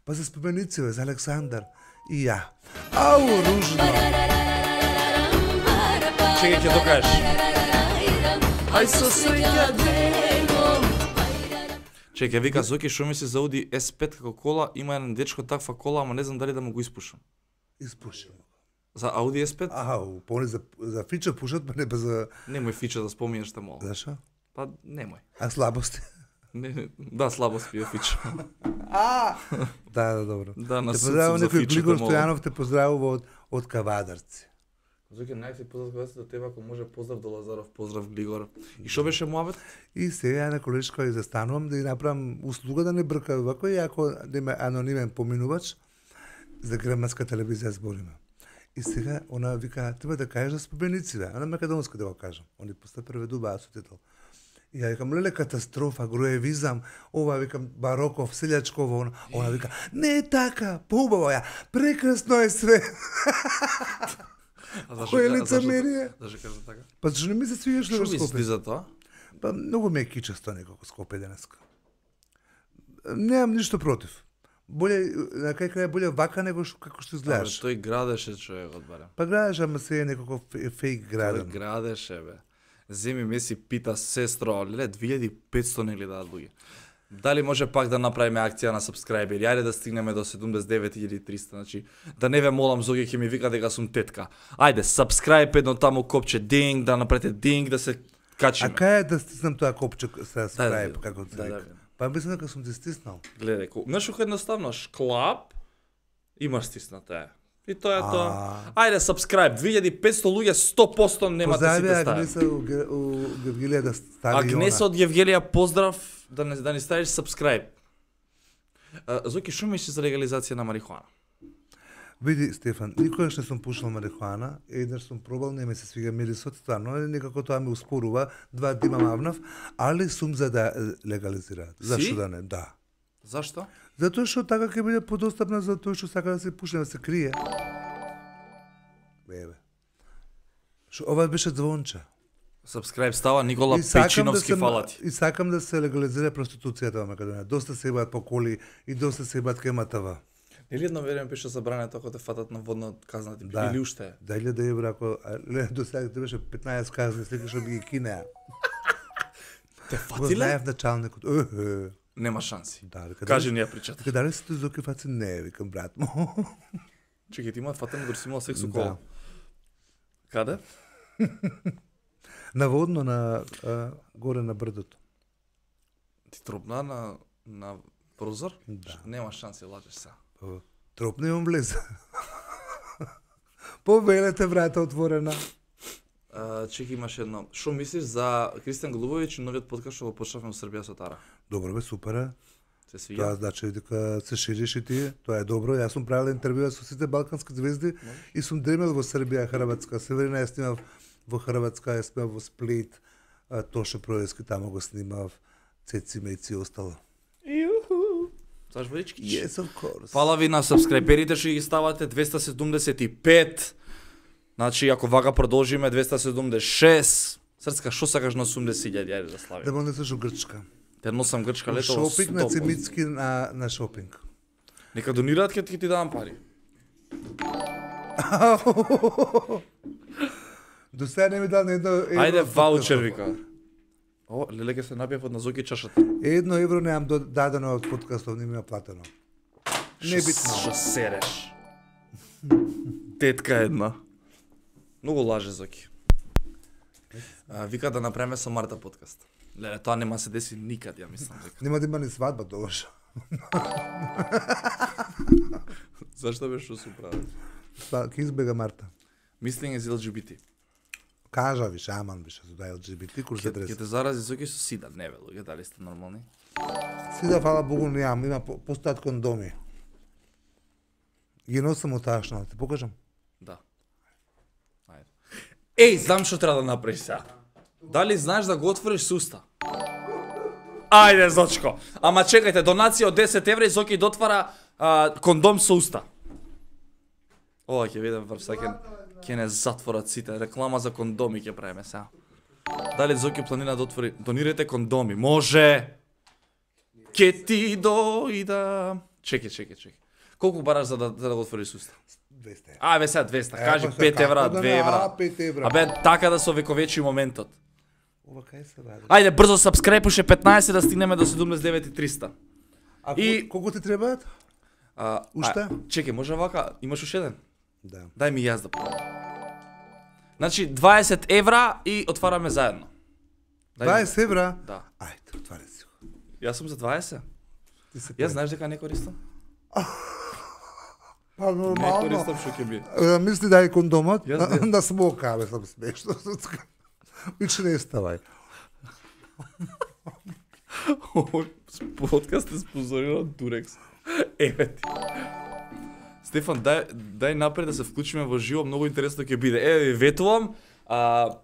па за споменици, бе, за Александар. И ја. Ау, ружно! Чекај, ќе докажеш. Ај со среќа. Чекај, вика Зоки, шо мисли за Ауди Ес пет како кола, има еден дечко таква кола, ама не знам дали да му го испушам. Испушам. За Ауди Ес пет? Аха, поне за за фича пушат, па не па за Немој фича да споминеш те мол. Зашо? Па немој. А слабости? Не, не, да, слабост пие фича. А! Да, да, добро. Да, на те суд поздравува за некој фичата, Глигор молам. Стојанов те поздравува од од Кавадарци. Зоки, најси поздрав кога до тебе, ако може поздрав до Лазаров, поздрав Глигор. И шо беше муабет? И сега ја на колешка ја застанувам да ја направам услуга да не брка вако и ако да има анонимен поминувач за граматска телевизија збориме. И сега она вика треба да кажеш за спомениците, она македонски да го кажам. Они поста преведува сутител. И ја викам леле катастрофа, груевизам, ова викам Бароков, Селјачково, она, она вика не е така, поубаво ја, прекрасно е све. Кој е лицемерие? Зашо кажа така? Па зашто не ми се свиѓаш Шо во мисли Скопје? за тоа? Па многу ме е кичесто некако Скопје денеска. Немам ништо против. Боле на кај крај боле вака него што како што изгледаш. Абе, тој градеше човекот барем. Па градеш, ама се е некако фе- фейк Тој граден. градеше бе. Земи ме си пита сестро, леле две илјади и петсто не гледаат луѓе. Дали може пак да направиме акција на сабскрајбери? Ајде да стигнеме до седумдесет и девет илјади и триста, значи да не ве молам Зоги ќе ми вика дека сум тетка. Ајде, сабскрајб едно таму копче динг, да направите динг да се А качиме. кај е да стиснам тоа копче со да скрајб, видам. како се Да, да вика? видам. Па мислам дека сум ти стиснал. Гледај, ко- знаеш како едноставно, шклап, имаш стисната е. И тоа е тоа. Ајде, сабскрајб, две илјади и петсто луѓе сто проценти немате Поздрави сите стави. Агнеса у Ге- у Гевгилија да стави и Агнеса она. од Евгелија, поздрав, да не, да ни ставиш сабскрајб. А, Зоки, шо мислиш за легализација на марихуана? Види, Стефан, никогаш не сум пушил марихуана, еднаш сум пробал, не ме се свига мирисот, стварно, некако тоа ме успорува, два дима мавнав, али сум за да е, легализираат. Зашто Си? да не? Да. Зашто? Затоа што така ќе биде подостапна за тој што сака да се пуши, да се крие. Еве. Што ова беше звонче. Сабскрајб става Никола И сакам да Печиновски, се фала ти. и сакам да се легализира проституцијата во Македонија. Доста се ебаат по коли и доста се ебаат кај МТВ. Нели едно време беше забрането ако те фатат на водна казна ти Да. или уште е? Да илјада евра ако а, ле, до сега ти беше петнаесет казни, слика што би ги кинеа. Те Го фатиле? знаев началникот. Е, Нема шанси. Да, дека Кажи дали- ни ја причата. Дека дали се Зоки фаци? Не, викам брат му. Чекај, ти имаат фатено дори си имал секс со Да. кола. Каде? Наводно на а, горе на брдото. Ти тропна на на прозор? Да. Нема шанси, лажеш се. Па, Тропно имам влезе. Повелете врата отворена. А, чекај, имаш едно. Шо мислиш за Кристијан Голубовиќ и новиот подкаст што го почнавме во Србија со Тара? Добро бе, супер е. Се Тоа свиѓа? значи дека се шириш и ти, тоа е добро. Јас сум правил интервјуа со сите балкански звезди и сум дремел во Србија, Хрватска. Северина ја снимав во Хрватска, ја снимав во Сплит, а, Тоше Проески тамо го снимав, Цеци Меци и остало. Знаеш водички? Yes, of course. Фала ви на сабскрајберите што ги ставате двеста седумдесет и пет. Значи ако вака продолжиме двеста седумдесет и шест. Срцка, што сакаш на осумдесет илјади, ајде да Да славиме. ме несеш у Грчка. Те носам грчка У лето во шопинг на сто проценти. Цимицки на, на шопинг. Нека донираат ке ти ти давам пари. До сега не ми дал на едно евро. Ајде од ваучер подкастот. вика. О, леле ке се набиев од назоки чашата. Едно евро немам до- дадено од подкастов, не ми е платено. Не битно. Што сереш? Тетка една. Многу лаже Зоки. А, вика да направиме со Марта подкаст. Леле, тоа нема се деси никад, ја мислам дека. Нема да има ни свадба тогаш. Зашто беше што се прави? Па, ке избега Марта. Мислење за Ел Џи Би Ти. Кажа ви, шаман беше за да Ел Џи Би Ти курс Ке, ке адрес. те зарази Зоки со сида, не бе, луѓе, дали сте нормални? Си да фала Богу немам, има по- постојат кондоми. Ги носам од ташна, ти покажам. Да. Ајде. Еј, знам што треба да направиш сега. Дали знаеш да го отвориш с уста? Ајде, Зочко. Ама чекајте, донација од десет евра и Зоки дотвара а, кондом со уста. Ова ќе видам врв сакен. Ќе не затворат сите. Реклама за кондоми ќе правиме сега. Дали Зоки планира да отвори? Донирайте кондоми. Може! Ке ти дојда. Чекај, чекај, чекај. Колку бараш за да, за да го отвориш с уста? двеста. А, бе сега двеста, Е, кажи па сега, пет евра, како да две не, евра. а, пет евра. Абе, така да се овековечи моментот. Ова кај се ради? Ајде брзо subscribe уште петнаесет да стигнеме до седумдесет и девет и триста. А И- колку ти требаат? А, Уште? а, чекај, може вака, имаш уште еден? Да. Дај ми јас да пробам. Значи дваесет евра и отвараме заедно. Дај ми- дваесет евра? Да. Ајде, отвари си го. Јас сум за дваесет. Ти се Јас знаеш дека не користам? Па Не нормално. користам што ќе би. Е, Мисли да е кондомот, Јас не. да смока, бе, сам смешно. Виче не ставај. Овој подкаст е спонзориран од Durex. Еве ти. Стефан, дај, дај напред да се вклучиме во живо, многу интересно ќе биде. Еве ви ветувам, а,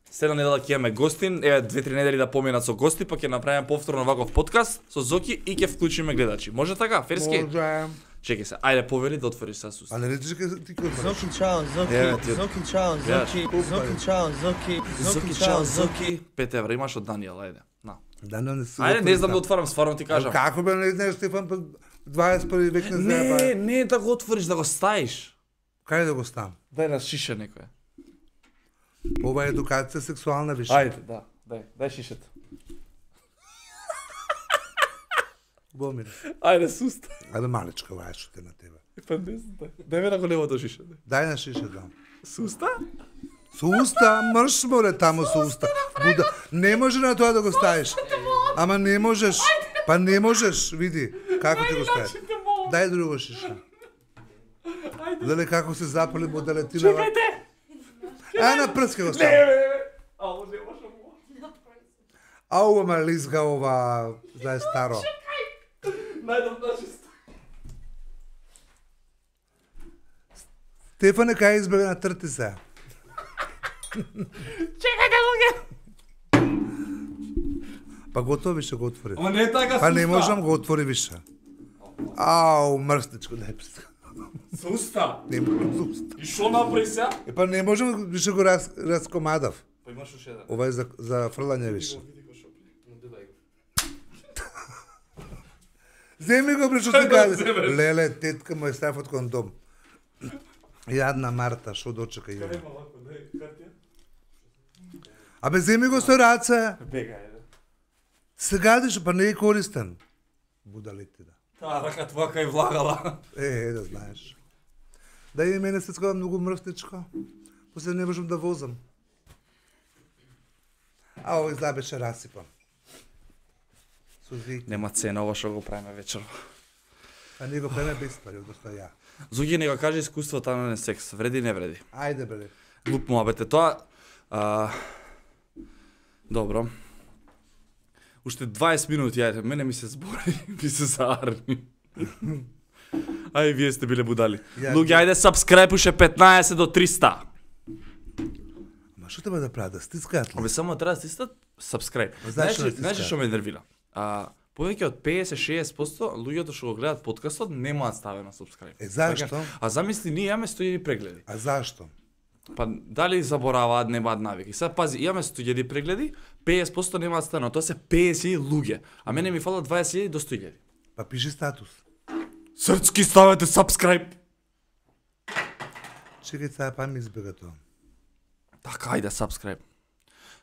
следна недела ќе имаме гостин, еве две-три недели да поминат со гости, па ќе направиме повторно ваков подкаст со Зоки и ќе вклучиме гледачи. Може така, Ферски? Може. Чекај се, ајде повели да отвориш са суст. А не речеш дека ти ќе отвориш? Зоки чао, Зоки, Еве ти. Зоки чао, Гледаш, Зоки, колку Зоки пари? чао, Зоки, Зоки, чао, Зоки. пет евра имаш од Даниел, ајде. На. Да, не се. Ајде, не знам да отварам, стварно ти кажам. Како бе не знаеш Стефан, па дваесет и први век не знае Не, па. не да го отвориш, да го ставиш. Кај да го ставам? Дај на шиша некоја. Ова е едукација сексуална више. Ајде, да, дај, дај шишето. Бомир. Ајде, суста. Ајде малечка ова е што те на тебе. Па не знам, дај. Дај ме на големото шише. дај. Дај на шише дам. Суста? Со уста, мрш море таму со уста. Буда, не може на тоа да го ставиш. Ама не можеш. Па не можеш, види како ти го ставиш. Дај друго шише. Дали како се запали моделетина. Чекајте! А на прска го Не, ставам. бе, бе. Ало, не може му. А ова ма лизга ова, знаеш старо. Најдам наши ста. Стефане кај избега на трти се. Чекајте, луѓе. Па готово више го отвори. Ама не е така, Па не суста. можам го отвори више. Ау, мрстичко, дај прска. Суста. Не можам за уста. И шо направи сега? Е па не можам више го раз, раскомадав. Па имаш уште еден. Ова е за, за фрлање више. Види го шо пи. Но дај го. Земи го, бре, што ти Да кажеш. земеш. Леле, тетка му е став од кондом. Јадна Марта, што дочека ја. Има лако, дај, картија. Абе, земи го со раце. Бега, еде. Се гадиш, па не е користен. Будалите да. Таа рака твака и влагала. Е, е, да знаеш. Да и мене се скова многу мрвтичко. После не можам да возам. А овој зла беше расипан. Со звик. Нема цена ова што го правиме вечерва. А ние го преме без пари, одnosno ја. Зоги не го каже искуството на секс, вреди не вреди. Ајде бре. Глуп муабет е тоа. А... Добро. Уште дваесет минути, ајде, мене ми се збори, ми се заарни. Ај, вие сте биле будали. Ја- Луѓе, ајде, subscribe уште петнаесет до триста. Ма што треба да прават? Да стискаат ли? Абе, само треба да стиснат subscribe. Знаеш Знаеш, што да знаеш стискаат? што ме нервира? А, повеќе од петдесет до шеесет проценти луѓето што го гледаат подкастот немаат ставено subscribe. Е, зашто? А замисли, ние имаме сто илјади прегледи. А зашто? Па дали забораваат, немаат навики. Сега пази, имаме сто илјади прегледи, петдесет проценти немаат ставено, тоа се петдесет илјади луѓе, а мене ми фалат дваесет илјади до сто илјади. Па пиши статус. Срцки ставете subscribe. Чекај сега па ми избега тоа. Така, ајде subscribe.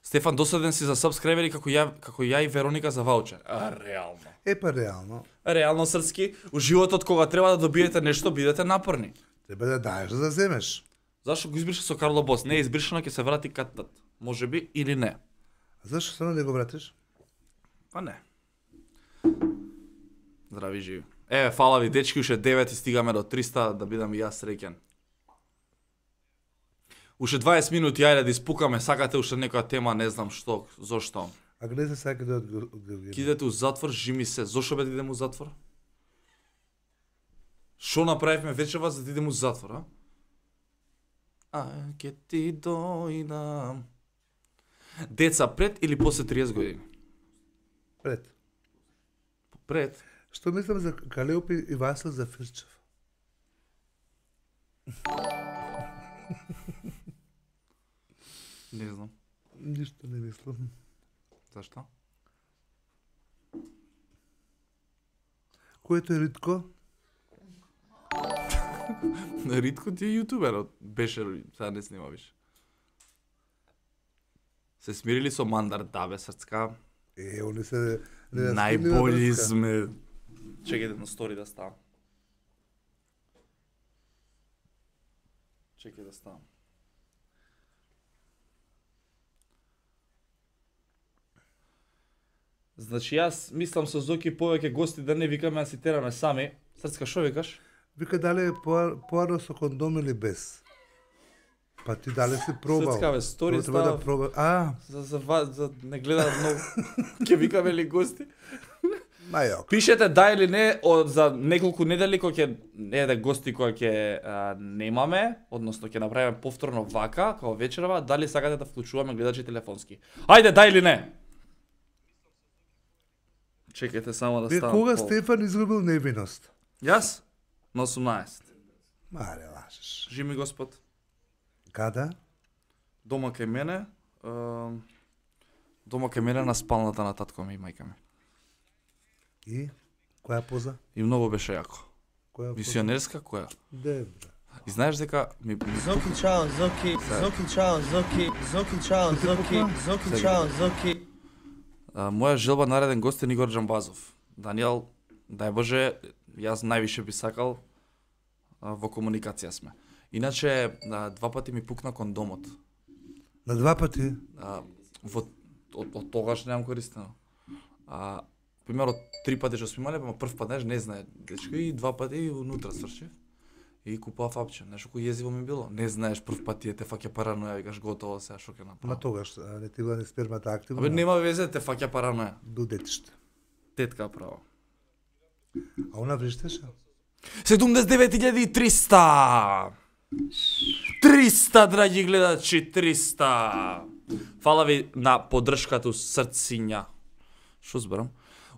Стефан, досаден си за subscriberi како ја, како ја и Вероника за ваучер. А, реално. Е па реално, Реално срцки, у животот кога треба да добиете нешто, бидете напорни. треба да даеш за да земеш. Зашто го избриша со Карло Бос? Не е избришано, ќе се врати катат. Може би или не. А зашто само да го вратиш? Па не. Здрави живи. Еве, фала ви дечки, уште девет и стигаме до триста да бидам и јас среќен. Уште дваесет минути, ајде да испукаме, сакате уште некоја тема, не знам што, зошто. А гледа сега каде од Георгија. Ки идете у затвор, жими се. Зошто бе да идем у затвор? Шо направивме вечерва за да идем у затвор, а? А, ке ти дојдам. Деца пред или после триесет години? Пред. Пред. Што мислам за Калеопи и Васил за Фирчев? Не знам. Ништо не мислам. Зашто? Којто е Ритко? Ритко ти е јутуберот. Беше, сега не снима више. Се смирили со мандар, да бе, срцка. Е, они се не Најболи сме. Чекајте на стори да ставам. Чекај да ставам. Значи јас мислам со Зоки повеќе гости да не викаме, а си тераме сами. Срцка, шо викаш? Вика дали е поарно со кондом или без? Па ти дали си пробал? Срцка, бе, стори Тоа треба става. да проба. А, За, за, за, за не гледаат многу. Ке викаме ли гости? мајок. Пишете да или не од, за неколку недели кога ќе не да гости кои ќе а, немаме, односно ќе направиме повторно вака, како вечерва, дали сакате да вклучуваме гледачи телефонски. Ајде, да или не? Чекайте само да Вие ставам. кога пол. Стефан изгубил невиност? Јас? На осумнаесет. Маре, лажеш. Жими Господ. Када? Дома кај мене, е, дома кај мене на спалната на татко ми и мајка ми. И? Која поза? И многу беше јако. Која поза? Мисионерска која? Добре. И знаеш дека ми, ми Зоки чао, Зоки, Зоки чао, Зоки, Зоки чао, Зоки, Зоки чао, Зоки. А, моја желба нареден гост е Нигор Джамбазов. Даниел, дај Боже, јас највише би сакал а, во комуникација сме. Иначе, а, два пати ми пукна кондомот. На два пати? А, во, од, од тогаш немам користено. А, примерно, три пати што сме имале, па прв пат, знаеш, не знае дечко, и два пати и унутра свршив. И купав апче. Знаеш, кој језиво ми било? Не знаеш, прв пат ти те фаќа параноја, викаш готово сега, што ќе Ма направам. тогаш, а, не ти била ни спермата активна? Абе, нема везе, те фаќа параноја. До детиште. Тетка право. А она вриштеше? седумдесет и девет илјади и триста! триста, драги гледачи, триста! Фала ви на поддршката срциња. Шо зборам?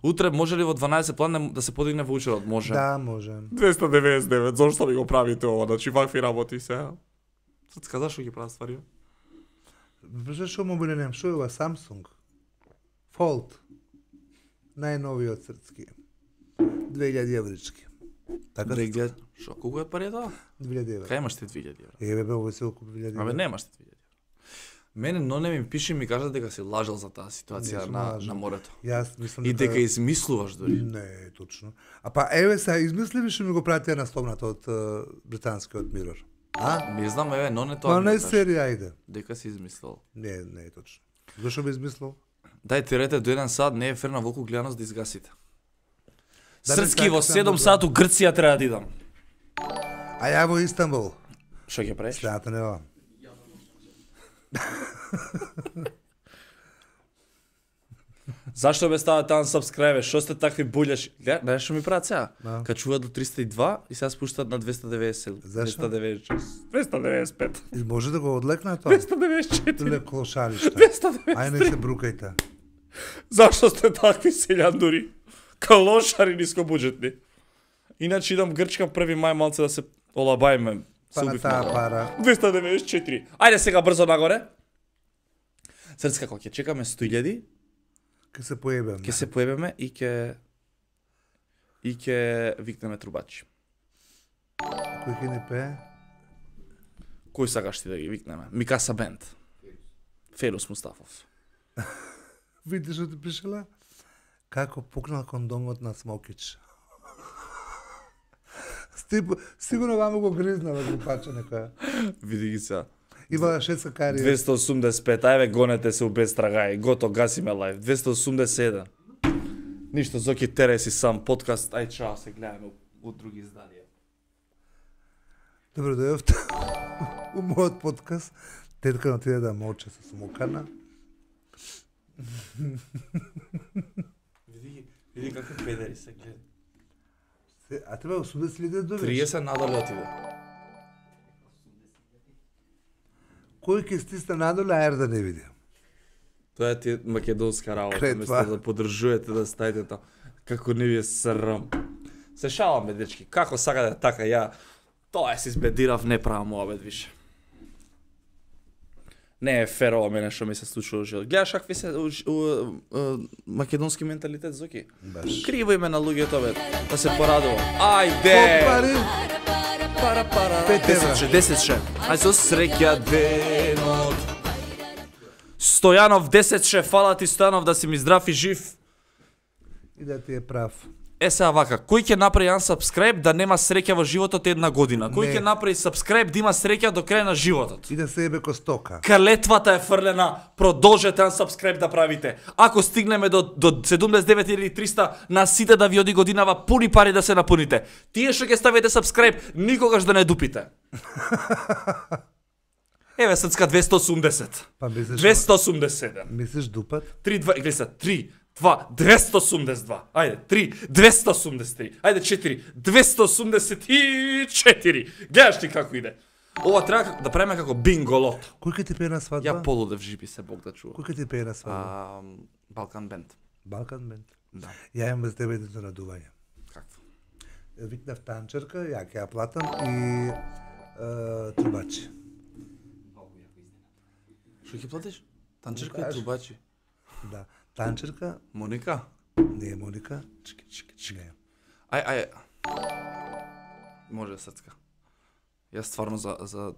Утре може ли во дванаесет план да се подигне ваучерот? Може. Да, може. двеста деветдесет и девет, зошто ми го правите ова? Значи вакви работи сега. Срцка, зашо ги прават ствари? Боже, шо мобилен немам? Шо е ова? Samsung? Fold. Најновиот срцки. две илјади еврички. Така? две илјади. Шо, колку е пари тоа? две илјади евра. Кај имаш ти две илјади евра? Еве бе, ово се окуп две илјади евра. Абе немаш ти две илјади евра. Мене но не ми пише и ми кажа дека си лажал за таа ситуација Не сум на, лажал. на морето. Јас мислам И дека измислуваш дури. Не, точно. А па еве се измисли што ми го пратија насловната од uh, британскиот Mirror. А? Не знам, еве, но не тоа. Па ми не го кажа. серија, ајде. Дека си измислил. Не, не е точно. Зошто би измислил? Дај ти рете до еден сат, не е фер на Волку Глјанос да изгасите. Да, Срцки не во сакам седум да- сат у Грција треба да идам. А ја во Истанбул. Што ќе правиш? Следната недела. Зашто бе ставате unsubscribe? Што сте такви булјаши? Гледа, знаеш што ми прават сега? Да. Качуваат до триста и два и сега спуштаат на двеста деветдесет. Зашто? двеста деветдесет и шест. двеста деветдесет и пет. И може да го одлекна тоа? двеста деветдесет и четири. Ле клошаришта. двеста деветдесет и Ај три. не се брукајте. Зашто сте такви селјандури? Калошари нискобуџетни. Иначе идам Грчка први мај малце да се олабајме. Па на таа пара. двеста деветдесет и четири. Ајде сега брзо нагоре. Срцка, кога ќе чекаме сто илјади, Ке се поебеме. ќе се поебеме и ќе и ќе викнеме трубачи. Кој ќе ни пее? Кој сакаш ти да ги викнеме? Микаса Бенд. Ферус Мустафов. Видиш што ти пишела? Како пукнал кондомот на Смокич. Стип, сигурно вамо го гризнала групача некоја. Види ги сега. Има шеста карија. двеста осумдесет и пет, ајве гонете се у без трагај, гото, гасиме лайв. двеста осумдесет и еден. Ништо, Зоки, тере си сам, подкаст, ај чао, се гледаме у, у други изданија. Добро дојавте у мојот подкаст. Тетка на отиде да моче со смокана. Види ги, види какви педери се гледа. Се- А треба осумдесет илјади да добиеш. триесет надоле отиде. Кој ќе стисне надоле, аер да не види. Тоа е ти македонска работа, Кретва. место да поддржувате да стаите тоа. Како не ви е срам. Се шалам, бе, дечки, како сакате така, ја тоа е се избедирав, не правам обед више. Не е фер ова мене што ми се случува во живот. Гледаш какви се у, у, у, македонски менталитет, Зоки? Баш. Криво име на луѓето, бе, да се порадува. Ајде! Пари, Пара, пара. Пет евра. десет ше, десет ше. Ај со среќа денот. Стојанов десет ше, фала ти Стојанов да си ми здрав и жив. И да ти е прав. Е сега вака, кој ќе направи јан subscribe да нема среќа во животот една година? Кој Не. ќе направи subscribe да има среќа до крај на животот? И да се ебе ко стока. Калетвата е фрлена, продолжете јан subscribe да правите. Ако стигнеме до, до седумдесет и девет илјади и триста, на сите да ви оди годинава пуни пари да се напуните. Тие што ќе ставите subscribe, никогаш да не дупите. Еве срцка двесте и осумдесет. Па мислиш, двесте и осумдесет и седум. мислиш дупат? три, два, гледа се, три, два, двесте и осумдесет и два. Ајде, три, двесте и осумдесет и три. Ајде, четири, двесте и осумдесет и четири. Гледаш ти како иде. Ова треба да правиме како бинголото. Кој ќе ти пее на свадба? Ја полудев жипи се Бог да чува. Кој ќе ти пее на свадба? А, Балкан бенд. Балкан бенд. Да. Ја имам за тебе едно радување. Какво? Викнав танчерка, ја ќе ја платам и е, трубачи. Што ќе платиш? Танчерка и кажеш? трубачи. Да. Танчерка, Моника? не е Моника. Чекай, чекай, чекай. Не. Ај, ај. Може срцка. Јас стварно за за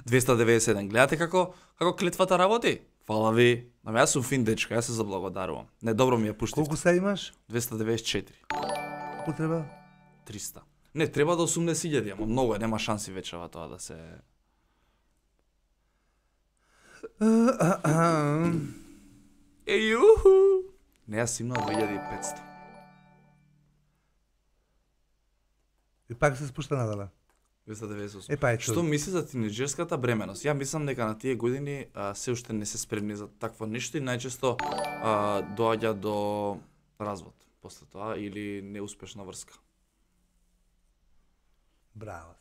двесте деветдесет и седум. Гледате како како клетвата работи? Фала ви. Ама јас сум фин дечка, јас се заблагодарувам. Не, добро ми ја пуштив. Колку се имаш? двесте деветдесет и четири. Колку треба? триста. Не, треба до осумдесет илјади, ама многу е, нема шанси вече ова тоа да се... Ејуху! Не, јас имам две илјади и петсто. И пак се спушта надале. двесте деветдесет и осум. Е, па ето. Што мисли за тинеџерската бременост? Ја мислам дека на тие години а, се уште не се спремни за такво нешто и најчесто а, доаѓа до развод после тоа или неуспешна врска. Браво.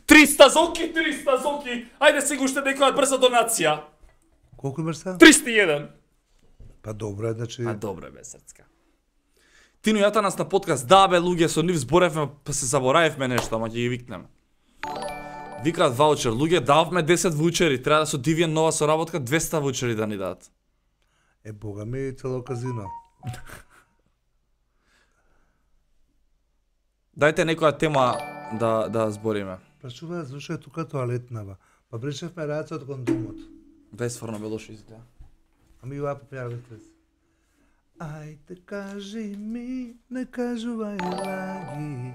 триста зоки, триста зоки! Ајде сега уште некоја брза донација. Колку имаш са? триста и еден. Па добро е, значи... А добро бе, срцка. Тино јата нас на подкаст, да бе, луѓе, со нив зборевме, па се заборавивме нешто, ама ќе ги викнеме. Викаат ваучер, луѓе, дававме десет ваучери, треба да со Дивиен нова соработка двесте ваучери да ни дадат. Е, бога ми, цело казино. Дајте некоја тема да да збориме. Прашува, зашто е тука тоалетнава? Па бришевме рајаца од кондомот. Дај стварно бе лошо изгледа. Ами ова попјаваме стрес. Ајде кажи ми, не кажувај лаги,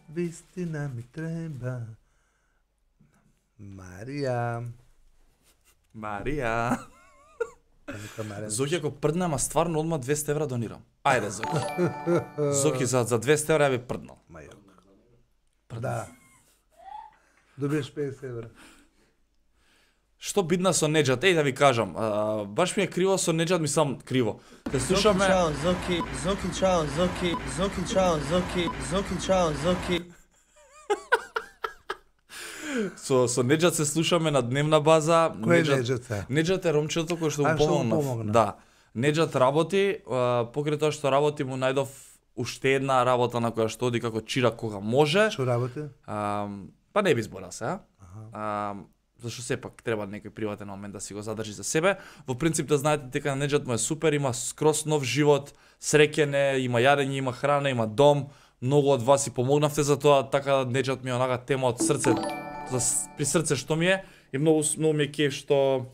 вистина ми треба. Марија. Марија. Нека Марија. Зоки, ако прдна, ама стварно одма двесте евра донирам. Ајде, Зоки. Зоки, за, за двесте евра ја би прднал. Мајок. Да. Добиеш петдесет евра. Што бидна со Неџат? Еј да ви кажам, а, баш ми е криво со Неџат, мислам криво. Те слушаме... Чао, Зоки, Зоки, чао, Зоки, Зоки, чао, Зоки, Зоки, чао, Зоки. Со, со Неџат се слушаме на дневна база. Кој е Неџат се? Неџат е ромчето кој што А, му што му помогна. помогна. Да. Неџат работи, а, покрај тоа што работи му најдов уште една работа на која што оди како чирак кога може. Што работи? А, па не би зборал се, а? а зашто сепак треба некој приватен момент да си го задржи за себе. Во принцип да знаете дека Неџат му е супер, има скрос нов живот, среќен е, има јадење, има храна, има дом. Многу од вас си помогнавте за тоа, така да Неџат ми е онага тема од срце, за, при срце што ми е и многу многу ми е кеф што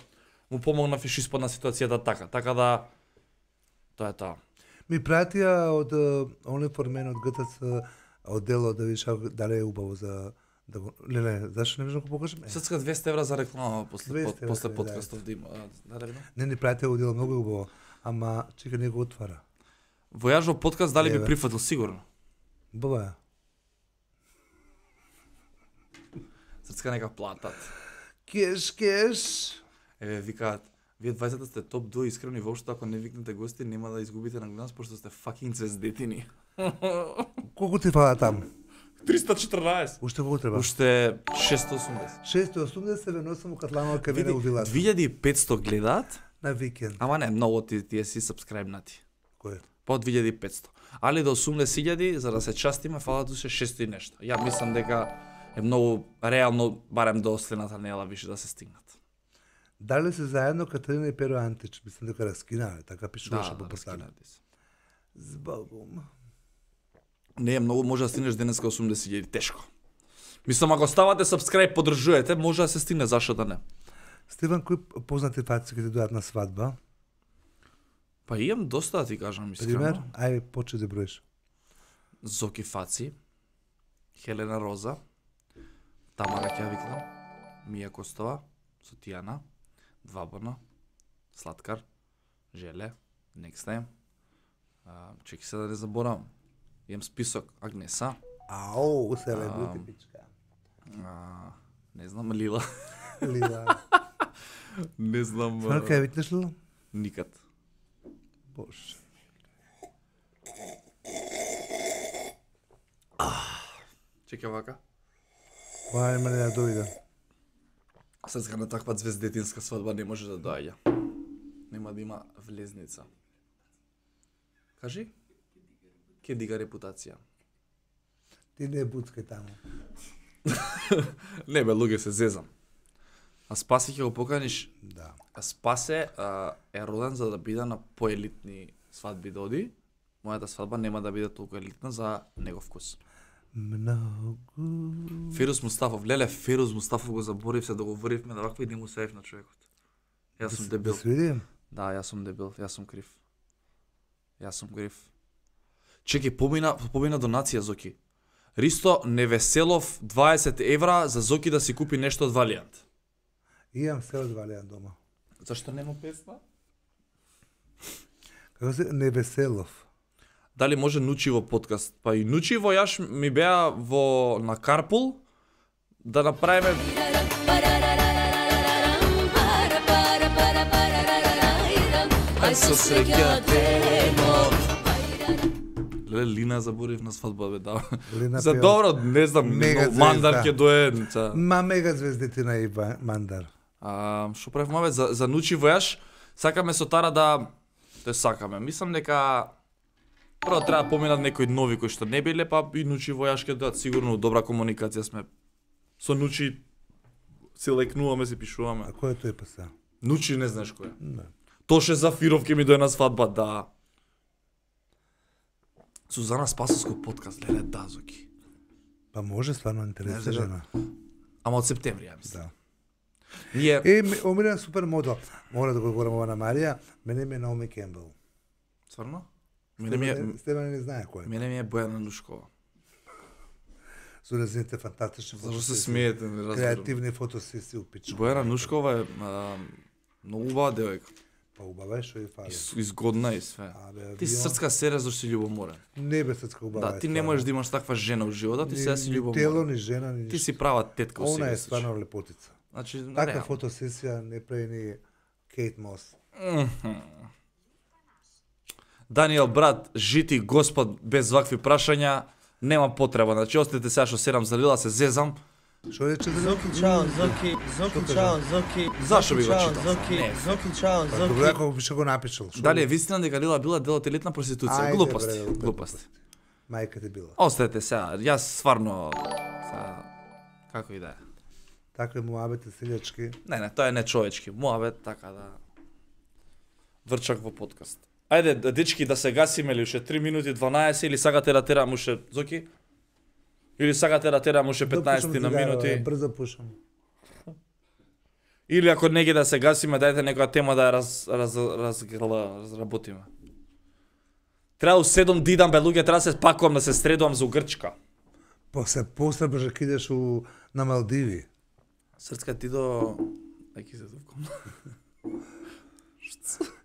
му помогнав и што испадна ситуацијата така. Така да тоа е тоа. Ми пратија од Only for Men од ГТЦ одделот да видиш дали е убаво за да го... Леле, зашто не можам да го покажам? Е. Срцка двесте евра за реклама после двесте под, евра, после да. подкастов да има. Да, да, да. Не, ни пратија одделот многу убаво, ама чека не го отвара. Војаж во подкаст дали би Еве. прифатил сигурно. Баба. Срцка нека платат. Кеш, кеш. Еве викаат, вие дваесет сте топ две искрени воопшто ако не викнете гости нема да изгубите на гледаност пошто сте факинг звездетини. Колку ти фала там? триста и четрнаесет. Уште колку треба? Уште шестстотин и осумдесет. шестстотин и осумдесет се веносам у Катланова кај мене у вилата. две илјади и петсто гледаат, На викенд. ама не, многу ти, тие си сабскрајбнати. Кој? По две илјади и петсто. Али до осумдесет илјади, за да се частиме, фалат уште шестстотин и нешто. Ја мислам дека е многу реално, барем до следната недела више да се стигнат. Дали се заедно Катерина и Перо Антич? Мислам дека раскинале, така пишуваше Да, по да, послание. раскинати се. Збогум. Не е многу, може да стигнеш денеска осумдесет илјади, тешко. Мислам, ако ставате subscribe, поддржувате, може да се стигне, зашто да не. Стиван, кои познати фаци ќе ти дојдат на свадба? Па имам доста да ти кажам искрено. Пример, ај почни да броиш. Зоки Фаци, Хелена Роза, Тамара Ќавикна, Мија Костова, Сотијана, Двабона, Слаткар, Желе, Next Time. А, чеки се да не заборавам. Имам список Агнеса. Ау, се лебути пичка. А, не знам Лила. Лила. Не знам. Сварно кај витнеш Лила? Никад. Боже. Чекай вака. Ова има не да дојде. Срцка на таква звездетинска свадба не може да доаѓа. Нема да има влезница. Кажи? Ке дига репутација. Ти не буцкај таму. Не бе, луѓе се зезам. А Спаси ќе го поканиш. Да. А Спасе а, е роден за да биде на поелитни свадби да оди. Мојата свадба нема да биде толку елитна за негов вкус. Многу. Ферус Мустафов, леле, Ферус Мустафов го заборив се да го врвивме на ваква и не му сеев на човекот. Јас сум дебил. Да свидим? Да, јас сум дебил, јас сум крив. Јас сум крив. Чеки, помина, помина донација, Зоки. Ристо Невеселов дваесет евра за Зоки да си купи нешто од Валијант. Имам се од Валијан дома. Зашто нема песна? Како се Невеселов? Дали може Нучиво подкаст? Па и Нучиво јаш ми беа во на Карпул да направиме Ај со среќа денот. Леле, Лина заборив на свадба, бе, да. Лина За пева. добро, не знам, Мега но Мандар звезда. ќе дое. Ца. Ма мега звездетина и Ва- Мандар. А, што правиме, бе, за, за Нучиво јаш, сакаме со Тара да... Те сакаме. Мислам дека прво треба да поминат некои нови кои што не биле, па и Нучиво јаш ќе дадат сигурно добра комуникација сме. Со Нучи се лекнуваме, се пишуваме. А кој е тој па се? Нучи не знаеш кој е. Не. Тоше Зафиров ќе ми дое на свадба, да. Сузана Спасовско подкаст, леле, да, Зоки. Па може стварно Не, интересна да. жена. Ама од септември, ја мислам. Да. Ние... Е, ме- омилен супер модел. Мора да го говорам ова на Марија. Мене ми е Наоми Кембел. Стварно? Мене ми е... Стебане- Стебане не знае кој е. Мене ми е Бојана Нушкова. Со неziните фантастични Зашто се фотосесии. смеете, не разбирам. Креативни фотосесии у пичка. Бојана Нушкова е а, многу убава девојка. Па убава е што и фали. Из- Изгодна и све. Абе, Ти си авион- срцка сере зашто си љубоморен. Не бе срцка убава. Да, ти не можеш да имаш таква жена у животот, ти сега си Ни тело, љубоморен. ни жена, ни Ти ништо. си права тетка у Она себе е си. стварно лепотица. Значи, Таква реално. фотосесија не прави ни Кейт Мос. Даниел брат, жити Господ без вакви прашања, нема потреба. Значи, остите сега што серам за Лила, се зезам. Што рече за Зоки чао, Зоки, Зоки чао, Зоки. Зашо би го Зоки, чао, читал? Зоки, Не. Зоки чао, Па добре, Зоки. ако би го напишал. Што Дали е би- вистина дека Лила била дел од елитна проституција? Ајде, Глупости, бре, глупости. Мајка ти била. Остајте сега, јас стварно... Сега, како и да е. Такви муабети селјачки. Не, не, тоа е нечовечки. Муабет, така да... Врчак во подкаст. Ајде, дечки, да се гасиме ли уште три минути дванаесет или сакате да терам уште Зоки? Или сакате да терам уште петнаесет на минути? Брзо пушам. Или ако не ги да се гасиме, дајте некоја тема да ја раз, раз, раз, разработиме. Треба у седум да идам, бе, луѓе, треба да се спакувам, да се средувам за у Грчка. После после брže кидеш у на Малдиви. Срцка ти до... Ајки се зувкам.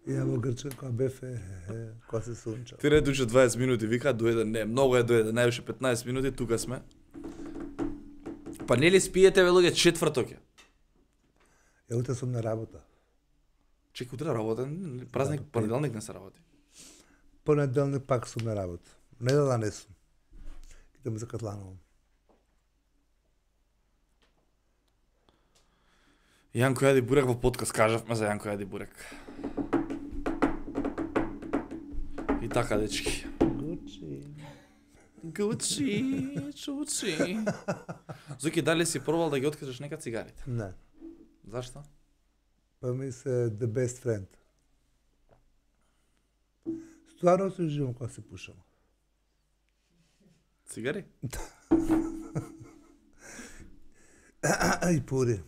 Ја во Грчка која бефе, која се сунча. Ти ред уште дваесет минути, вика, дојде, не, многу е дојде, најуше петнаесет минути, тука сме. Па нели спиете, бе, луѓе, четврток е. Ја утре сум на работа. Чекай, утре работа, празник, Да, понеделник не се работи. Понеделник пак сум на работа. Недела не сум. Идам за Катланово. Јанко јади бурек во подкаст, кажавме за Јанко јади бурек. И така, дечки. Гучи. Гучи, чучи. Зуки, дали си пробал да ги откажеш нека цигарите? Не. Зашто? Па ми се the best friend. Стварно се живам кога се пушам. Цигари? И пури.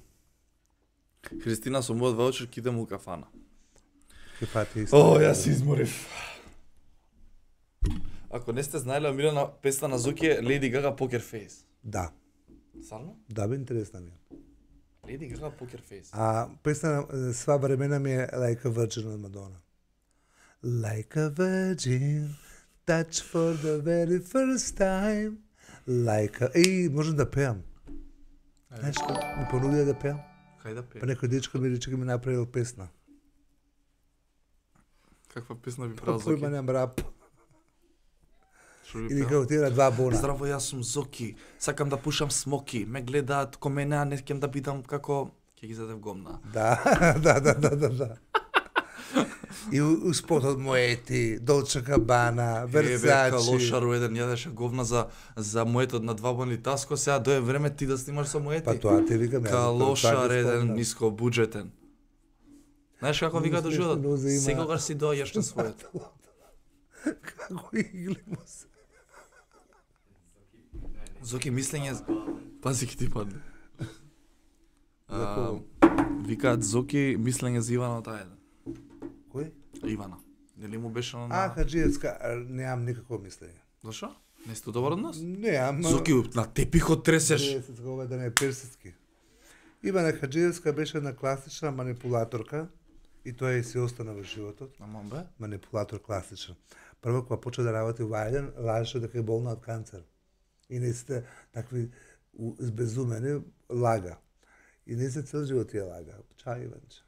Христина со мојот ваучер ќе идем у кафана. Ке пати исто. О, јас се изморив. Ако не сте знаеле, омилена песна на Зоки е Lady Gaga Poker Face. Да, Сарно? да, бе интересна ми е. Lady Gaga Poker Face. А песна на сва времена ми е Like a Virgin од Мадона. Like a virgin, touch for the very first time. Like a... Еј, можам да пеам. Знаеш што? Ми понудија да пеам. Кај да Па пее? некој дечко ми рече ми направил песна. Каква песна би правил Па Зоки? појма нем рап. Што би Или пеал? како тира два бона. Здраво, јас сум Зоки. Сакам да пушам смоки. Ме гледаат ко мене, а не ќе да бидам како... Ќе ги задев гомна. Да, да, да, да, да, да. И у, у спотот моети, Долче Габана, Версачи. Версачи. Лошару еден јадеше говна за за моетот на два бони таско, сега дое време ти да снимаш со моети. Па тоа ти викам. Калошар еден ниско буџетен. Знаеш како вика до Смешно животот? нозе има. Секогаш си доаѓаш на својот. Како игли му се. Зоки мислење, пази ки ти падне. А, Зако? викаат Зоки мислење за Ивана таа еден. Кој? Ивана. Нели му беше на... А, Хаджиевска, а, немам никакво мислење. Зашо? Не сте добар однос? Немам. Зоки, на тепихот тресеш. Ова да не е персиски. Ивана Хаджиевска беше една класична манипулаторка и тоа и си остана во животот. Ама бе? Манипулатор класичен. Прво кога почна да работи во Ајден, лажеше дека е болна од канцер. И не сте такви у- збезумени, лага. И не се цел живот ја лага. Чај, Иванче.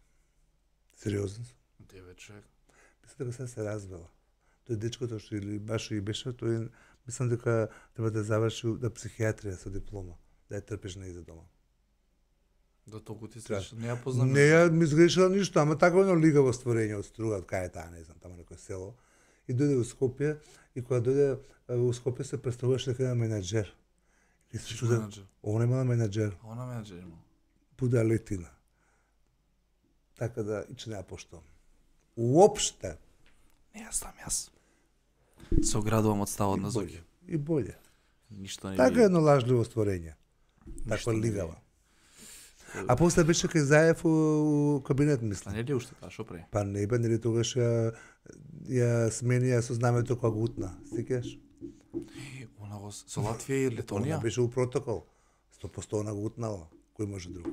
Сериозно сум. Тебе човек. Мислам дека се се развела. Тој дечкото што или баш и беше, тој мислам дека треба да заврши да психијатрија со диплома, да ја трпиш нејзе дома. Да толку ти се не ја познам. Не ја ми изгрешила ништо, ама такво едно лигаво створење од Стругат, кај е таа, не знам, таму некој село. И дојде во Скопје, и кога дојде е, во Скопје се представуваше дека има менаџер. И се чуде, менаџер? она имала менаџер, Она менаџер има. буда летина. Така да, и че не ја поштувам. Уопште. Не ја знам јас. Се оградувам од ставот на Зоки. И болje. Ништо не Така ви- едно лажливо створење. ништо Таква не ви- лигава. А после беше кај Заев у, у кабинет, А мислам. не ли уште таа, шо пре? Па не бе, нели тогаш ја, ја смени ја со знамето кога го утна. Сикеш? Она го со Латвија и Она Летонија? беше у протокол. сто проценти она го утнала. Кој може друг?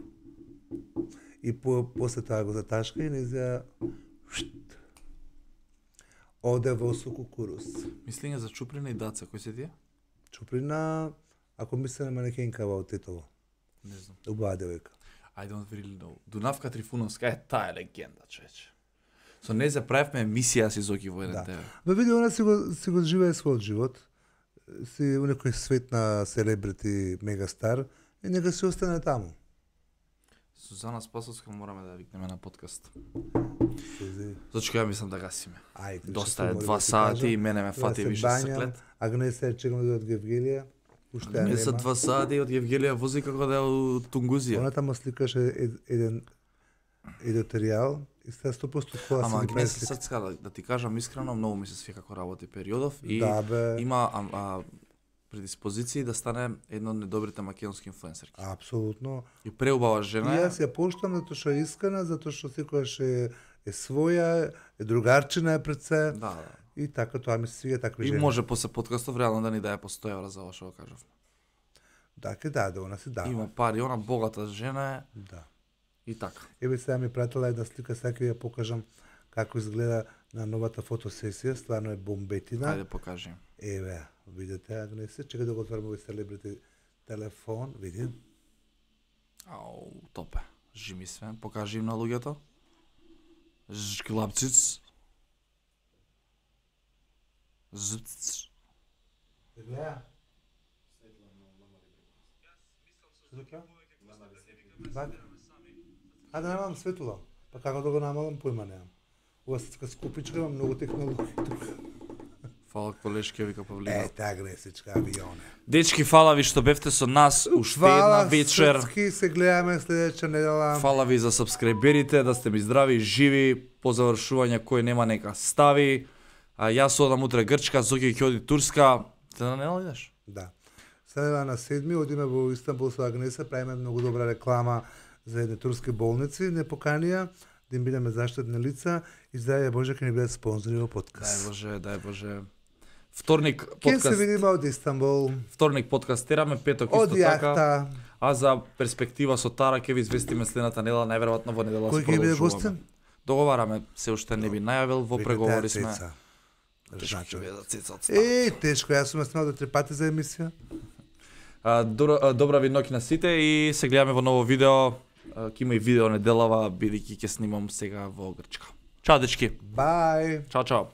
И по, после тоа го заташка и не за оде во Сукукурус. Мислење за Чуприна и Даца, кој се тие? Чуприна, ако мисле на манекенка во Титово. Не знам. Убава девојка. I don't really know. Дунавка Трифуновска е таа е легенда, човече. Со незе правевме емисија си Зоки во еден Да. тебе. Ма види, она си го, си го живее својот живот. Си у некој свет на селебрити мегастар и нека си остане таму. Сузана Спасовска мораме да ја викнеме на подкаст. Сузи. Зачека ја мислам да гасиме. Ајде. Доста што е мога два да ти сати кажам? и мене ме Треба фати се више бањам, саклет. Агнеса е чекам да дојде од Гевгелија. Уште ја Не се нема. два сати од Евгелија вози како да е од Тунгузија. Она таму сликаше ед- еден едиторијал и сега сто проценти кола Ама си ги Агнеса преслика. Срцка, да, да ти кажам искрено, многу ми се свија како работи периодов и Да, бе. има а, а, предиспозиции да стане една од недобрите македонски инфлуенсерки. Апсолутно. И преубава И жена е. јас ја поштам затоа што е искрена, затоа што секогаш е, е своја, е другарчина е пред се. Да, да. И така тоа ми се свиѓа такви И жени. може после подкастов реално да ни даде по сто евра за ова што го кажав. Да, ке даде, она си дава. Има пари, она богата жена е Да. и така. Еве сега ми пратила една слика, сега ќе ја покажам како изгледа на новата фотосесија, стварно е бомбетина. Ајде покажи. Еве, видите, Агнесе, чекај да го отворам овој селебрити телефон, види. Ау, топе. Жими све, покажи им на луѓето. Жклапциц. Зцц. Гледа. А да немам светло. Па како да го намалам, појма немам. Ова се скупичка, има многу технологија тука. Фала колешки, вика Павлина. Ете, Агнесичка, авионе. Дечки, фала ви што бевте со нас уште една вечер. Срцки, се гледаме следеќа недела. Фала ви за сабскрајберите, да сте ми здрави и живи. По завршување кој нема нека стави. А јас одам утре Грчка, Зоки ќе оди Турска. Ти на недела идеш? Да. Следва на седми, одиме во Истанбул со Агнеса, правиме многу добра реклама за едни турски болници, не поканија да им бидеме заштитни лица и дај Боже ќе ни бидат спонзори во подкаст. Дај Боже, дај Боже. Вторник Ке подкаст. се видиме од Истанбул. Вторник подкастераме, петок Од исто јахта. така. А за перспектива со Тара ќе ви известиме следната недела, најверојатно во недела Кој се ќе биде продолжуваме. гостин? Договараме, се уште не би најавил, во преговори сме. Цеца. Тешко Значи, ќе биде цеца од стар. Е, тешко, јас сум снимал до три пати за емисија. А, добра, а, добра ви ноќ на сите и се гледаме во ново видео. А, Ќе има и видео неделава, бидејќи ќе снимам сега во Грчка. Чао дечки. Бај. Чао, чао.